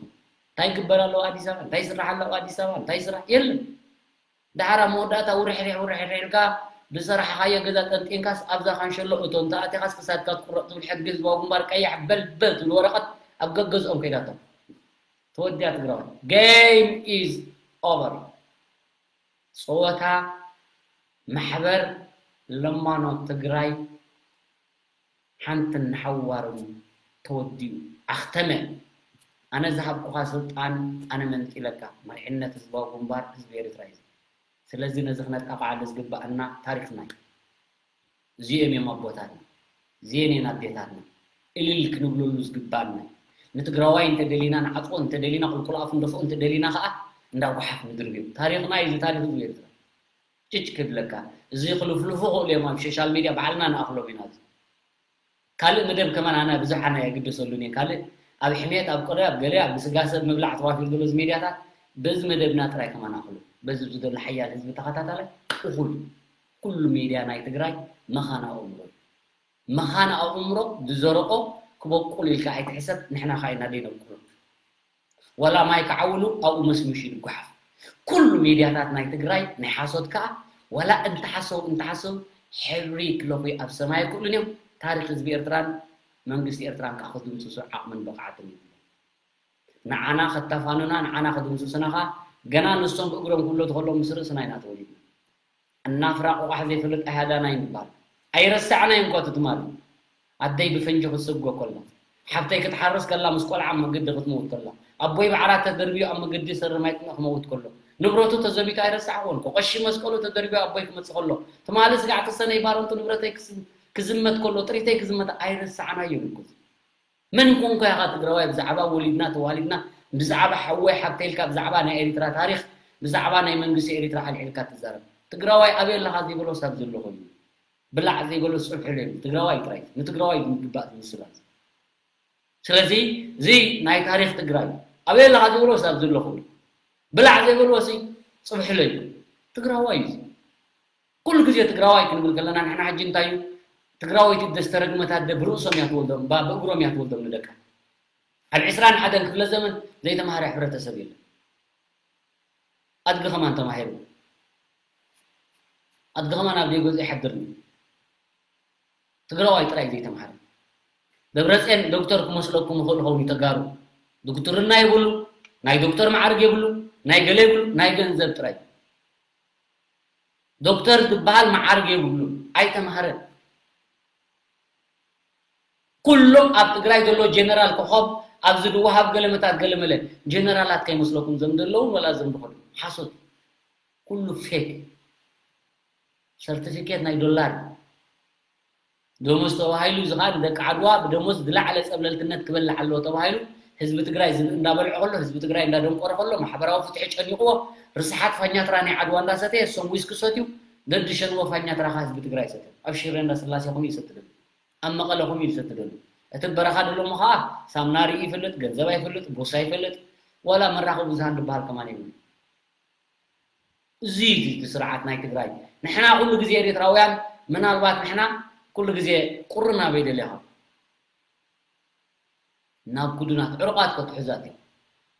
እንታይ ይግበር ኣለዎ ኣዲስ ኣበባ? እንታይ ይስራሕ ኣለዎ ኣዲስ ኣበባ? እንታይ ይስራሕ? የለን። ደሓር ኣብ መወዳእታ ውርሕሪሕ ውርሕሪሕ ኢልካ ዝሰራሕኻዮ ገዛ ጠንጢንካስ ኣብዛ ካንሸሎ እቶ እንተ ኣቲኻስ ክሳድካ ትቁረፅ ትብል ሕጊ ህዝባዊ ግንባር ቀያሕ በልበል ትብል ወረቐት ኣብ ገገዝኦም ከይዳቶም። ተወዲኣ ትግራዋይ። Game is over። ፀወታ ማሕበር ለማኖ ትግራይ ሓንትን ንሓዋሩን ተወዲኡ ኣኽተመ። ኣነ ዝሃብኩኻ ስልጣን ኣነ መንጢለካ። መሪሕነት ህዝባዊ ግንባር ህዝቢ ኤርትራ እዩ። ስለዚ ነዚ ክነጣቕዓሉ ዝግባኣና ታሪኽና እዩ። እዚኦም እዮም ኣቦታትና። እዚአን እየን ኣዴታትና። እልል ክንብለሉ ዝግባኣና እዩ። ንትግራዋይ እንተደሊና ንዓፅዎ፣ እንተደሊና ቁልቁል ኣፉ ንደፍኦ፣ እንተደሊና ከዓ እንዳ ጓሓፍ ንድርብዮ። ታሪኽና እዩ እዚ ታሪኽ ህዝቢ ኤርትራ። ጭጭ ክብለካ። እዚ ክልፍልፉ ክእሉ እዮም ኣብ ሶሻል ሚድያ ባዕልና ንኣኽሎም ኢና። እዚ ካልእ መደብ ከማን ኣነ ብዙሕ ኣነ ኣይግደሰሉን እየ። ካልእ ኣብ ሕሜት፣ ኣብ ቆደ፣ ኣብ ገለ፣ ኣብ ግስጋሰ፣ ኣብ ምብላዕ ተዋፊሩ ዘሎ እዚ ሚድያታት በዚ መደብና ጥራይ ከማን ኣኽሉ። በዚ ዘሎ ሓያል ህዝቢ ተኸታታላይ እኹል። ኩሉ ሚድያ ናይ ትግራይ መኻን ኣእምሮ እዩ። መኻን ኣእምሮ ዝዘረኦ ክበቁል ኢልካ ኣይትሕሰብ፣ ንሕና ኸኣ ኢና ዘይነብቁሎ። ዋላ ማይ ክዓውሉ ኣብኡ መስሚሹ ይጓሓፍ። ኩሉ ሚድያታት ናይ ትግራይ ናይ ሓሶት ከኣ ዋላ እንተሓሰቡ እንተሓሰቡ ሕብሪ ክለኹ ኣብ ሰማይ ኣይክእሉን እዮም። ታሪኽ ህዝቢ ኤርትራን መንግስቲ ኤርትራን ከኣ ክድምስሱ ዓቕምን ብቕዓትን የብሎም። ንዓና ከተፋኑና፣ ንዓና ክድምስሱና ኸኣ፣ ገና ንሶም ብእግሮም ክብለቱ ከለዉ ምስ ርእስና ኢና ተወሊድና። እናፍራ ቆቋሕ ዘይፈልጥ ኣሃዳና እዩ ንበሃል። ኣይረሳዕናዮን እኳ እቲ ትማሊ። ኣደይ ብፈንጂ ክትስጎ ከላ፣ ሓብተይ ክትሓርስ ከላ፣ ምስ ቆልዓ ኣብ መገዲ ክትመውት ከላ፣ ኣቦይ ብዓራት ተደርብዩ ኣብ መገዲ ሰሪ ማይ ጥምእ ክመውት ከሎ፣ ንብረቱ ተዘሚቱ ኣይረሳዕዎን። ቆቆሺ መስቀሉ ተደርብዩ ኣቦይ ክመጽእ ከሎ፣ ትማሊ ስጋዕ ተሰነይ ባረንቱ ንብረተይ ክስ-፣ ክዝመት ከሎ፣ ጥሪተይ ክዝመት ኣይረሳዕናዮን እኮ። መን ኮንካ ኢኻ ትግራዋይ ብዛዕባ ወሊድና ተዋሊድና ብዛዕባ ሓወይ ሓብተይ ኢልካ ብዛዕባ ናይ ኤሪትራ ታሪኽ ብዛዕባ ናይ መንግስቲ ኤሪትራ ኣልዒልካ ትዛረብ? ትግራዋይ ኣበይ ኣለኻ ዘይበሎ ሳብ ዘሎ ኮይኑ ብላዕ ዘይበሎ ጽብሒ ለይሉ ትግራዋይ ጥራይ ንትግራዋይ ዝግባእ ዝምስላት። ስለዚ እዚ ናይ ታሪኽ ትግራይ ኣበይ ኣለኻ ዘይበሎ ሳብ ዘሎ ኮይኑ ብላዕ ዘይበሎ ሲ ጽብሒ ለይሉ ትግራዋይ እዩ። ኩሉ ግዜ ትግራዋይ ክንብል ከለና ንሕና ሕጂ እንታይ እዩ ትግራወይቲ ደስተረግመት ኣደ ብርእሶም እያ ትወልዶም ባ ብእግሮም እያ ትወልዶም ንደቃ። ኣብ ዕስራን ሓደን ክፍለ ዘመን ዘይተማሃረ ሕብረተሰብ የለን። ኣድጊ ከማን ተማሂሩ ኣድጊ ከማን ኣብ ደይገዝኡ ይሓድር። ትግራዋይ ጥራይ ዘይተማሃረ። ደብረፅዮን ዶክተር ክመስለኩም ይኽእል ኸውን ተጋሩ። ዶክትርና የብሉ፣ ናይ ዶክተር መዓርግ የብሉ፣ ናይ ገለ የብሉ፣ ናይ ገንዘብ ጥራይ። ዶክተር ዝበሃል መዓርግ የብሉ፣ ኣይተማሃረ። ኩሎም ኣብ ትግራይ ዘሎ ጀነራል ኮኾብ ኣብዚ ዝወሃብ ገለመታት ገለመለ ጀነራላት ከይመስለኩም ዘም ዘለውን ወላ ዘም ዝኾኑ ሓሶት ኩሉ ፌክ ሰርቲፊኬት ናይ ዶላር ደሞዝ ተባሂሉ እዚ ከዓ ንደቂ ዓድዋ ብደሞዝ ዝለዓለ ፀብለልትነት ክበልዕ ኣለዎ ተባሂሉ ህዝቢ ትግራይ ዝብኢ እንዳበልዖ ከሎ ህዝቢ ትግራይ እንዳደንቆረ ከሎ ማሕበራዊ ፍትሒ ጨኒቕዎ ርስሓት ፋኛትራ ናይ ዓድዋ እንዳሰተየ እሶም ዊስኪ ሰትዩ ደድሸንዎ ፋኛትራ ከዓ ህዝቢ ትግራይ ሰተ ኣብ ሽረ እንዳስላሴ ኹም ይሰትደሉ ኣብ መቐለ ኹም ይሰትደሉ እቲ በረኻ ደሎ እሞ ከዓ ሳምና ርኢ ይፈልጥ ገንዘብ ኣይፈልጥ ቦርሳ ይፈልጥ ዋላ መራኸቢ ብዙሃን ዝበሃል ከማን የብሉ እዚ እቲ ስርዓት ናይ ትግራይ ንሕና ኩሉ ግዜ ኤርትራውያን ምናልባት ንሕና ኩሉ ግዜ ቁሪ ናበይ ደሊኻ ናብ ኩዱናት ዕሩቓት ከትሕዛት እዩ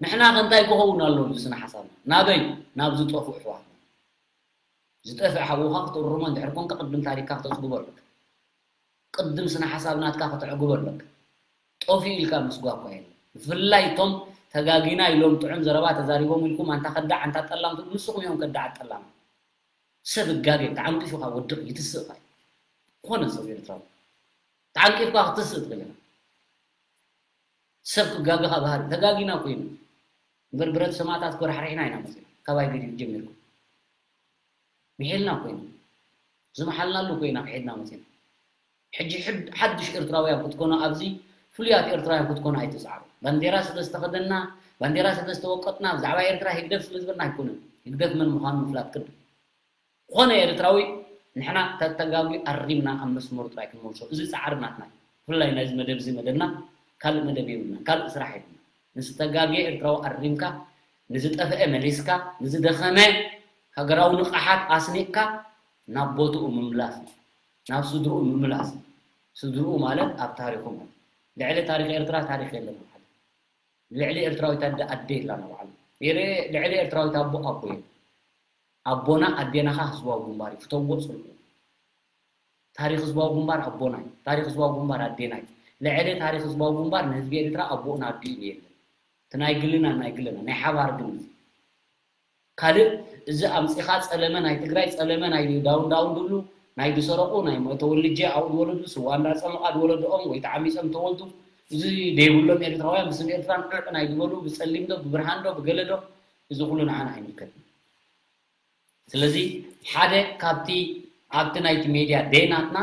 ንሕና ከንታይ ክኸውን ኣሎ እዚ ስነ ሓሳብና ናበይ ናብ ዝጠፉ ኣሕዋትና ዝጠፍእ ሓውኻ ክትእርሞ እንድሕር ኮንካ ቅድም ታሪክካ ክተፅግቦ ኣለካ ቅድም ስነ ሓሳብ ናትካ ከተዕግቦ ኣለካ። ጠፊኡ ኢልካ ምስጓ እኳ የለን። ብፍላይ እቶም ተጋጊና ኢሎም ጥዑም ዘረባ ተዛሪቦም ኢልኩም ኣንታ ከዳዕ ኣንታ ጠላም ትብሉ ንስኹም እዮም ከዳዓት ጠላማት። ሰብ እጋገ ተዓንቂፉ ካብ ወድቕ ይትስእ እኳ እዩ። ኮነ ሰብ ኤርትራዊ ተዓንቂፍካ ክትስእ ትኽእል ኢኻ። ሰብ ክጋገ ካብ ባህሪ ተጋጊና እኮ ኢና። እምበር ብረት ሰማእታት እኮ ራሕሪሕና ኢና መፂና። ካባይ ገዲፍ ጀሚርኩም። ምሒልና እኮ ኢና ዝመሓልናሉ እኮ ኢና ክሒድና መፂና ሕጂ ሓድሽ ኤርትራውያን ክትኮኑ ኣብዚ ፍሉያት ኤርትራውያን ክትኮኑ ኣይትፅዓሩ ባንዴራ ስለ ዝተኸደና ባንዴራ ስለ ዝተወቀጥና ብዛዕባ ኤርትራ ህግደፍ ስለ ዝበልና ኣይኮነን ህግደፍ መን ምዃኑ ምፍላጥ ቅድም ዝኾነ ኤርትራዊ ንሕና ተተጋጉ ኣሪምና ኣብ መስመሩ ጥራይ ክንመልሶ እዚ ፃዕሪ ናትና ብፍላይ ናይዚ መደብ እዚ መደብና ካልእ መደብ የብልና ካልእ ስራሕ የብልና ንዝተጋግየ ኤርትራዊ ኣሪምካ ንዝጠፍአ መሊስካ ንዝደኸመ ሃገራዊ ንቕሓት ኣስኒቕካ ናብ ቦትኡ ምምላስ እዩ። ናብ ስድርኡ ምምላስ እዩ። ስድርኡ ማለት ኣብ ታሪኹ ማለት ልዕሊ ታሪኽ ኤርትራ ታሪኽ የለን። ልዕሊ ኤርትራዊት ኣደ ኣደ የላን ኣብ ዓለም። ልዕሊ ኤርትራዊት ኣቦ ኣቦ የለን። ኣቦና ኣዴና ኸኣ ህዝባዊ ግንባር እዩ። ፍተውዎ ጽልኡ። ታሪኽ ህዝባዊ ግንባር ኣቦና እዩ። ታሪኽ ህዝባዊ ግንባር ኣዴና እዩ። ልዕሊ ታሪኽ ህዝባዊ ግንባር ንህዝቢ ኤርትራ ኣቦኡን ኣዲኡን የለን። እቲ ናይ ግልና ናይ ግልና ናይ ሓባር ግን ካልእ እዚ ኣምጺኻ ጸለመ ናይ ትግራይ ጸለመ ናይ ዳውን ዳውን ድብሉ ናይ ዝሰረቑ ናይ ተወልጀ ኣብኡ ዝወለዱ ስዋ እንዳጸመቓ ዝወለድኦም ወይ ተዓሚጾም ተወልዱ እዚ ደይብሎም ኤርትራውያን ብስም ኤርትራ ንዕዕ ናይ ዝበሉ ብጸሊም ዶ ብብርሃን ዶ ብገለ ዶ እዚ ኩሉ ንዓና ኣይምልከትን። ስለዚ ሓደ ካብቲ ኣብቲ ናይቲ ሜድያ ደይ ናትና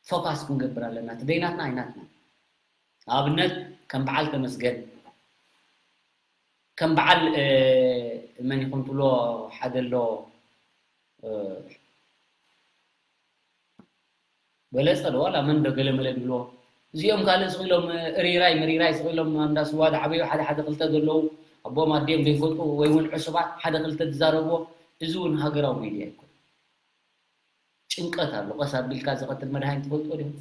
ፎካስ ክንገብር ኣለና። እቲ ደይ ናትና ኣይናትና ኣብነት ከም በዓል ተመስገን ከም በዓል መን ይኹን ትብሎ ሓደ ኣሎ በለፀ ዶ ዋላ መን ዶ ገለመለ ድብሎ እዚኦም ካልእ ስቕ ኢሎም እሪራይ ምሪራይ ስቕ ኢሎም እንዳ ስዋ ዝዓበዩ ሓደ ሓደ ክልተ ዘለዉ ኣቦኦም ኣዲኦም ዘይፈልጡ ወይ እውን ዕሱባት ሓደ ክልተ ዝዛረብዎ እዚ እውን ሃገራዊ ሚድያ ኣይኮን ጭንቀት ኣሎ ቀስ ኣቢልካ ዝቐትል መድሃኒት ትፈልጥዎ ዲኹም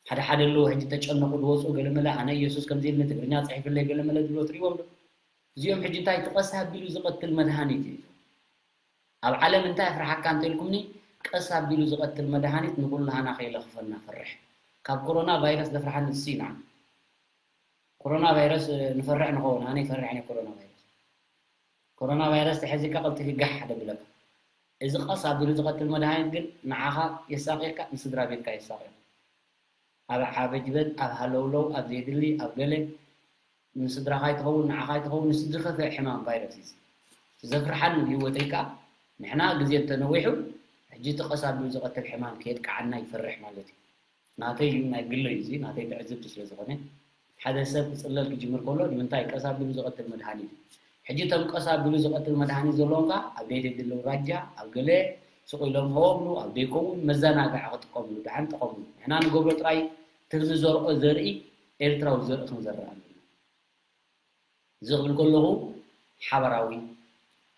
ሓደ ሓደ ኣለዉ ሕጂ ተጨነቑ ዝወፁ ገለመለ ኣነ ኢየሱስ ከምዚ ኢልኒ ትግርኛ ፅሒፍለይ ገለመለ ዝብሎ ትሪእዎም ዶ እዚኦም ሕጂ እንታይ ትቐስ ኣቢሉ ዝቐትል መድሃኒት እዩ ኣብ ዓለም እንታይ ኣፍርሓካ እንተልኩምኒ ቀስ ኣቢሉ ዝቐትል መድሃኒት ንኩላህና ከይለኽፈና ፈርሕ ካብ ኮሮና ቫይረስ ዘፍርሓኒ እሱ ኢና ኮሮና ቫይረስ ንፈርሕ ንኸውን ኣነ ይፈርሕ ነ ኮሮና ቫይረስ ኮሮና ቫይረስ ተሐዚካ ቀልጢፊ ጋሕ ደብለካ እዚ ቀስ ኣቢሉ ዝቐትል መድሃኒት ግን ንዓኻ የሳቂካ ንስድራ ቤትካ የሳቂካ ኣብ ዓበጅበጅ ኣብ ሃለውለው ኣብ ዘይድሊ ኣብ ገለ ንስድራኻ ይትኸውን ንዓኻ ይትኸውን ንስድሪ ከፍእ ሕማም ቫይረስ እዩ ዘፍርሓኒ ብህይወተይ ከዓ ንሕና ግዜ እንተነዊሑ ሕጂ እቲ ቀስ ኣቢሉ ዝቐትል ሕማም ከየጥቅዓና ይፈርሕ ማለት እዩ ናተይ እዩ ናይ ግለይ እዚ ናተይ ትዕዝብቲ ስለ ዝኾነ ሓደ ሰብ ክፅለል ክጅምር ከሎ ንምንታይ ቀስ ኣቢሉ ዝቐትል መድሃኒት እዩ ሕጂ እቶም ቀስ ኣቢሉ ዝቐትል መድሃኒት ዘለዎም ከዓ ኣብ ደይ ድልው ራጃ ኣብ ገለ ስቕ ኢሎም ሆብሉ ኣብ ደይከውን መዘናግዒ ክጥቀምሉ ደሓን ጠቐምሉ ንሕና ንገብሮ ጥራይ እቲ ንዘርኦ ዘርኢ ኤርትራዊ ዘርኢ ክንዘርእ ኣለና እዚ ክብል ከለኹ ሓበራዊ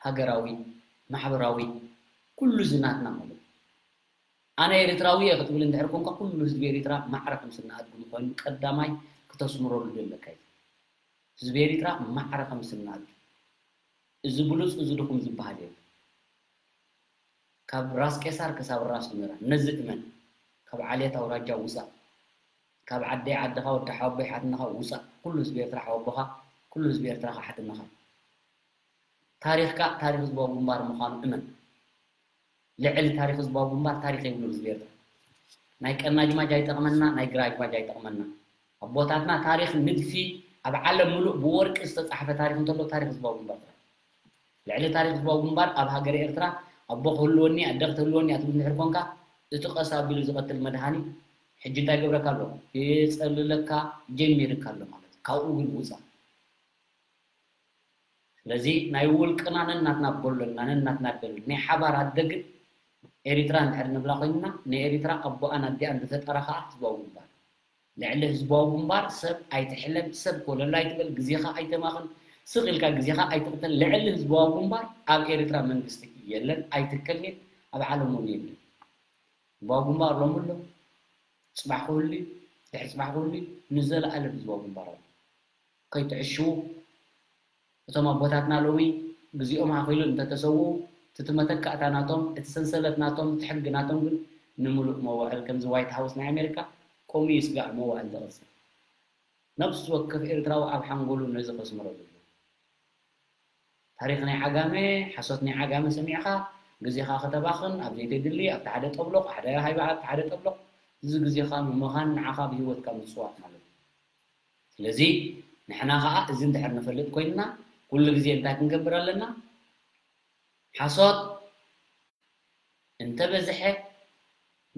ሃገራዊ ማሕበራዊ ኩሉ ዝናትና ማለት ኣነ ኤርትራዊ እየ ክትብል እንድሕር ኮንካ ኩሉ ህዝቢ ኤርትራ ማዕረ ከም ስነ ኣድጉ ምዃኑ ቀዳማይ ክተስምረሉ ዘለካ እዩ። ህዝቢ ኤርትራ ማዕረ ከም ስነ ኣድጉ እዚ ብሉጽ እዚ ድኹም ዝበሃል የለን። ካብ ራስ ቄሳር ክሳብ ራስ ኑራ ነዚ እመን። ካብ ዓሌት ኣውራጃ ውጻእ። ካብ ዓደይ ዓድኻ ወዲ ሓወቦይ ሓትነኻ ውጻእ። ኩሉ ህዝቢ ኤርትራ ሓወቦኻ፣ ኩሉ ህዝቢ ኤርትራ ሓትነኻ። ታሪኽካ ታሪኽ ህዝባዊ ግንባር ምዃኑ እመን። ልዕሊ ታሪኽ ህዝባዊ ግንባር ታሪኽ የብሉን ህዝቢ ኤርትራ። ናይ ቀናጅማጅ ኣይጠቕመና፣ ናይ ግራጅማጅ ኣይጠቕመና። ኣቦታትና ታሪኽ ንድፊ ኣብ ዓለም ምሉእ ብወርቂ ዝተጻሕፈ ታሪኽ እንተሎ ታሪኽ ህዝባዊ ግንባር ጥራሕ። ልዕሊ ታሪኽ ህዝባዊ ግንባር ኣብ ሃገረ ኤርትራ ኣቦ ክህልወኒ ኣደ ክትህልወኒ እያ ትብል እንድሕር ኮንካ እቲ ቀስ ኣቢሉ ዝቐትል መድሃኒት ሕጂ እንታይ ገብረካ ኣሎ? የጸልለካ ጀሚርካ ኣሎ ማለት እዩ። ካብኡ ግን ውጻእ። ስለዚ ናይ ውልቅና ነናትና በሎ ኣለና ነናትና በል ናይ ሓባር ኣደ ግን ኤሪትራ እንድሕር ንብላ ኮይንና ንኤሪትራ ኣቦኣን ኣዲኣን ዝፈጠራ ከዓ ህዝባዊ ግንባር ልዕሊ ህዝባዊ ግንባር ሰብ ኣይትሕለም ሰብ ኮለል ኣይትበል ግዜኻ ኣይተማኽን ስቕ ኢልካ ግዜኻ ኣይትቕተል ልዕሊ ህዝባዊ ግንባር ኣብ ኤሪትራ መንግስቲ የለን ኣይትከልን ኣብ ዓለም እውን የለን ህዝባዊ ግንባር ሎሚ ኣሎ ጽባሕ ክህሉ ድሕሪ ጽባሕ ክህሉ ንዘለኣለም ህዝባዊ ግንባር ኣሎ ከይትዕሽዉ እቶም ኣቦታትና ሎሚ ግዜኦም ኣኺሉ እንተተሰውኡ እቲ መተካእታ ናቶም እቲ ሰንሰለት ናቶም እቲ ሕጊ ናቶም ግን ንምሉእ መዋእል ከምዚ ዋይት ሃውስ ናይ ኣሜሪካ ከምኡ እዩ ስጋዕ መዋእል ዝቕጽል ነብሲ ወከፍ ኤርትራዊ ኣብ ሓንጎሉ ነዚ ከስምረሉ ኣለዎ ታሪኽ ናይ ዓጋመ ሓሶት ናይ ዓጋመ ሰሚዕኻ ግዜኻ ከተባኽን ኣብ ዘይተድሊ ኣብቲ ሓደ ጠብሎቕ ሓደ ሃይባ ኣብቲ ሓደ ጠብሎቕ እዚ ግዜኻ ምምኻን ንዓኻ ብህይወትካ ምጽዋት ማለት እዩ ስለዚ ንሕና ኸዓ እዚ እንድሕር ንፈልጥ ኮይንና ኩሉ ግዜ እንታይ ክንገብር ኣለና ሓሶት እንተበዝሐ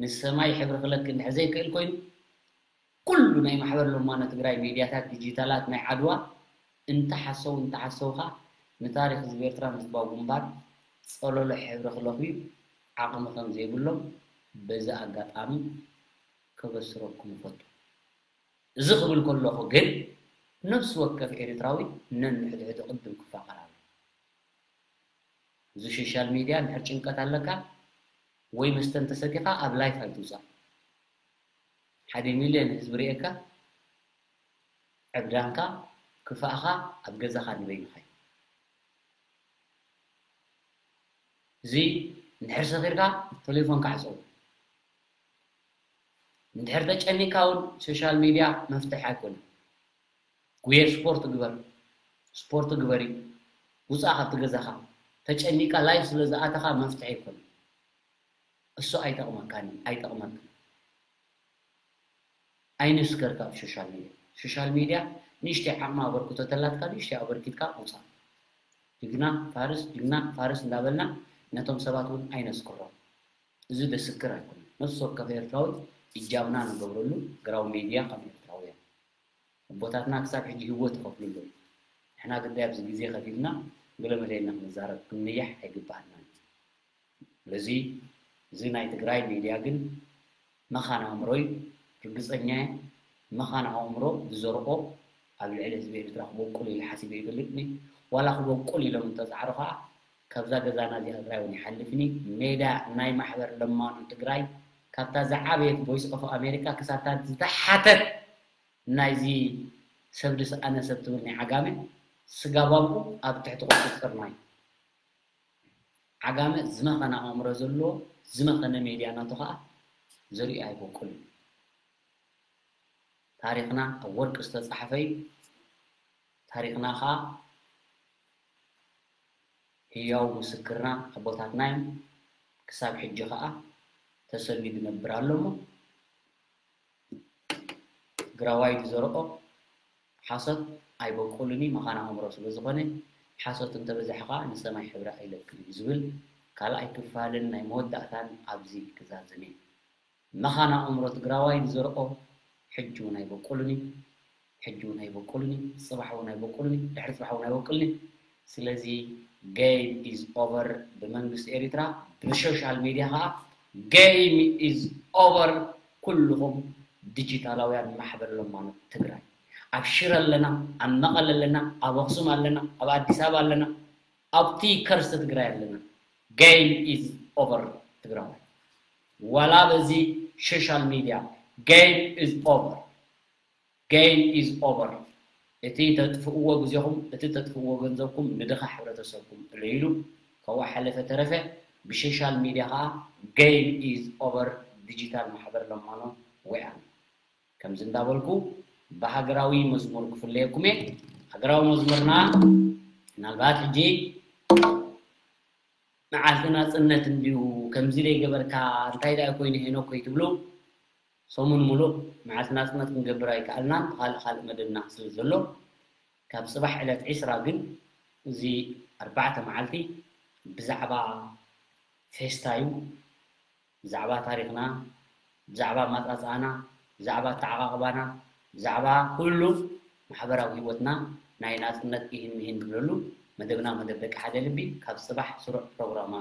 ንሰማይ ሕብሪ ክለኪ እንድሕር ዘይክእል ኮይኑ ኩሉ ናይ ማሕበር ሎማኖ ትግራይ ሚድያታት ዲጂታላት ናይ ዓድዋ እንተሓሰው እንተሓሰውካ ንታሪክ ህዝቢ ኤርትራ ህዝባዊ ግንባር ፀለሎ ሕብሪ ክለኽዩ ዓቕሚ ከም ዘይብሎም በዚ ኣጋጣሚ ከበስረኩም እፈቱ። እዚ ክብል ከለኹ ግን ነፍሲ ወከፍ ኤርትራዊ ነንሕድሕዱ ቅድም ክፋቐር ኣለዎ። እዚ ሶሻል ሚድያ እንድሕር ጭንቀት ኣለካ ወይ መስተ እንተሰቲኻ ኣብ ላይፍ ኣይትውፃእ። ሓደ ሚልዮን ህዝቢ ርእየካ ዕብዳንካ ክፋእኻ ኣብ ገዛኻ ንበይንኻ እዩ። እዚ እንድሕር ሰኺርካ ቴሌፎንካ ዕፀው። እንድሕር ተጨኒካ እውን ሶሻል ሚድያ መፍትሒ ኣይኮነን። ጉየ ስፖርት ግበር፣ ስፖርት ግበሪ፣ ውፃእ ካብቲ ገዛኻ። ተጨኒካ ላይፍ ስለ ዝኣተኻ መፍትሒ ኣይኮነን። እሱ ኣይጠቕመካን እዩ፣ ኣይጠቕመክን። ኣይንስከር ካብ ሶሻል ሚድያ። ሶሻል ሚድያ ንእሽተይ ዓቕሚ ኣበርክቶ ተላትካ ንእሽተይ ኣበርኪትካ ውፃእ። ጅግና ፋርስ ጅግና ፋርስ እንዳበልና ነቶም ሰባት እውን ኣይነስክሮም። እዚ ደስክር ኣይኮነን። ነፍሲ ወከፍ ኤርትራዊ እጃምና ንገብረሉ ግራው ሚድያ ከም ኤርትራውያን ኣቦታትና ክሳብ ሕጂ ህይወት ይኸፍሉ ኣለዉ። ንሕና ግዳይ ኣብዚ ግዜ ከፊልና ገለመለ ኢልና ክንዛረብ ክንንያሕ ኣይግባኣናን እዩ። ስለዚ እዚ ናይ ትግራይ ሚድያ ግን መኻን ኣእምሮ እዩ። ርግፀኛ እየ መኻን ኣእምሮ ዝዘርኦ ኣብ ልዕሊ ህዝቢ ኤርትራ ክበቁል ኢለ ሓሲበ ይፈልጥኒ። ዋላ ክበቁል ኢሎም እንተፃዕሩ ከዓ ካብዛ ገዛና እዚኣ ጥራይ እውን ይሓልፍኒ። ሜዳ ናይ ማሕበር ለማኖ ትግራይ ካብታ ዝዓበየት ቮይስ ኦፍ ኣሜሪካ ክሳብታ ዝተሓተት ናይዚ ሰብ ድስኣነ ሰብ ትብል ናይ ዓጋመ ስጋ ባብኡ ኣብ ትሕቲ ቁፅፅርና እዩ። ዓጋመ ዝመኸነ ኣእምሮ ዘለዎ ዝመኸነ ሜድያ ናቱ ከዓ ዘሪኡ ኣይበቁልን እዩ። ታሪኽና ኣብ ወርቂ ዝተፃሕፈ እዩ። ታሪኽና ኸኣ ህያው ምስክርና ኣቦታትና እዮም። ክሳብ ሕጂ ኸኣ ተሰንዩ ዝነብር ኣሎ እሞ፣ ትግራዋይ ዝዘርኦ ሓሶት ኣይበቁልን እዩ፣ መኻን ኣእምሮ ስለ ዝኾነ፣ ሓሶት እንተበዝሐ ኸኣ ንሰማይ ሕብሪ ኣይለቅን እዩ ዝብል ካልኣይ ክፋልን ናይ መወዳእታን ኣብዚ ክዛዝም እየ። መኻን ኣእምሮ ትግራዋይ ዝዘርኦ ሕጂ እውን ኣይበቁልን እዩ፣ ሕጂ እውን ኣይበቁልን እዩ፣ ጽባሕ እውን ኣይበቁልን እዩ፣ ድሕሪ ጽባሕ እውን ኣይበቁልን እዩ። ስለዚ game is over ብመንግስቲ ኤሪትራ፣ ብሶሻል ሚድያ ኸኣ game is over። ኩልኹም ዲጂታላውያን ማሕበር ለማኖት ትግራይ፣ ኣብ ሽረ ኣለና፣ ኣብ መቐለ ኣለና፣ ኣብ ኣኽሱም ኣለና፣ ኣብ ኣዲስ ኣበባ ኣለና፣ ኣብቲ ከርሲ ትግራይ ኣለና። Game is over ትግራዋይ። ዋላ በዚ ሶሻል ሚድያ game is over፣ game is over። እቲ ተጥፍእዎ ግዜኹም፣ እቲ ተጥፍእዎ ገንዘብኩም ንድኻ ሕብረተሰብኩም እለይሉ። ካብኡ ሓለፈ ተረፈ ብሶሻል ሚድያ ኸኣ game is over። ዲጂታል ማሕበር ለማኖ ወያነ። ከምዚ እንዳበልኩ ብሃገራዊ መዝሙር ክፍለየኩም እየ። ሃገራዊ መዝሙርና ምናልባት ሕጂ መዓልቲ ናጽነት እንድዩ ከምዚ ደይገበርካ እንታይ ደኣ ኮይኑ ሄኖክ ከይትብሉ፣ ሰሙን ሙሉእ መዓልቲ ናጽነት ክንገብር ኣይከኣልናን፣ ካልእ ካልእ መደብና ስለ ዘሎ፣ ካብ ጽባሕ ዕለት ዒስራ ግን እዚ ኣርባዕተ መዓልቲ ብዛዕባ ፌስታ እዩ። ብዛዕባ ታሪኽና፣ ብዛዕባ ኣመጻጽኣና፣ ብዛዕባ ኣተዓቓቕባና፣ ብዛዕባ ኩሉ ማሕበራዊ ህይወትና ናይ ናጽነት ኢሂን ምሂን ንብለሉ መደብና መደብ ደቂ ሓደ ልቢ ካብ ጽባሕ ስሩዕ ፕሮግራማ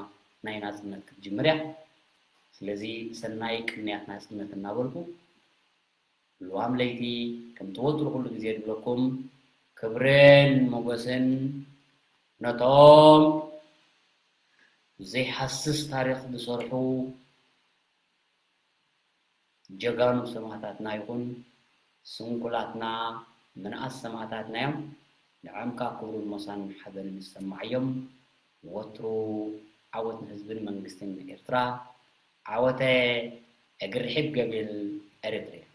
ናይ ናጽነት ክትጅምር እያ። ስለዚ ሰናይ ቅንያት ናጽነት እናበልኩ፣ ልዋም ለይቲ ከምቲ ወትሩ ኩሉ ግዜ ዝብለኩም ክብርን ሞገስን ነቶም ዘይሃስስ ታሪኽ ዝሰርሑ ጀጋኑ ሰማእታትና ይኹን ስንኩላትና ምንኣስ ሰማእታትና እዮም። ንዕኦም ከኣ ክብርን ሞሳን ሓበንን ይሰማዓዮም። ወትሩ ዓወት ንህዝብን መንግስትን ኤርትራ። ዓወተ እግሪ ርሒብ ገቢል ኤሪትሪያ።